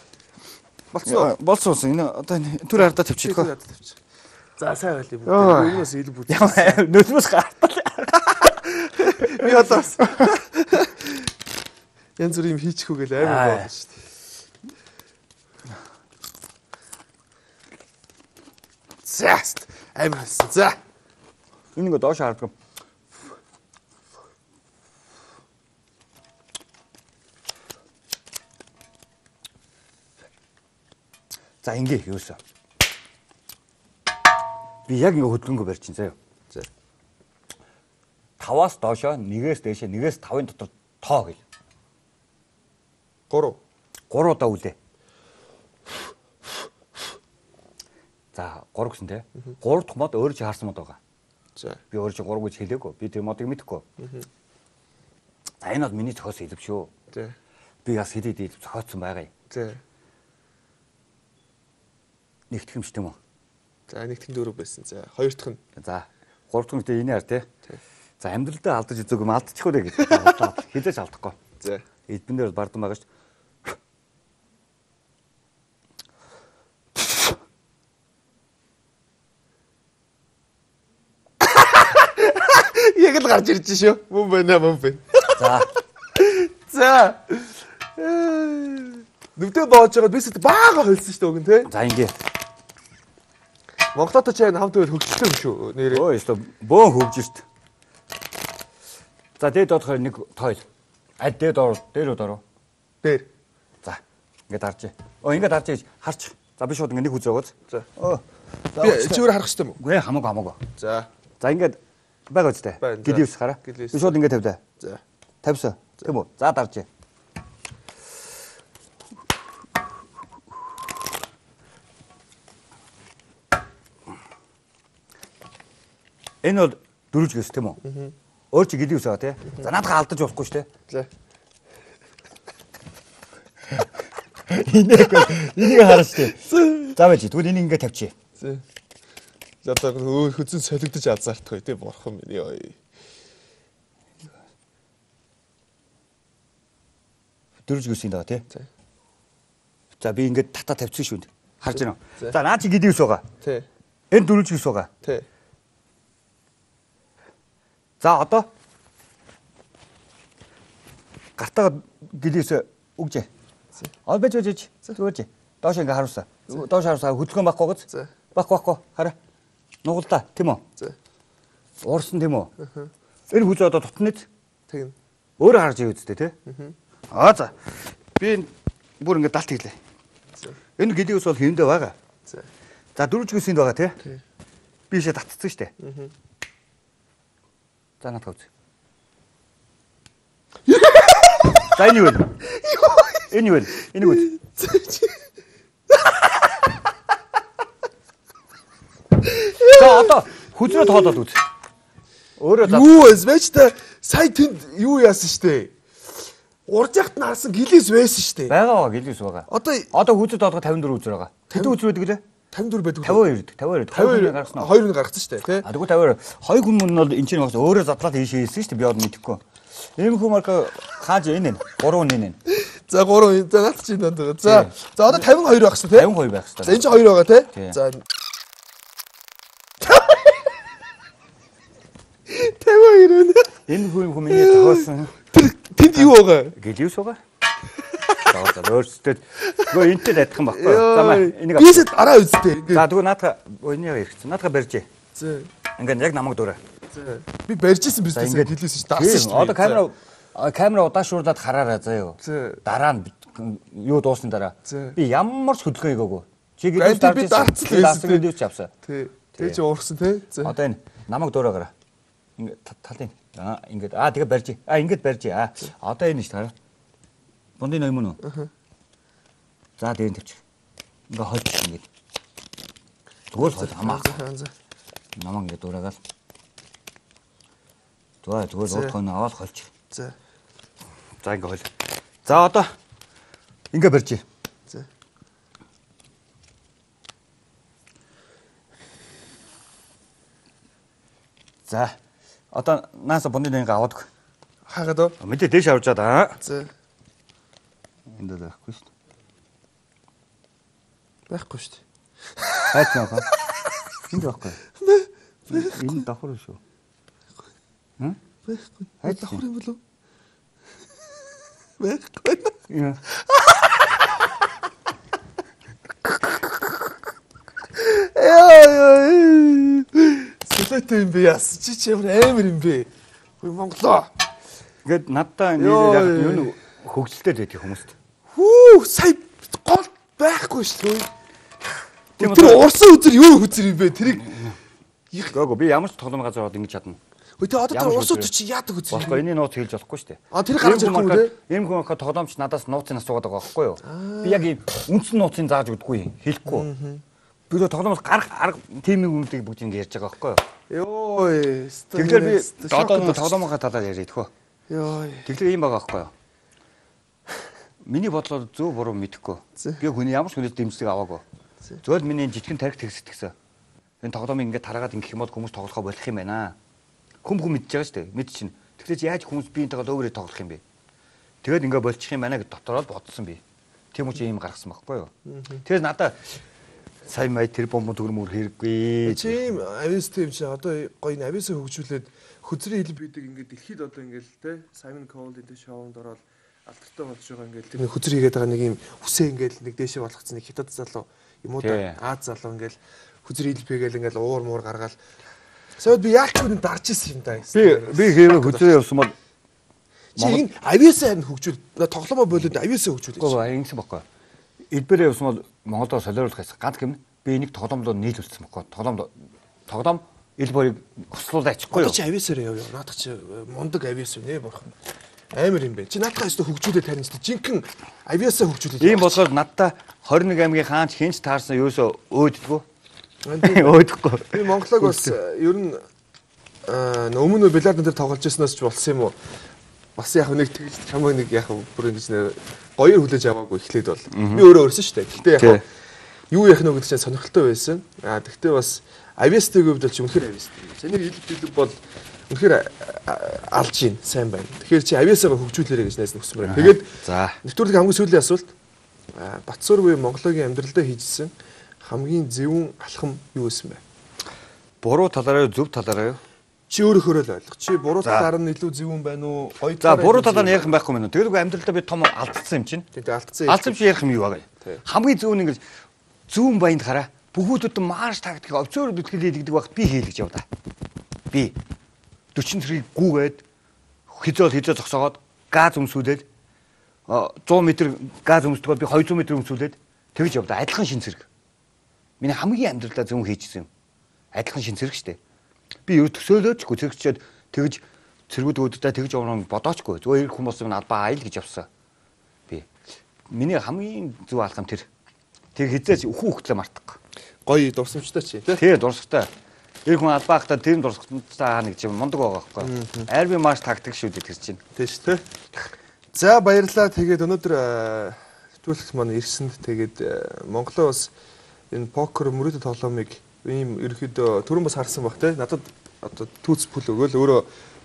Болцсон. Болцсон. Энэ одоо түр ардаа тавьчих хөө. За сайн байл юм. Өмнөөс ил бүт. Нөлмөс гартал. Би одоо янз бүр юм хийчихүү гэл амар болно шүү дээ. За амар хэлсэн. За. Энэ нэг доош харддаг. За ингээ юусаа. Би яг ингээ хөдөлгөнгөө барьж чинь заяа. За. 5-аас доошоо 1-ээс дээшээ 1-ээс 5-ын дотор тоо гэл. 3. 3 удаа үлээ. За 3 гэсэн тий. 3 дахь мод өөрөө чи харсан мод байгаа. За. Би өөрөө чи 3 гэж хэлээгүй. Би тэр модыг мэдэхгүй. За энэ бол миний зохиосон хэлб шүү. За. Би бас хэлээд зохиоцсон байгаа юм. За. Нэгтгэх юм шүү дээ юм уу? За нэг тэнд 4 байсан. За хоёр дахь нь. За 3 дахь нь гэдэг энэ хар тий. Тий. За амьдралдаа алдаж үзег юм алдчих үү гэж. Хилээж алдахгүй. За. Эдбэн дээр бардам байгаа шүү. Яг л гарч ирж шүү. Мөн байна. За. За. Нүдэ боож байгаа бисэд баага холсон шүү дээ өгөн тий. За ингээ. Монголоо ч хамт байл хөгжөлтэй юм шүү нэрээ. Өө ёстой бөөн хөвж шít. За дээд доодохоор нэг тойл. Дээд ороо. Дээр. За ингээд харж. Ингээд харж гэж харч. За би шууд ингээд нэг үзээ өгөөц. За. Би чигээр харах хэрэгтэй юм уу? Үгүй хамаагүй. За. За ингээд байгаа үстэй. Гэлээс хараа. Би шууд ингээд тавьдаа. За. Тавьсан. Тийм үү? За дарж. Энэ бол дөрвж гэс тийм үү? Өөр чи гэлээ үсээ тий. За наадхаа алдаж болохгүй шүү дээ. За. Энийг хараач тий. За байж тэгвэл энийг ингээд тавьчих. За. За одоо хөзөн солигдож азаартах тий бурхан минь ёо. Дөрвж гэс юм даа тий. За. За би ингээд тата тавьчихсан шүү дээ. Харж байна уу? За наа чи гэлээ үс байгаа. Тий. Энэ дөрвж гэс байгаа. Тий. За одоо гартаа гэлээс өгжээ. Байж. Зүгээрж. Доош ингээ харуулсаа. Доош харуулсаа хөдөлгөөн байхгүй гоц. Байхгүй. Хараа. Нугалдаа тийм үү? За. Уурсан тийм үү? Энэ хүз одоо тутнэд. Тэгнэ. Өөрөө харж ий үсттэй тий. За. Би бүр ингээ далт хийлээ. Энэ гэлээс бол хэвэндээ байгаа. За дөрвж гүсэнд байгаа тий. Би ийшээ татцсан штэ. За надад үз. За энэ юу вэ? Энэ юу вэ? Энийг үз. За одоо хүзрээ тоолоод үз. Өөрөө юу вэ? Та сая тэнд юу яасан штэ? Урж яхад нь харсан гэлээс байсан штэ. Байгаа гэлээс байгаа. Одоо хүзрээ тоолоход 54 үзэр байгаа. Тэд үзэр байдаг лээ. 54 байдаг. 52 гаргасан уу? 2 гаргасан штэ тий. Тэгвэл 52 хоёр хүн нь бол энэ чинь бас өөрөө задлаад ийшээ хийсэн штэ би одоо мэдэхгүй. Ийм хүн марка хааж энэ 3 энэ. За 3 за наад чинь данд байгаа. За одоо 52 байх штэ тий. 52 байх штэ. За энэ чинь 2 байгаа тий. За 52 энэ хүн миний тохиолсон. Тэнд юу байгаа? Гэлээс байгаа. За өөрсдөд гоо энтэй адилхан баггүй. За энийг бисэд араа үзтээ. За тэгвэл наадха өнөө хэрэгцсэн. Наадха барьжээ. За. Ингээд яг намайг дөрөө. За. Би барьжсэн бисэд гэлээс ш дарсан ш. Одоо камера удаашруулаад хараарай заяа. Дараа нь юу дуусны дараа. Би ямар ч хөдөлгөөн хийгээгүй. Чи гэлээс дарсан гэлээс ч авсан. Тий. Тэг чи уурсан тий. Одоо энэ намайг дөрөөгөө. Ингээд талын. Ингээд тэгээ барьжээ. Ингээд барьжээ. Одоо энэ ш хараа. Бондын ноём нь. За дээр нь тавьчих. Ингээ хойч ингээд. Зүгээр хойч хамаа. Намаа ингээд дураагаал. Зүгээр уутхай наваад хойч. За ингээ хойл. За одоо ингээ барьжээ. За одоо нааса бондын ноёнгаа аваад. Хаагаад оо. Мэдээ дээш авчаад аа. За. Энд дээр байхгүй шүү дээ. Байхгүй шүү дээ. Хайц наа. Энд байхгүй. Энэ давхар шүү. Байхгүй. Хайц давхар юм болов? Байхгүй. Яа. Сүлээтэй юм бэ яс. Чи ямар амар юм бэ? Хөөе Монголоо. Ингээд надтай нэр яг юу хөгжилтэй байдаг хүмүүст. Хүү сая гол байхгүй шүү дээ. Тэр урсан үзэр юу үзэр юм бэ? Тэрийг Гөө би ямар ч тоглоом газар ороод ингэж чадна. Хөөе тэ одоо тэр урсан үзэр чи яадаг үзэр? Болохгүй энэ нууц хэлж болохгүй шүү дээ. Тэр гарч ирэх юм үү? Ийм хүн ахаа тоглоомч надаас нууцын асуугаад байгаа байхгүй юу? Би яг ийм үндсэн нууцын зааж өгдөггүй хэлэхгүй. Би л тоглоомоос арга тимийн хүмүүсийг бүгд ингэ ярьж байгаа байхгүй юу? Йоо. Тэгэхээр би одоо тоглоомынхаа талаар яриад хөө. Йоо. Тэгэхээр ийм байгаа байхгүй юу? Миний бодлоор зөв буруу мэдэхгүй. Би хүний ямар ч хүнээс дэмжлэг аваагүй. Зөвхөн миний жижигэн тарих тэгсэтгсэн. Энэ тоглоомыг ингээд тараагаад ингэх юм бол хүмүүс тоглохоо болох юм байна. Хүн мэдж байгаа шүү дээ. Мэд чинь. Тэгэхээр яаж хүмүүс биентэйгээ өөрөөр тоглох юм бэ? Тэгээд ингээд болчих юм байна гэд дотороо бодсон би. Тийм үгүй юм гаргасан байхгүй юу? Тэгэхээр надаа сая май тэр бомбон төгрөмөр хэрэггүй. Тийм авис тийм чи одоо гоё н ависаа хөгжүүлээд хөзрийн хилэн бидэг ингээд дэлхийд одоо ингээд те Simon Cowell энэ шоунд ороод алдартай болж байгаа ингээд тэр хөзөр хийгээд байгаа нэг юм үсээ ингээд нэг дээшээ болгоцсон нэг хятад залуу юм уу да Аз залуу ингээд хөзөр хилбэгээл ингээд уур муур гаргаал сая би яалч үн дарж ирсэн юм да. Би хэвээ хөзрөө явсан бол чи энэ ависаа харин хөгжүүл тоглоомоо болоод ависаа хөгжүүл. Үгүй ингэсэн баггүй. Элбэрээ явсан бол Монголоо солиоруулахаас ганц гэмн би энийг тоглоомдоо нийлүүлсэн баггүй. Тоглоом элбэрийг хослуулж ачихгүй юу? Чи ависаар яв. Наадах чи мундаг авис үнэ бурхан. Амар юм бэ. Чи наадах өстө хөгжүүлээд харин ч жинхэнэ авиасаа хөгжүүлээд. Ийм болохоор надтай 21 аймгийн хаанч хинч таарсан юусоо өөддгөө. Өөдөхгүй. Би Монголог бас ер нь өмнө бильярд дээр тоглож ирсэнээс ч болсон юм уу? Бас яг нэг тэгж чамайг нэг яг бүр ингэж нэр гоёор хүлээж аваагүй эхлээд бол. Би өөрөө өрсөн шүү дээ. Гэтэ яг юу яах нь вэ гэдэг чинь сонирхолтой байсан. Тэгтээ бас авиастыг хувьд бол чи үнэхээр авиастай. Саний хэлбэлэг бол үнэхээр алж ийн сайн байна. Тэгэхээр чи авиасаа хөгжүүлээрэй гэж найз нөхсөн байна. Тэгээд нэвтрүүлгийн хамгийн сүүлийн асуулт Батсуур буюу Монголын амьдралдаа хийжсэн хамгийн зөвүүн алхам юу байсан бэ? Буруу талаараа зөв талаараа юу? Чи өөрөөхөө л ойлгох. Чи буруу талаар нь илүү зөвүүн байна уу? Гоё талаар. За буруу талаар нь ярих юм байхгүй мэн. Тэгвэл амьдралдаа би том алдсан юм чинь. Тэгээд алдсан. Алдсан чи ярих юм юу байгаа юм? Хамгийн зөвүүн ингэж зүүн баянд хараа. Бүхүүдэд марш тактик овцоор бүтгэл хийлгдэг багт би хийлгэж яв да. Би 40 цэргийг гүүгээд хизээ зогсоогоод газ өмсүүлээд 100 м газ өмсдөгөө би 200 м өмсүүлээд тэгж яв да. Адилхан шин цэрэг. Миний хамгийн амьдралдаа зөв хийжсэн юм. Адилхан шин цэрэг штэ. Би юу төсөөлөөчгүй цэрэгчээд тэгж цэргүүдүүдтэй тэгж явна бодоочгүй. Зүгээр ирэх хүмүүс минь албаа аял гэж явсан. Би. Миний хамгийн зөв алхам тэр. Тэр хизээч хүүхдлээ мартах. Гоё дурсамжтай чи тий. Тий дурсамжтай. Ирэх хүн албаахтаа тэр дурсамжтай нэг юм мундаг байгаа байхгүй. Арби маш тактик шүү дээ тэр чинь. Тий шүү тий. За баярлалаа. Тэгээд өнөөдөр нэвтрүүлэгт маань ирсэнд тэгээд Монголоо бас энэ покер мөрөдө тоглоомыг ийм ерөөхдөө түрүүн бас харсан баг те надад одоо түүц пүл өгөөл өөрөө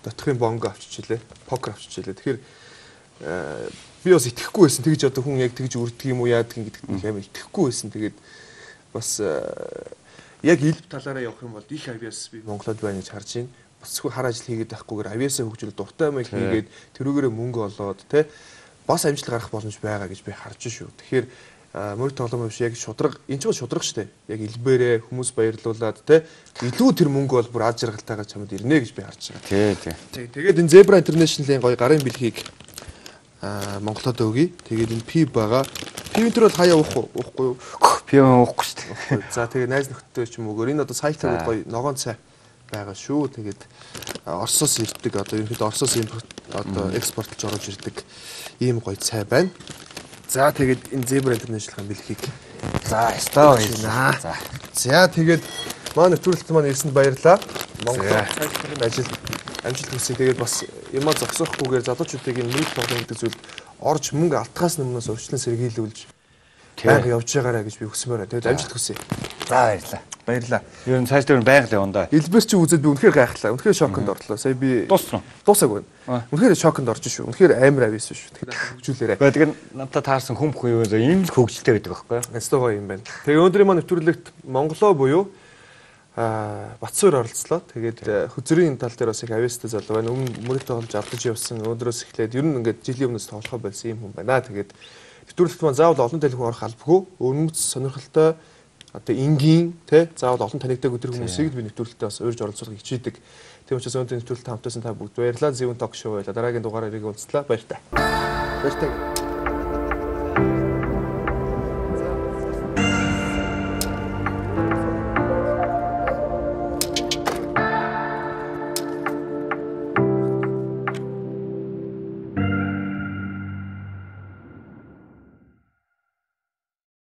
дотхын бонго авчижээ покер авчижээ тэгэхээр би бас итгэхгүй байсан тэгж одоо хүн яг тэгж үрдэг юм уу яадаг юм гэдэгт нэг амар итгэхгүй байсан тэгээд бас яг илб талаараа явах юм бол их авиас би Монголд байна гэж харж байна босгүй хар ажил хийгээд байхгүйгээр авиасаа хөгжүүл дуртай юм хийгээд тэрүүгээрээ мөнгө олоод те бас амжилт гарах боломж байгаа гэж би харж шүү тэгэхээр мөр тоглоом биш яг шудраг энэ ч бол шудраг штэ яг илбэрээ хүмүүс баярлуулад те илүү тэр мөнгө бол бүр аз жаргалтайгаар чамд ирнэ гэж би харж байгаа. Тий. Тэгээд энэ Zebra International-ийн гоё гарын бэлгийг Монголод өгье. Тэгээд энэ пив байгаа. Пивэн төр бол хаяа уухгүй юу? Пив уухгүй штэ. За тэгээд найз нөхдөд ч юм угаар энэ одоо сайтаа гоё ногоон цай байгаа шүү. Тэгээд Оросоос ирдэг одоо ерөнхийдөө Оросоос одоо экспортлж орж ирдэг ийм гоё цай байна. За тэгээд энэ Zebra International-ын бэлгийг за стаа байна. За тэгээд маань нэвтрүүлэлт маань ирсэнд баярлалаа. Монгол сайдын ажил амжилт хүсье. Тэгээд бас юмаа зогсоохгүйгээр залуучуудыг энэ мөрөд тоглоом гэдэг зүйлд орж мөнгө алтгаас өмнөөс урьдчилан сэргийлүүлж байнга явж байгаарай гэж би хүсмээр байна. Тэгээд амжилт хүсье. За баярлалаа. Баярлалаа. Ер нь цааш дээр байнга л явна да. Элбэр чи үзээд би үнэхээр гайхлаа. Үнэхээр шоконд орлоо. Сая би дуусаагүй. Үнэхээр шоконд орж шүү. Үнэхээр амар авьяас шүү. Тэгэхээр хөгжүүлээрэй. Тэгээд надад таарсан хүн бүхэн юу ийм л хөгжилтэй байдаг байхгүй юу? Ястаа гоё юм байна. Тэгээ өнөөдрийн маань нэвтрүүлэгт Монголоо буюу Батсуур оролцлоо. Тэгээд хөзрийн тал дээр бас их авьяастай залуу байна. Өмнө мөрөд тоглож авдаж явсан. Өнөөдрөөс эхлээд ер нь ингээд жилийн өмнөөс тоглохоо болсон юм хүн байна. Тэгээд нэвтрүүлэгт маань заавал олон телефон орох албагүй. Өнөмц сонирхолтой одоо энгийн тий заавал олон танигдаг өдөр хүмүүсийг би нэвтрүүлэлтэд бас урьж оролцуулахыг хичээдэг. Тийм учраас өнөөдрийн нэвтрүүлэлтэд хамтдасан та бүгд баярлалаа. Зөвөн ток шоу байла. Дараагийн дугаараар ирэх уулзлаа. Баяр та. Баяр та.